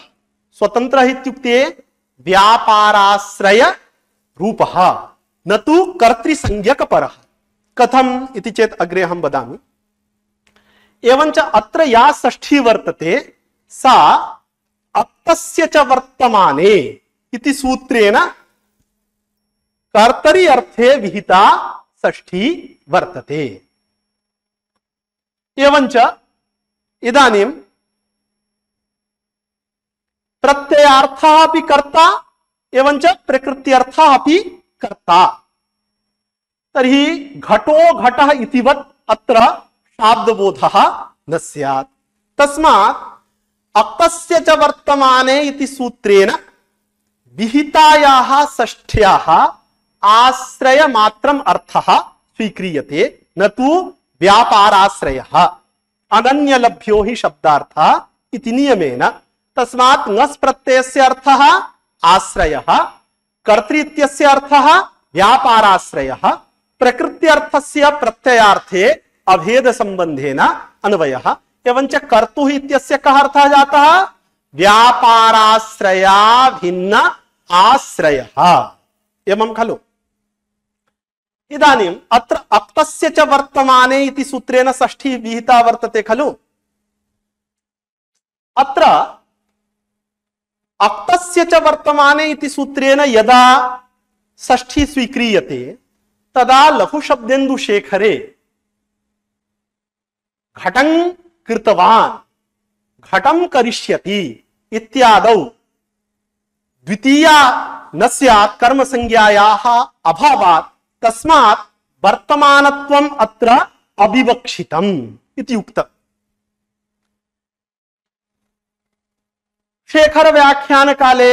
स्वतन्त्रः इत्युक्ते व्यापाराश्रय रूपः, न तु कर्तृसंज्ञकपरः। कथम् इति चेत् अग्रे अहं वदामि। एवञ्च अत्र या षष्ठी वर्तते सा अप्तस्य च वर्तमाने इति सूत्रेण कर्तरि अर्थे विहिता षष्ठी वर्तते। एवञ्च इदानीं प्रत्ययार्थः अपि कर्ता एवञ्च प्रकृत्यर्थः अपि कर्ता। तर्हि घटो घटः इतिवत् अत्र शाब्दबोधः न स्यात्। तस्मात् अक्तस्य च वर्तमाने इति सूत्रेण विहितायाः षष्ठ्याः आश्रय मात्रम् अर्थः स्वीक्रियते, न तु व्यापाराश्रयः। अनन्यलभ्यो हि शब्दार्थः इति नियमेन। तस्मात् ङस् प्रत्ययस्य अर्थः आश्रयः, कर्तृ इत्यस्य अर्थः व्यापाराश्रयः, प्रकृत्यर्थस्य प्रत्ययार्थे अभेद संबंधेन अन्वयः। एवञ्च कर्तुः इत्यस्य कः अर्थः जातः? व्यापाराश्रया भिन्न आश्रयः। एवं खलु। इदानीम् अत्र अक्तस्य च वर्तमाने इति सूत्रेण षष्ठी विहिता वर्तते खलु। अत्र अक्तस्य च वर्तमाने इति सूत्रेण यदा षष्ठी स्वीक्रियते तदा लघुशब्देन्दुशेखरे घटं कृतवान्, घटं करिष्यति इत्यादौ द्वितीया न स्यात् कर्म संज्ञायाः अभावात्, तस्मात् वर्तमानत्वम् अत्र अविवक्षितम् इति उक्तम्। शेखर व्याख्यान काले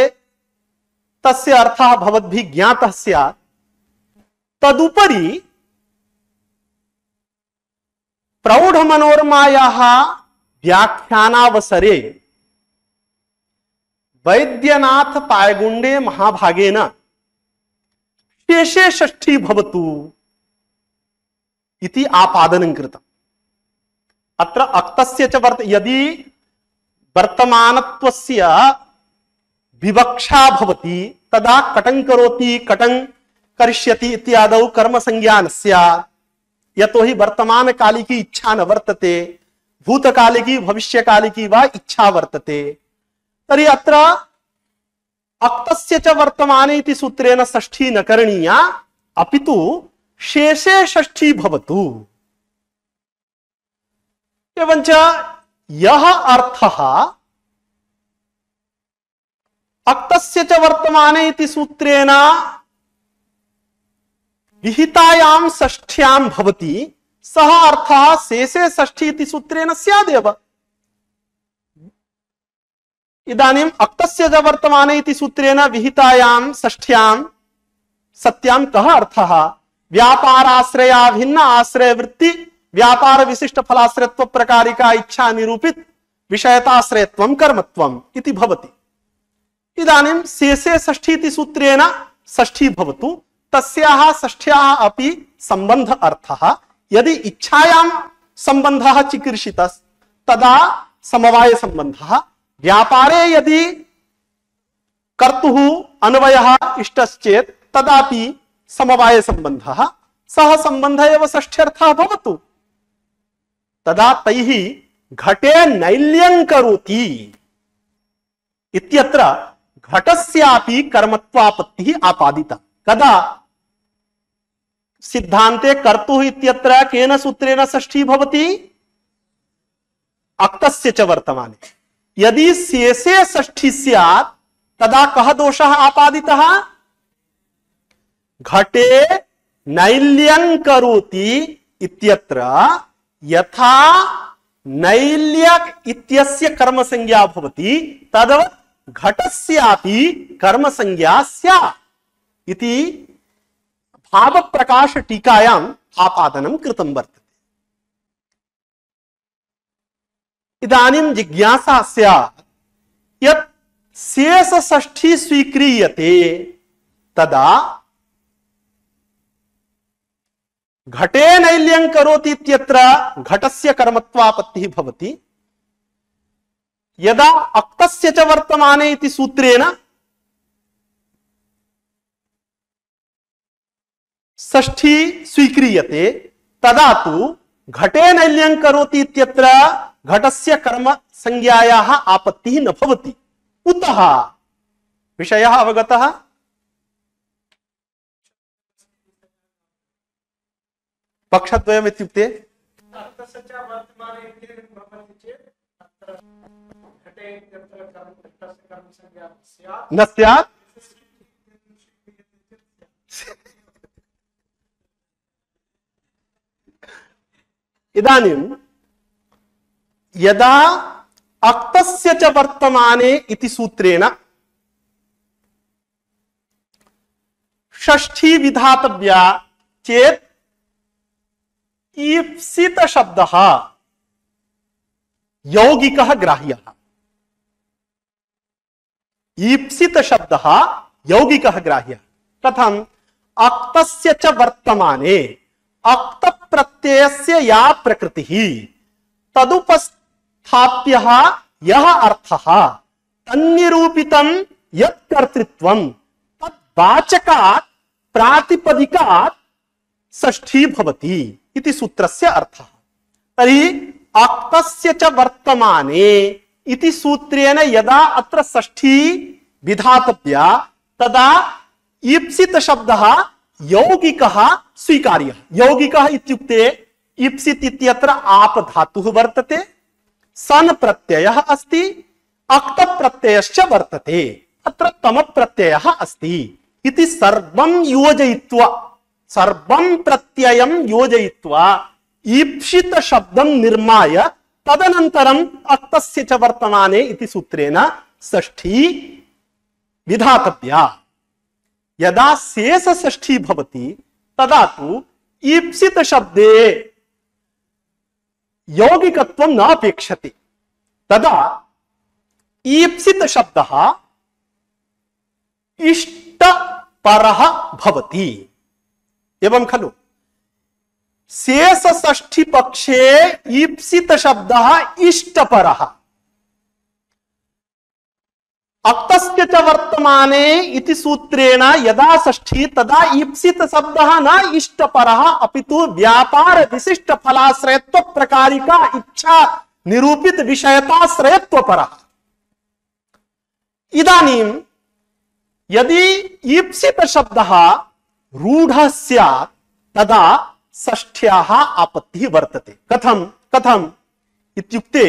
तस्य अर्थः भवद्भिः ज्ञातः स्यात्। तदुपरि प्रौढ़ मनोरमायाः व्याख्यानावसरे वैद्यनाथ पायगुंडे महाभागेन शेषे षष्ठी भवतु इति आपादनं कृतम्। अत्र अक्तस्य च यदि वर्तमानत्वस्य विवक्षा भवति तदा कटं करोति कटं करिष्यति इत्यादौ कर्मसंज्ञा न स्यात्। यतोहि वर्तमान काले की इच्छा न वर्तते, भूतकाले की भविष्यकाले की वा इच्छा वर्तते। तर्हि अत्र अक्तस्य च वर्तमाने इति सूत्रेण षष्ठी न करणीया, अपितु शेषे षष्ठी भवतु। एवञ्च यः अर्थः अक्तस्य च वर्तमाने इति सूत्रेण विहितायां षष्ठ्यां भवति, सः अर्थः शेषे षष्ठी इति सूत्रेण स्यादेव। इदानीम् अक्तस्य च वर्तमाने इति सूत्रेण विहितायां षष्ठ्यां सत्यां कः अर्थः? व्यापाराश्रया भिन्न आश्रय वृत्ति व्यापार विशिष्ट फलाश्रयत्व प्रकारिका इच्छा निरूपित विषयताश्रयत्वं कर्मत्वम् इति भवति। इदानीं शेषे षष्ठी इति सूत्रेण षष्ठी भवतु, तस्याः षष्ठ्याः अपि संबंध अर्थः। यदि इच्छायां संबंधः चिकीर्षितः तदा समवाय संबंधः, व्यापारे यदि कर्तुः अन्वयः इष्टश्चेत् तदापि समवाय संबंधः, सः संबंध एव षष्ठ्यर्थः भवतु। तदा तैः घटे नैल्यं करोति इत्यत्र घटस्यापि कर्मत्वापत्तिः आपादिता। कदा? सिद्धान्ते कर्तुः इत्यत्र केन सूत्रेण षष्ठी भवति? अक्तस्य च वर्तमाने। यदि शेषे षष्ठी स्यात् तदा कः दोषः आपादितः? घटे नैल्यं करोति इत्यत्र यथा नैल्यक इत्यस्य कर्म संज्ञा भवति तद्वत् घटस्यापि कर्म संज्ञा स्यात् इति भाव प्रकाश टीकायाम् आपादनं कृतं वर्तते। इदानीं जिज्ञासा स्यात् यत् शेष षष्ठी स्वीक्रियते तदा घटे नैल्यं करोति इत्यत्र घटस्य कर्मत्वापत्तिः भवति। यदा अक्तस्य च वर्तमाने इति सूत्रेण षष्ठी स्वीक्रियते तदा तु घटे नैल्यं करोति इत्यत्र घटस्य कर्म संज्ञायाः आपत्तिः न भवति। कुतः? विषयः अवगतः? पक्षद्वयम् इत्युक्ते न स्यात्। इदानीं यदा अक्तस्य च वर्तमाने इति सूत्रेण षष्ठी विधातव्या चेत् ईप्सित शब्दः यौगिकः ग्राह्यः। ईप्सित शब्दः यौगिकः ग्राह्यः। कथम्? अक्तस्य च वर्तमाने अक्त प्रत्ययस्य या प्रकृतिः तदुपस्थाप्यः यः अर्थः तन्निरूपितं यत् कर्तृत्वं तद्वाचकात् प्रातिपदिकात् षष्ठी भवति इति सूत्रस्य अर्थः। तर्हि अक्तस्य च वर्तमाने इति सूत्रेण यदा अत्र षष्ठी विधातव्या तदा ईप्सित शब्दः यौगिकः स्वीकार्यः। यौगिकः इत्युक्ते ईप्सित इत्यत्र आप धातुः वर्तते, सन प्रत्ययः अस्ति, अक्त प्रत्ययश्च वर्तते, अत्र तम प्रत्ययः अस्ति इति सर्वं योजयित्वा सर्वं प्रत्ययं योजयित्वा ईप्सित शब्दं निर्माय तदनन्तरम् अक्तस्य च वर्तमाने इति सूत्रेण षष्ठी विधातव्या। यदा शेष षष्ठी भवति तदा तु ईप्सित शब्दे यौगिकत्वं न अपेक्षते। तदा ईप्सित शब्दः इष्टपरः भवति। एवं खलु शेष षष्ठी पक्षे ईप्सित शब्दः इष्टपरः। अक्तस्य च वर्तमाने इति सूत्रेण यदा षष्ठी तदा ईप्सित शब्दः न इष्टपरः अपितु व्यापार विशिष्ट फलाश्रयत्व प्रकारिका इच्छा निरूपित विषयताश्रयत्व परः। इदानीं यदि ईप्सित शब्दः रूढः स्यात् तदा षष्ठ्याः आपत्तिः वर्तते। कथं कथम् इत्युक्ते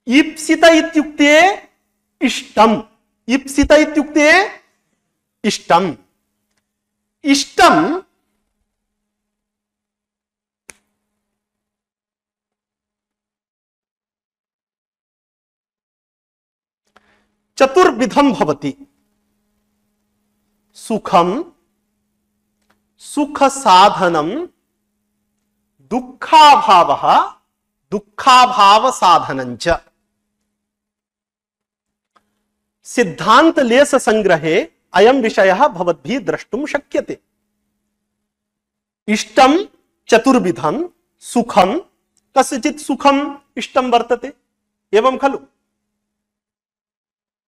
ईप्सित इत्युक्ते इष्टम्, ईप्सित इत्युक्ते इष्टम्। इष्टम् चतुर्विधं भवति। सुखम, सुख साधनम, दुःखाभावः, दुःखाभाव साधनञ्च। सिद्धांत लेश संग्रहे अयं विषयः भवद्भिः द्रष्टुं शक्यते। इष्टं चतुर्विधं, सुखं कस्यचित् सुखं इष्टं वर्तते, एवं खलु।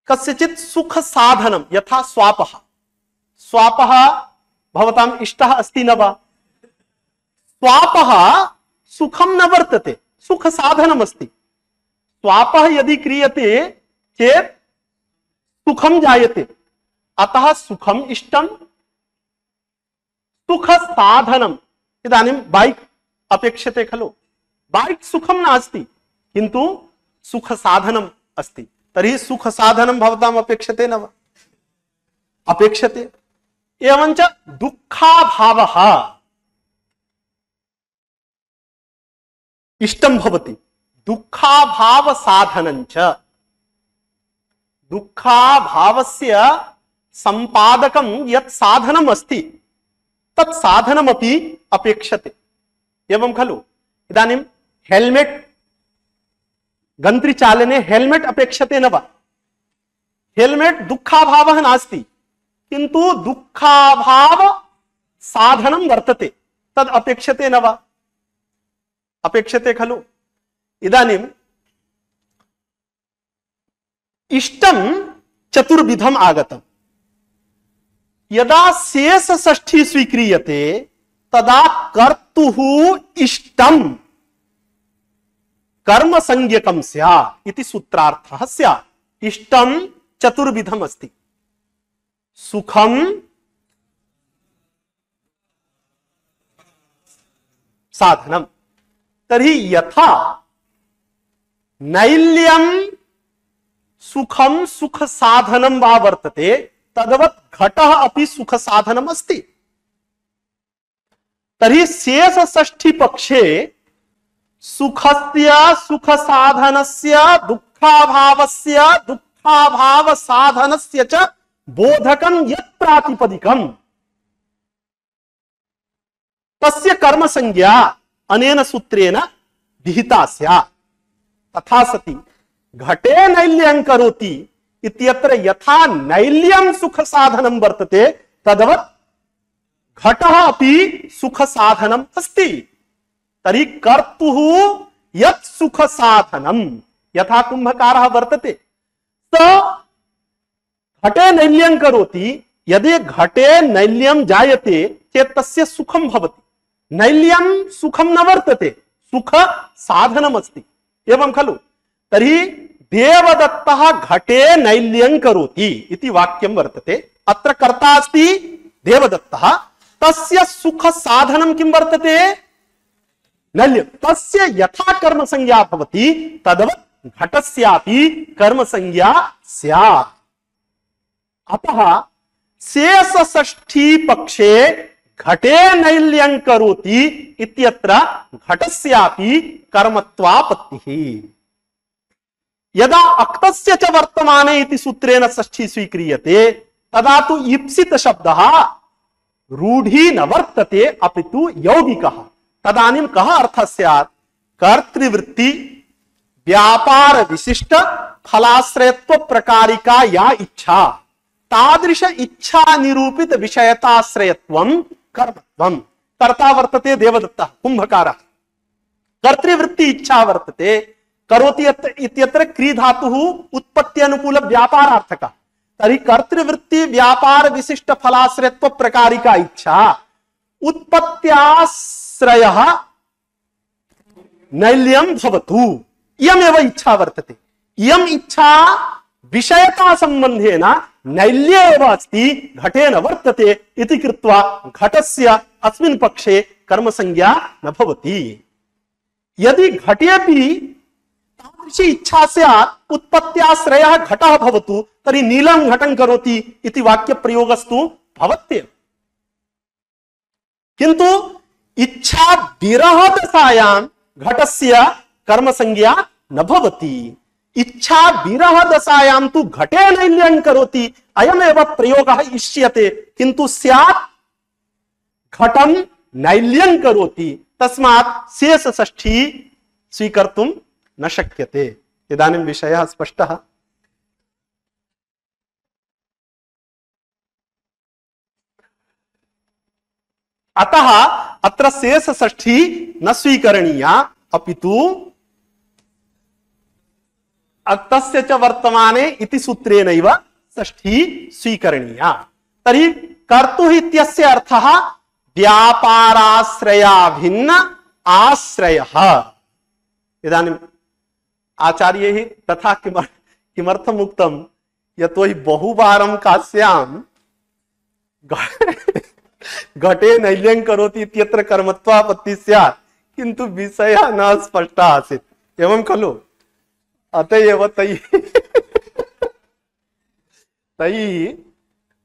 कस्यचित् सुख साधनं यथा स्वापः, स्वापः भवताम् इष्टः अस्ति न वा? स्वापः सुखं न वर्तते, सुख साधनम् अस्ति। स्वापः यदि क्रियते चेत् सुखं जायते, अतः सुखम इष्टम। सुख साधनम, इदानीं बाइक अपेक्षते खलु, बाइक सुखम नास्ति किन्तु सुख साधनम अस्ति, तर्हि सुख साधनम भवताम् अपेक्षते न वा? अपेक्षते। एवञ्च दुःखाभावः इष्टं भवति, दुःखाभाव साधनञ्च। दुःखाभावस्य संपादकं यत् साधनम् अस्ति तत् साधनमपि अपेक्षते, एवं खलु। इदानीं हेल्मेट, गन्त्रिचालने हेल्मेट अपेक्षते न वा? हेल्मेट दुःखाभावः नास्ति किन्तु दुःखाभाव साधनं वर्तते, तद् अपेक्षते न वा? अपेक्षते खलु। इदानीं इष्टं चतुर्विधम् आगतम्। यदा शेष षष्ठी स्वीक्रियते तदा कर्तुः इष्टं कर्म संज्ञकं स्यात् इति सूत्रार्थः स्यात्। इष्टं चतुर्विधम् अस्ति। सुखं, साधनम्। तर्हि यथा नैल्यं सुखम सुख साधनम वा वर्तते तद्वत् घटः अपि सुख साधनम अस्ति। तर्हि शेष षष्ठी पक्षे सुखस्य सुख साधनस्य दुःखाभावस्य दुःखाभाव साधनस्य च बोधकं यत् प्रातिपदिकम् तस्य कर्म संज्ञा अनेन सूत्रेण विहिता स्यात्। तथा सति घटे नैल्यं करोति इत्यत्र यथा नैल्यं सुख साधनं वर्तते तद्वत् घटः अपि सुख साधनम् अस्ति। तर्हि कर्तुः यत् सुख साधनं, यथा कुंभकारः वर्तते स घटे नैल्यं करोति, यदि घटे नैल्यं जायते चेत् तस्य सुखं भवति। नैल्यं सुखं न वर्तते, सुख साधनम् अस्ति, एवं खलु। तर्हि देवदत्तः घटे नैल्यं करोति इति वाक्यं वर्तते। अत्र कर्ता अस्ति देवदत्तः, तस्य सुख साधनं किं वर्तते? नैल्यं। तस्य यथा कर्म संज्ञा भवति तद्वत् घटस्यापि कर्म संज्ञा स्यात्। अतः शेष षष्ठी पक्षे घटे नैल्यं करोति इत्यत्र घटस्यापि कर्मत्वापत्तिः। यदा अक्तस्य च वर्तमाने इति सूत्रेण षष्ठी स्वीक्रियते तदा तु ईप्सित शब्दः रूढ़ी न वर्तते अपितु यौगिकः। तदानीं कः अर्थः स्यात्? कर्तृवृत्ति व्यापार विशिष्ट फलाश्रयत्व प्रकारिका या इच्छा तादृश इच्छा निरूपित विषयताश्रयत्वं कर्मत्वम्। कर्ता वर्तते देवदत्तः कुंभकारः, कर्तृवृत्ति इच्छा वर्तते, करोति इत्यत्र क्री धातुः उत्पत्ति अनुकूल व्यापारार्थकः। तर्हि कर्तृवृत्ति व्यापार विशिष्ट फलाश्रयत्व प्रकारिका इच्छा उत्पत्त्याश्रयः नैल्यं भवतु, इयमेव इच्छा वर्तते। इयम् इच्छा विषयता संबंधेन नैल्ये एव अस्ति, घटे न वर्तते इति कृत्वा घटस्य अस्मिन् पक्षे कर्म संज्ञा न भवति। यदि घटेपि तादृशी इच्छा स्यात् उत्पत्त्याश्रयः घटः भवतु तर्हि नीलं घटं करोति इति वाक्य प्रयोगस्तु भवत्येव। किन्तु इच्छा विरह दशायां घटस्य कर्म संज्ञा न भवति। इच्छा विरह दशायां तु घटे नैल्यं करोति, अयमेव प्रयोगः इष्यते, किन्तु स्यात् घटं नैल्यं करोति, तस्मात् शेष षष्ठी स्वीकर्तुं न शक्यते। इदानीं विषयः स्पष्टः। अतः अत्र शेष षष्ठी न स्वीकरणीया अपितु अक्तस्य च वर्तमाने इति सूत्रेणैव षष्ठी स्वीकरणीया। तर्हि कर्तुः इत्यस्य अर्थः व्यापाराश्रयाभिन्न आश्रयः। इदानीं आचार्यैः तथा किमर्थम् उक्तं? यतोहि बहुवारं काश्यां घटे नैल्यं करोति इत्यत्र कर्मत्वापत्ति स्यात्, किन्तु विषयः न स्पष्टः आसीत्, एवं खलु? अतएव तैः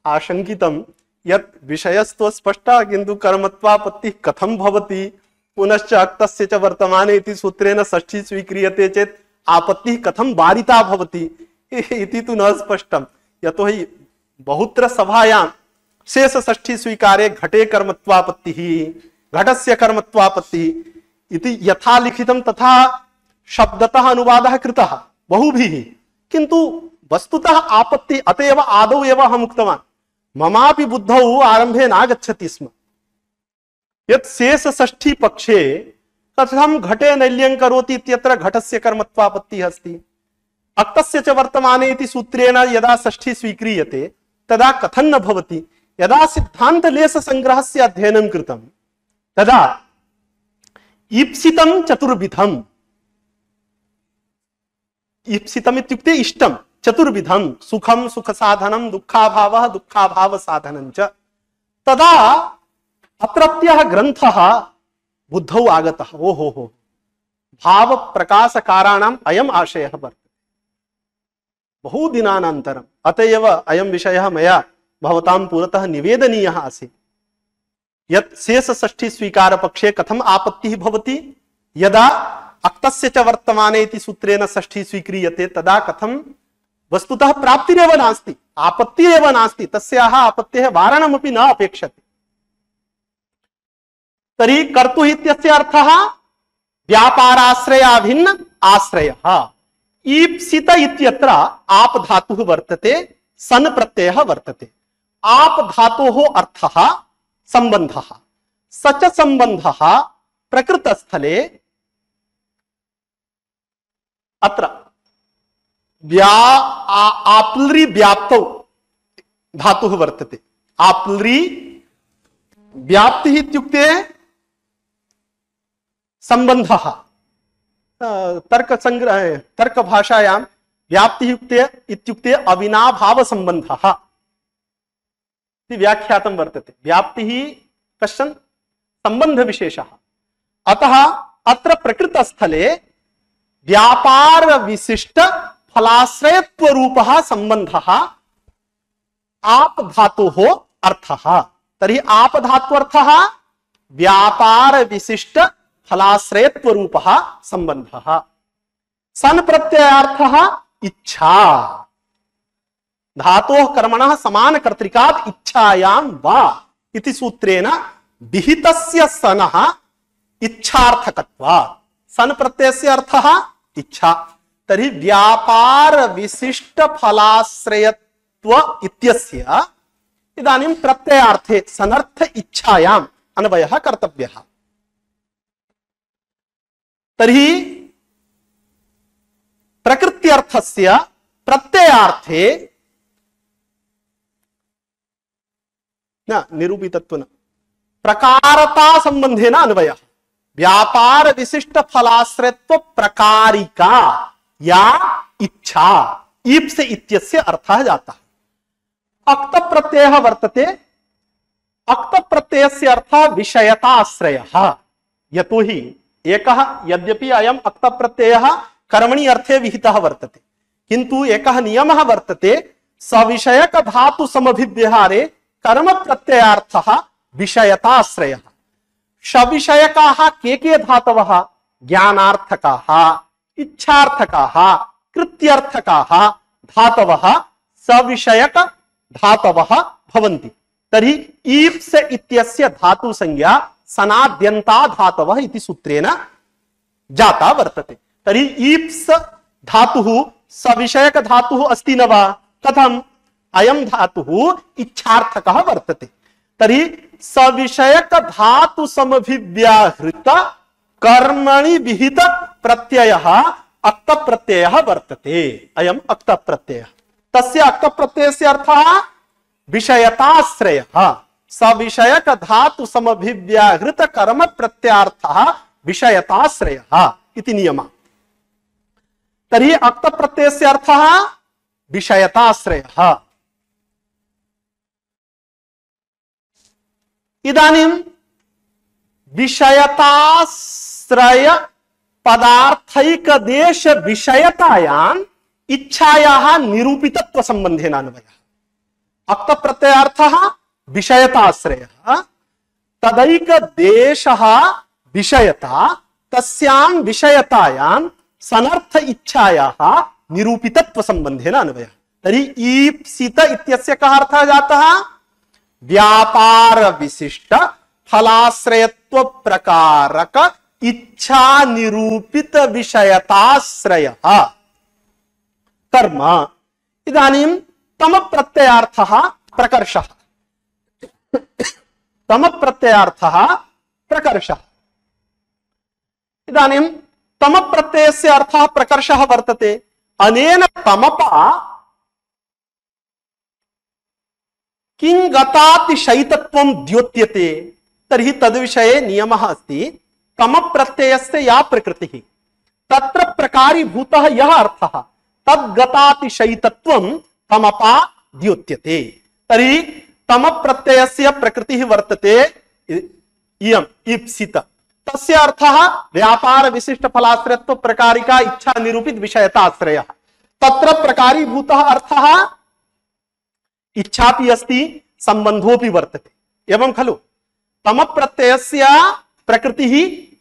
आशंकितं यत् विषयस्तु स्पष्टः किन्तु कर्मत्वापत्तिः कथं भवति? पुनश्च अक्तस्य च वर्तमाने इति सूत्रेण षष्ठी स्वीक्रियते चेत् आपत्तिः कथं वारिता भवति इति तु न स्पष्टं। यतोहि बहुत्र सभायां शेष षष्ठी स्वीकारे घटे कर्मत्वापत्तिः, घटस्य कर्मत्वापत्तिः इति यथा लिखितं तथा शब्दतः अनुवादः कृतः बहुभिः, किन्तु वस्तुतः आपत्ति अतएव आदौ एव अहम् उक्तवान्, ममापि बुद्धौ आरम्भे नागच्छति स्म यत् शेष षष्ठी पक्षे कथं घटे नैल्यं करोति इत्यत्र घटस्य कर्मत्वापत्तिः अस्ति। अक्तस्य च वर्तमाने इति सूत्रेण यदा षष्ठी स्वीक्रियते तदा कथं न भवति? यदा सिद्धान्तलेश संग्रहस्य अध्ययनं कृतं तदा ईप्सितं चतुर्विधम्, ईप्सितम् इत्युक्ते इष्टं, चतुर्विधं सुखं सुख साधनं दुःखाभावः दुःखाभाव साधनं च, तदा अत्रत्यः ग्रन्थः बुद्धौ आगतः। ओहो हो, भाव प्रकाश काराणाम् अयम् आशयः वर्तते बहुदिनानन्तरम्। अतएव अयं विषयः मया भवतां पुरतः निवेदनीयः आसीत् यत् शेष षष्ठी स्वीकार पक्षे कथम् आपत्तिः भवति? यदा अक्तस्य च वर्तमाने इति सूत्रेण षष्ठी स्वीक्रियते तदा कथं वस्तुतः प्राप्तिरेव नास्ति, आपत्तिरेव नास्ति, तस्याः आपत्तेः वारणमपि न अपेक्षते। तर्हि कर्तुः इत्यस्य अर्थः व्यापाराश्रयाभिन्न आश्रयः। ईप्सित इत्यत्र आप धातुः वर्तते, सन प्रत्ययः वर्तते। आप धातोः अर्थः संबंधः, सच संबंधः प्रकृतस्थले अत्र आप्लरी व्याप्तौ धातुः वर्तते। आप्लरी व्याप्तिः इत्युक्ते संबंधः। तर्क संग्रह तर्क भाषायां व्याप्तिः इत्युक्ते अविनाभाव संबंधः इति व्याख्यातं वर्तते। व्याप्तिः कश्चन संबंध विशेषः। अतः अत्र प्रकृतस्थले व्यापार विशिष्ट फलाश्रयत्व रूपः संबंधः आप धातोः अर्थः। तर्हि आप धात्वर्थः व्यापार विशिष्ट फलाश्रयत्व रूपः संबंधः। सन प्रत्ययार्थः इच्छा, धातोः कर्मणः समान कर्तृकात् इच्छायां वा इति सूत्रेण विहितस्य सनः इच्छार्थकत्वात्। सन प्रत्ययस्य अर्थः इच्छा। तर्हि व्यापार विशिष्ट फलाश्रयत्व इत्यस्य इदानीं प्रत्ययार्थे सनर्थ इच्छायाम् अन्वयः कर्तव्यः। तर्हि प्रकृत्यर्थस्य प्रत्ययार्थे न निरूपितत्व न प्रकारता संबंधेन अन्वयः। व्यापार विशिष्ट फलाश्रयत्व प्रकारिका या इच्छा ईप्स इत्यस्य अर्थः जातः। अक्त प्रत्ययः वर्तते। अक्त प्रत्ययस्य अर्थः विषयताश्रयः। यतोहि एकः यद्यपि अयम् अक्त प्रत्ययः कर्मणि अर्थे विहितः वर्तते, किन्तु एकः नियमः वर्तते, सविषयक धातु समभिव्यहारे कर्म प्रत्ययार्थः विषयताश्रयः। सविषयकाः के धातवः? ज्ञानार्थकाः, इच्छार्थकाः, कृत्यर्थकाः धातवः सविषयक धातवः भवन्ति। तर्हि ईप्स इत्यस्य धातु संज्ञा सनाद्यन्ता धातवः इति सूत्रेण जाता वर्तते। तर्हि ईप्स धातुः सविषयक धातुः अस्ति न वा? कथम्? अयं धातुः इच्छार्थकः वर्तते। तर्हि सविषयक धातु समभिव्याहृत कर्मणि विहित प्रत्ययः अक्त प्रत्ययः वर्तते। अयम् अक्त प्रत्ययः। तस्य अक्त प्रत्ययस्य अर्थः विषयताश्रयः। सविषयक धातु समभिव्याहृत कर्म प्रत्यार्थः विषयताश्रयः इति नियमः। तर्हि अक्त प्रत्ययस्य अर्थः विषयताश्रयः। इदानीं विषयताश्रय पदार्थैक देश विषयतायां इच्छायाः निरूपितत्व संबंधेन अन्वयः। अक्त प्रत्ययार्थः विषयताश्रयः, तदैक देशः विषयता, तस्यां विषयतायां सनर्थ इच्छायाः निरूपितत्व संबंधेन अन्वयः। तर्हि ईप्सित इत्यस्य कः अर्थः जातः? व्यापार विशिष्ट फलाश्रयत्व प्रकारक इच्छा निरूपित विषयताश्रयः कर्म। इदानीं तम प्रत्ययार्थः प्रकर्षः। तम प्रत्ययार्थः प्रकर्षः। इदानीं तम प्रत्ययस्य अर्थः प्रकर्षः वर्तते। अनेन तमपा किं गतातिशयितत्वं द्योत्यते। तर्हि तद्विषये नियमः अस्ति, तम प्रत्ययस्य या प्रकृतिः तत्र प्रकारीभूतः यः अर्थः तद्गतातिशयितत्वं तमपा द्योत्यते। तर्हि तम प्रत्ययस्य प्रकृतिः वर्तते इयम् ईप्सित। तस्य अर्थः व्यापार विशिष्ट फलाश्रयत्व प्रकारिका इच्छा निरूपित विषयताश्रयः। तत्र प्रकारीभूतः अर्थः इच्छापि अस्ति, संबंधोपि वर्तते। एवं खलु? तम प्रत्ययस्य प्रकृतिः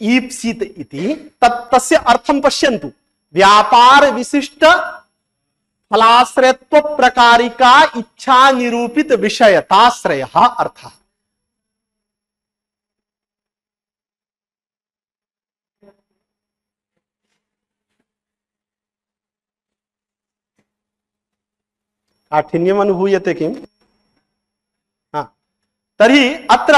ईप्सित इति। तस्य अर्थं पश्यन्तु। व्यापार विशिष्ट फलाश्रयत्व प्रकारिका इच्छा निरूपित विषयताश्रयः अर्थः। काठिन्यम् अनुभूयते किम्? तर्हि अत्र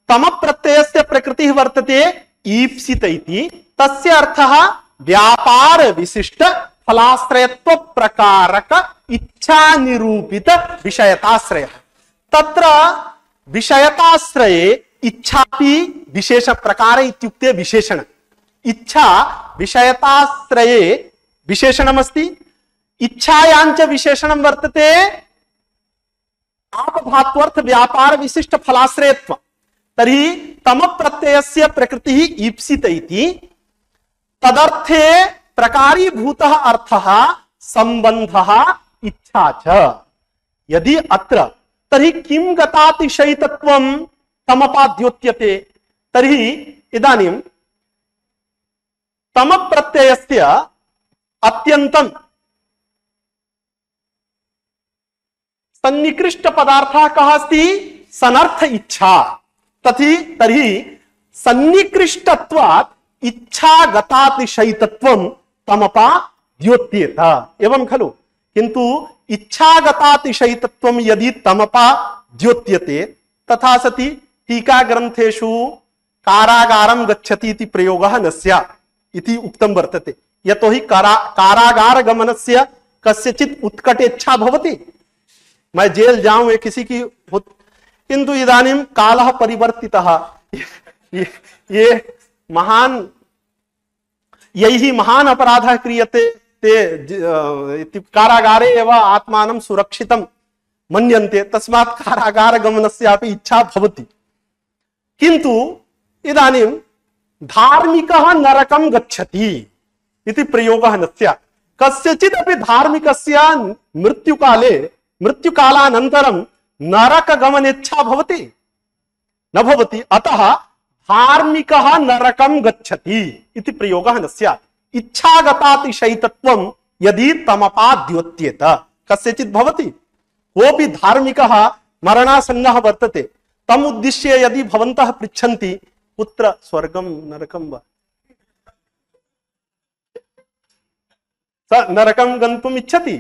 तम प्रत्ययस्य प्रकृतिः वर्तते ईप्सित इति। तस्य अर्थः व्यापार विशिष्ट फलाश्रयत्व प्रकारक इच्छा निरूपित विषयताश्रयः। तत्र विषयताश्रये इच्छापि विशेष प्रकार इत्युक्ते विशेषण। इच्छा विषयताश्रये विशेषणमस्ति। इच्छायाञ्च विशेषणं वर्तते आपधात्वर्थ व्यापार विशिष्ट फलाश्रयत्व। तर्हि तम प्रत्ययस्य प्रकृतिः ईप्सित इति। तदर्थे प्रकारीभूतः अर्थः संबंधः इच्छा च। यदि अत्र तर्हि किं गतातिशयितत्वं तमपाद्योत्यते। तर्हि इदानीं तम प्रत्ययस्य अत्यंतं सन्निकृष्ट पदार्थः कः अस्ति? सनर्थ इच्छा। तर्हि सन्निकृष्टत्वात् इच्छागतातिशयितत्वं तमपा द्योत्येत। एवं खलु? किंतु इच्छागतातिशयितत्वं यदि तमपा द्योत्यते तथा सति टीका ग्रंथेषु कारागारं गच्छति इति प्रयोगः न स्यात् इति उक्तं वर्तते। यतोहि कारागार गमनस्य कस्यचित् उत्कटेच्छा भवति, मैं जेल जाऊं, ये किसी की किंतु इदानीं कालः परिवर्तितः। ये महान यैः महान अपराधः क्रियते ते कारागारे एव आत्मानं सुरक्षितं मन्यन्ते, तस्मात् कारागार गमनस्यापि इच्छा भवति। किंतु इदानीं धार्मिकः नरकं गच्छति इति प्रयोगः न स्यात्। कस्यचित् अपि धार्मिकस्य मृत्युकालानन्तरं नरकगमनेच्छा भवति? न भवति। अतः धार्मिकः नरकं गच्छति इति प्रयोगः न स्यात्। इच्छागतातिशयितत्वं यदि तमपा द्योत्येत, कस्यचित् भवति, कोऽपि धार्मिकः मरणासन्नः वर्तते, तम् उद्दिश्य यदि भवन्तः पृच्छन्ति कुत्र स्वर्गं नरकं वा, स नरकं गन्तुम् इच्छति,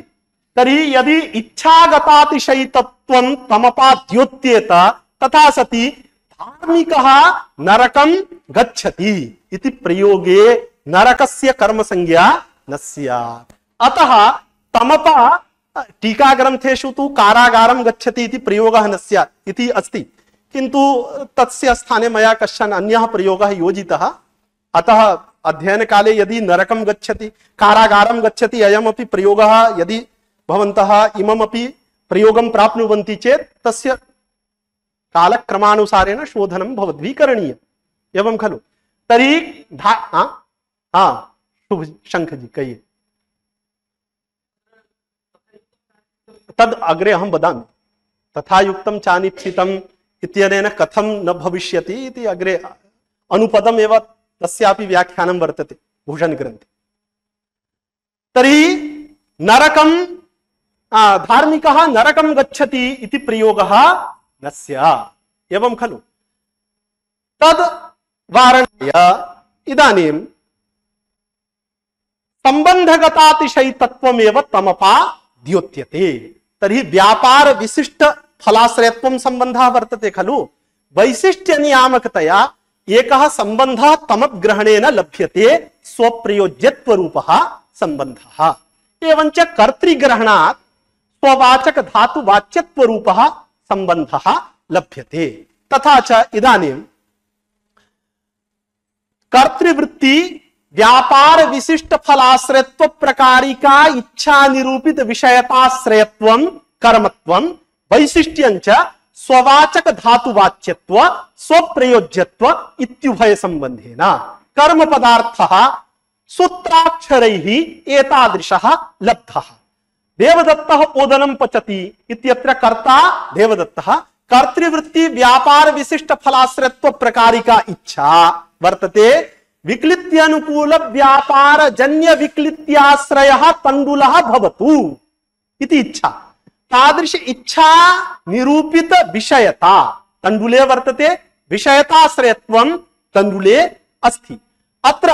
तर्हि यदि इच्छागतातिशयितत्वं तमपा द्योत्येत तथा सति धार्मिकः नरकं गच्छति इति प्रयोगे नरकस्य कर्म संज्ञा न स्यात्। अतः तमपा टीका ग्रंथेषु तु कारागारं गच्छति इति प्रयोगः न स्यात् इति अस्ति, किंतु तस्य स्थाने मया कश्चन अन्यः प्रयोगः योजितः। अतः अध्ययन काले यदि नरकं गच्छति, कारागारं गच्छति, अयमपि प्रयोगः यदि भवन्तः इममपि प्रयोगं प्राप्नुवन्ति चेत् तस्य कालक्रमानुसारेण शोधनं भवद्भिः करणीयम्। एवं खलु? तर्हि शुभ शंख जी कहिए। तद अग्रे अहं वदामि। तथा युक्तं चानिप्सितम् इत्यनेन कथं न भविष्यति इति अग्रे अनुपदम् एव तस्यापि व्याख्यानं वर्तते भूषण ग्रन्थे। तर्हि नरकं धार्मिकः नरकं गच्छति इति प्रयोगः न स्यात्। एवं खलु? तद् वारणाय इदानीं संबंधगतातिशयितत्वमेव तमपा द्योत्यते। तर्हि व्यापार विशिष्ट फलाश्रयत्वं संबंधः वर्तते खलु? वैशिष्ट्य नियामकतया एकः संबंधः तमग्रहणेन लभ्यते, स्वप्रयोज्यत्व रूपः संबंधः। एवञ्च कर्तृग्रहणात् स्ववाचक धातु वाच्यत्व रूपः संबंधः लभ्यते। तथा च इदानीं कर्तृवृत्ति व्यापार विशिष्ट फलाश्रयत्व प्रकारिका इच्छा निरूपित विषयताश्रयत्वं कर्मत्वं वैशिष्ट्यंच स्ववाचक धातु वाच्यत्व स्वप्रयोज्यत्व इत्युभय संबंधेन कर्म पदार्थः सूत्राक्षरैः एतादृशः लब्धः। देवदत्तः ओदनं पचति इत्यत्र कर्ता देवदत्तः, कर्तृवृत्ति व्यापार विशिष्ट फलाश्रयत्व प्रकारिका इच्छा वर्तते, विक्लित्यानुकूल व्यापार जन्य विक्लित्याश्रयः तण्डुलः भवतु इति इच्छा। तादृश इच्छा निरूपित विषयता तण्डुले वर्तते, विषयताश्रयत्वं तण्डुले अस्ति। अत्र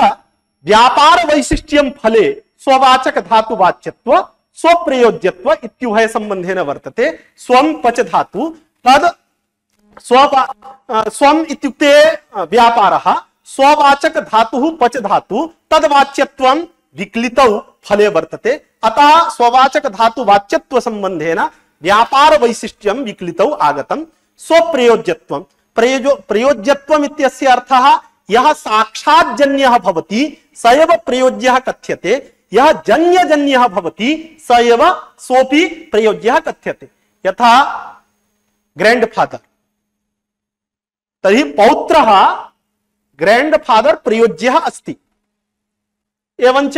व्यापार वैशिष्ट्यं फले स्ववाचक धातु वाच्यत्व स्वप्रयोज्यत्व इत्युभय संबंधेन वर्तते। स्वं पच धातु तद स्वम इत्युक्ते व्यापारः, स्ववाचक धातुः पच धातु तद्वाच्यत्वं विक्लितौ फले वर्तते। अतः स्ववाचक धातु वाच्यत्व संबंधेन व्यापार वैशिष्ट्यं विक्लितौ आगतं। स्वप्रयोज्यत्वं प्रयोज्यत्वम् इत्यस्य अर्थः यः साक्षाज्जन्यः भवति स एव प्रयोज्यः कथ्यते, यः जन्यजन्यः भवति स एव सोऽपि प्रयोज्यः कथ्यते। यथा ग्रैंडफादर, तर्हि पौत्रः ग्रैंडफादर प्रयोज्यः अस्ति, एवञ्च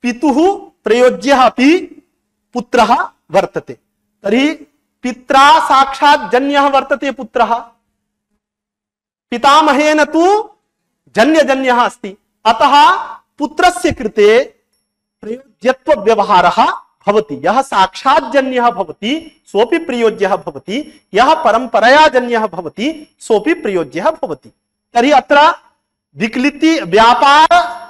पितुः प्रयोज्यः अपि पुत्रः वर्तते। तर्हि पित्रा साक्षात् जन्यः वर्तते पुत्रः, पितामहेन तु जन्यजन्यः अस्ति। अतः पुत्रस्य कृते प्रयोज्यत्व व्यवहारः भवति। यः साक्षाज्जन्यः भवति सोऽपि प्रयोज्यः भवति, यः परम्परया जन्यः भवति सोऽपि प्रयोज्यः भवति। तर्हि अत्र विक्लिति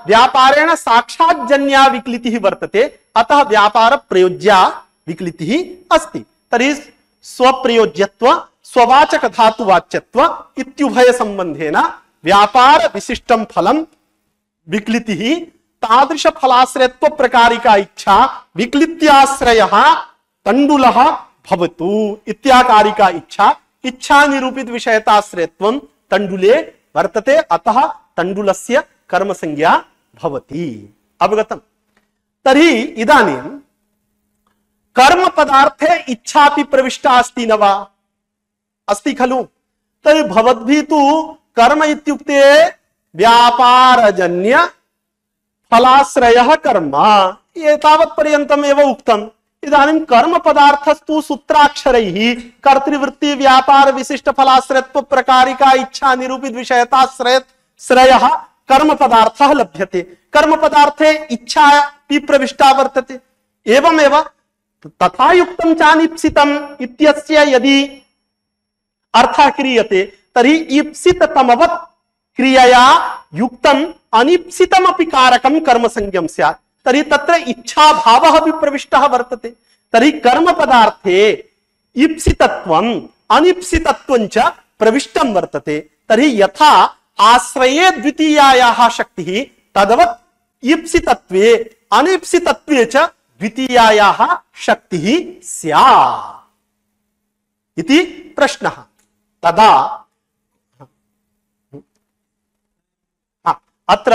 व्यापारेण साक्षाज्जन्या विक्लितिः वर्तते, अतः व्यापार प्रयोज्या विक्लितिः अस्ति। तर्हि स्वप्रयोज्यत्व स्ववाचक धातुवाच्यत्व इत्युभय संबंधेन व्यापार विशिष्टं फलं विक्लितिः तादृश फलाश्रयत्व प्रकारिका इच्छा विक्लित्याश्रयः तण्डुलः भवतु इत्याकारिका इच्छा निरूपित विषयताश्रयत्वं तण्डुले वर्तते, अतः तण्डुलस्य कर्म संज्ञा भवति। अवगतम्? तर्हि इदानीं कर्म पदार्थे इच्छापि प्रविष्टा अस्ति न वा? अस्ति खलु? तर्हि भवद्भिः तु कर्म इत्युक्ते व्यापारजन्य फलाश्रयः कर्म एतावत् पर्यन्तम् एव उक्तम्। इदानीं कर्म पदार्थस्तु सूत्राक्षरैः कर्तृवृत्ति व्यापार विशिष्ट फलाश्रयत्व प्रकारिका इच्छा निरूपित विषयताश्रयः कर्म पदार्थः लभ्यते। कर्म पदार्थे इच्छा प्रविष्टा वर्तते। एवमेव तथा युक्तं चानिप्सितम् इत्यस्य यदि अर्थः क्रियते तर्हि ईप्सिततमवत् क्रियया युक्तम् अनिप्सितमपि कारकं कर्म संज्ञं स्यात्। तर्हि तत्र इच्छा भावः अपि प्रविष्टः वर्तते। तर्हि कर्म पदार्थे ईप्सितत्वम् अनिप्सितत्वं च प्रविष्टं वर्तते। तर्हि यथा आश्रये द्वितीयायाः शक्तिः तद्वत् ईप्सितत्वे अनिप्सितत्वे च द्वितीयायाः शक्तिः स्यात् इति प्रश्नः। तदा अत्र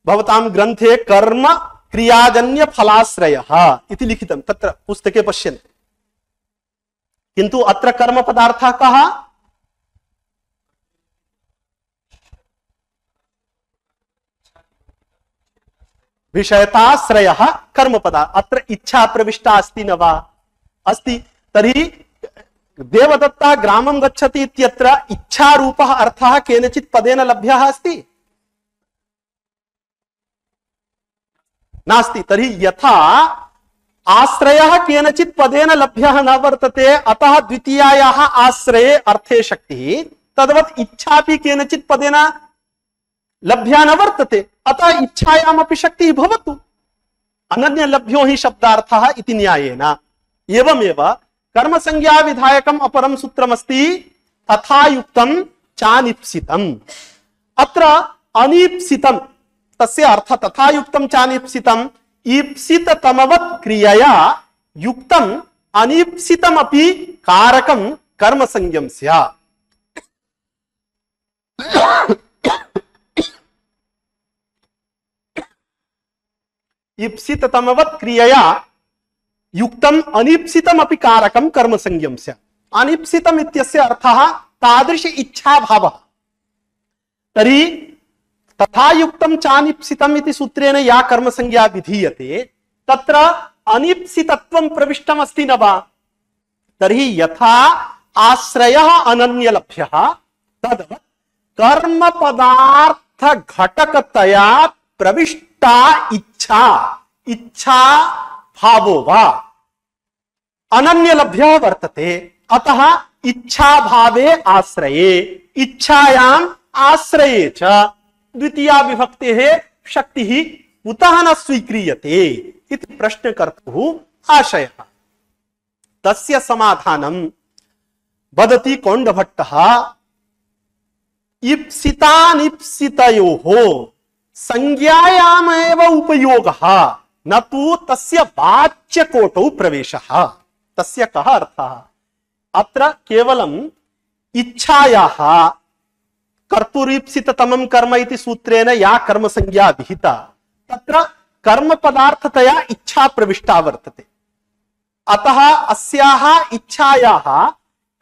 भवतां ग्रन्थे कर्म क्रियाजन्य फलाश्रयः इति लिखितं, तत्र पुस्तके पश्यन्तु। किन्तु अत्र कर्म पदार्थः कः? विषयताश्रयः कर्म पदार्थ। अत्र इच्छा प्रविष्टा अस्ति न वा? अस्ति। तर्हि देवदत्ता ग्रामं गच्छति इत्यत्र इच्छारूपः अर्थः केनचित् पदेन लभ्यः अस्ति? नास्ति। तर्हि यथा आश्रयः केनचित् पदेन लभ्यः न वर्तते, अतः द्वितीयायाः आश्रये अर्थे शक्तिः, तद्वत् इच्छापि केनचित् पदेन लभ्या न वर्तते, अतः इच्छायामपि शक्तिः भवतु। अनन्यलभ्यो हि शब्दार्थः इति न्यायेन। एवमेव कर्म संज्ञा विधायकम् अपरं सूत्रमस्ति तथा युक्तं चानिप्सितम्। अत्र अनिप्सितम् तस्य अर्थ तथा युक्तं चानिप्सितम् ईप्सिततमवत् क्रियया युक्तम् अनिप्सितमपि कारकं कर्म संज्ञं स्यात्। ईप्सिततमवत् क्रियया युक्तम् अनिप्सितमपि कारकं कर्म संज्ञं स्यात्। अनिप्सितम् इत्यस्य अर्थः तादृश इच्छा भावः। तर्हि तथा युक्तं चानिप्सितम् इति सूत्रेण या कर्म संज्ञा विधीयते तत्र अनिप्सितत्वं प्रविष्टम् अस्ति न वा? तर्हि यथा आश्रयः अनन्यलभ्यः तद्वत् कर्म पदार्थ घटकतया प्रविष्टा इच्छा भावो वा अनन्यलभ्यः वर्तते। अतः इच्छा भावे आश्रये इच्छायाम् आश्रये च द्वितीया विभक्तेः शक्तिः कुतः न स्वीक्रियते इति प्रश्नकर्तुः आशयः। तस्य समाधानं वदति कौण्डभट्टः। ईप्सितानिप्सितयोः संज्ञायामेव उपयोगः न तु तस्य वाच्यकोटौ प्रवेशः। तस्य कः अर्थः? अत्र केवलम् इच्छायाः कर्तुरीप्सिततमं कर्म इति सूत्रेण या कर्म संज्ञा विहिता तत्र कर्म पदार्थतया इच्छा प्रविष्टा वर्तते। अतः अस्याः इच्छायाः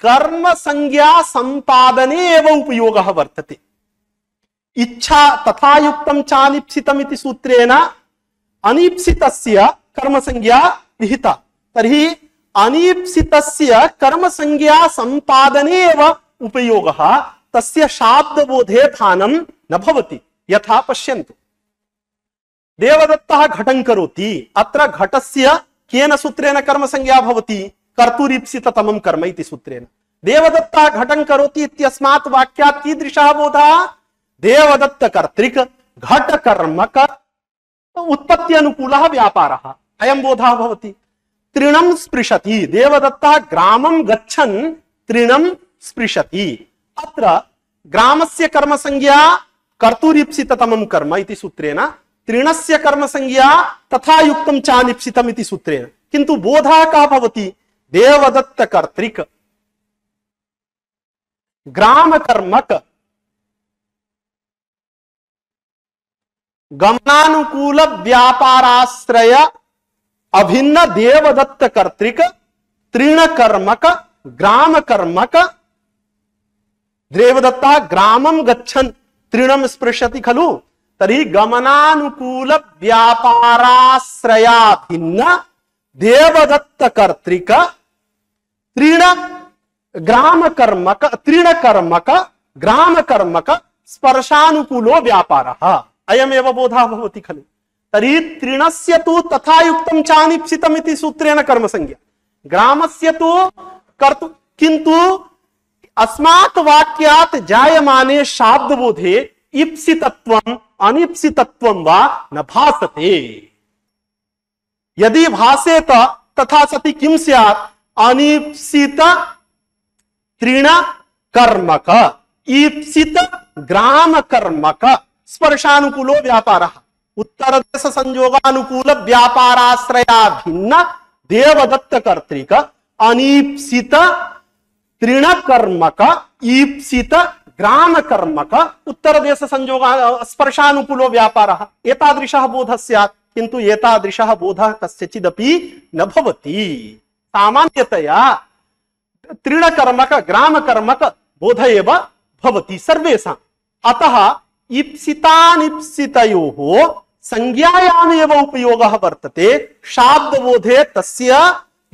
कर्म संज्ञा संपादने एव उपयोगः वर्तते। इच्छा तथा युक्तं चानिप्सितम् इति सूत्रेण अनिप्सितस्य कर्म संज्ञा विहिता। तर्हि अनिप्सितस्य कर्म संज्ञा संपादने एव उपयोगः, तस्य शाब्दबोधे स्थानं न भवति। यथा पश्यन्तु देवदत्तः घटं करोति, अत्र घटस्य केन सूत्रेण कर्म संज्ञा भवति? कर्तुरीप्सिततमं कर्म इति सूत्रेण। देवदत्तः घटं करोति इत्यस्मात् वाक्यात् कीदृशः बोधः? देवदत्त कर्तृक घट कर्मक उत्पत्ति अनुकूलः व्यापारः, अयं बोधः भवति। तृणं स्पृशति, देवदत्तः ग्रामं गच्छन् तृणं स्पृशति, अत्र ग्रामस्य कर्म संज्ञा कर्तुरीप्सिततमं कर्म इति सूत्रेण, तृणस्य कर्म संज्ञा तथा युक्तं चानिप्सितम् इति सूत्रेण। किन्तु बोधः कः भवति? देवदत्त कर्तृक ग्राम कर्मक गमनानुकूल व्यापाराश्रय अभिन्न देवदत्त कर्तृक तृण कर्मक ग्राम कर्मक। देवदत्तः ग्रामं गच्छन् तृणं स्पृशति खलु, तर्हि गमनानुकूल व्यापाराश्रयाभिन्न देवदत्त कर्तृक तृण ग्राम कर्मक तृण कर्मक ग्राम कर्मक स्पर्शानुकूलो व्यापारः, अयमेव बोधः भवति खलु। तर्हि तृणस्य तु तथा युक्तं चानिप्सितम् इति सूत्रेण कर्म संज्ञा, ग्रामस्य तु कर्तु, किन्तु अस्मात् वाक्यात् जायमाने शाब्दबोधे इप्सितत्वम् अनिप्सितत्वं वा न भासते। यदि भासेत तथा सति किं स्यात्? अनिप्सित तृण कर्मक ईप्सित ग्राम कर्मक स्पर्शानुकूलो व्यापारः। उत्तरदेश संयोगानुकूल व्यापाराश्रया भिन्न देवदत्त कर्तृक अनीप्सित तृण कर्मक ईप्सित ग्राम कर्मक उत्तरदेश संयोग स्पर्शानुकूलो व्यापारः। एतादृशः बोधः स्यात्, किन्तु एतादृशः बोधः कस्यचिदपि न भवति। सामान्यतया तृण कर्मक ग्राम कर्मक बोध एव भवति सर्वेषाम्। अतः इप्सितानिप्सितयोः संज्ञायामेव उपयोगः वर्तते, शाब्दबोधे तस्य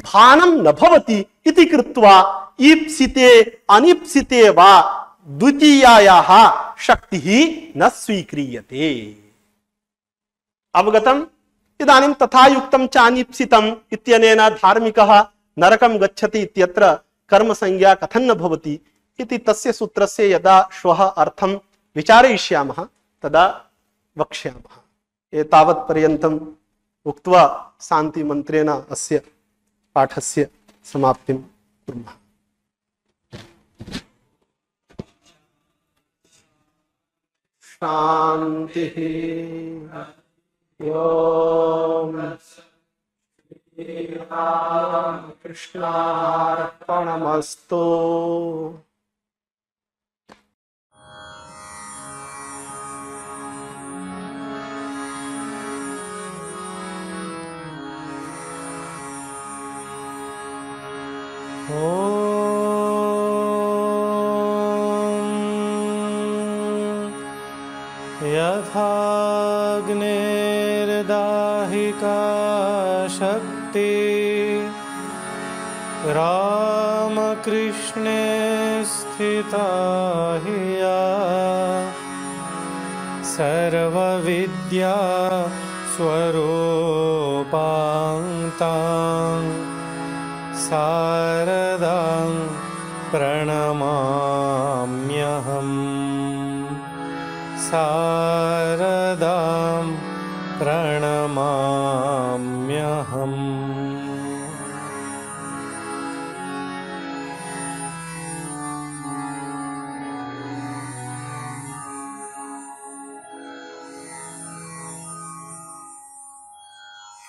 भानं न भवति इति कृत्वा ईप्सिते अनिप्सिते वा द्वितीयायाः शक्तिः न स्वीक्रियते। अवगतम्? इदानीं तथा युक्तं चानिप्सितम् इत्यनेन धार्मिकः नरकं गच्छति इत्यत्र कर्म संज्ञा कथं न भवति इति तस्य सूत्रस्य यदा श्वः अर्थं विचारयिष्यामः तदा वक्ष्यामः। एतावत् पर्यन्तम् उक्त्वा शान्तिमन्त्रेण अस्य पाठस्य समाप्तिं कुर्मः। शान्तिः। ओम कृष्णार्पणमस्तु। यथाग्निर्दाहिका शक्ति रामकृष्णे स्थिता हि या सर्वविद्या स्वरूपां शारदां प्रणमाम्यहम्। शारदां प्रणमाम्यहम्।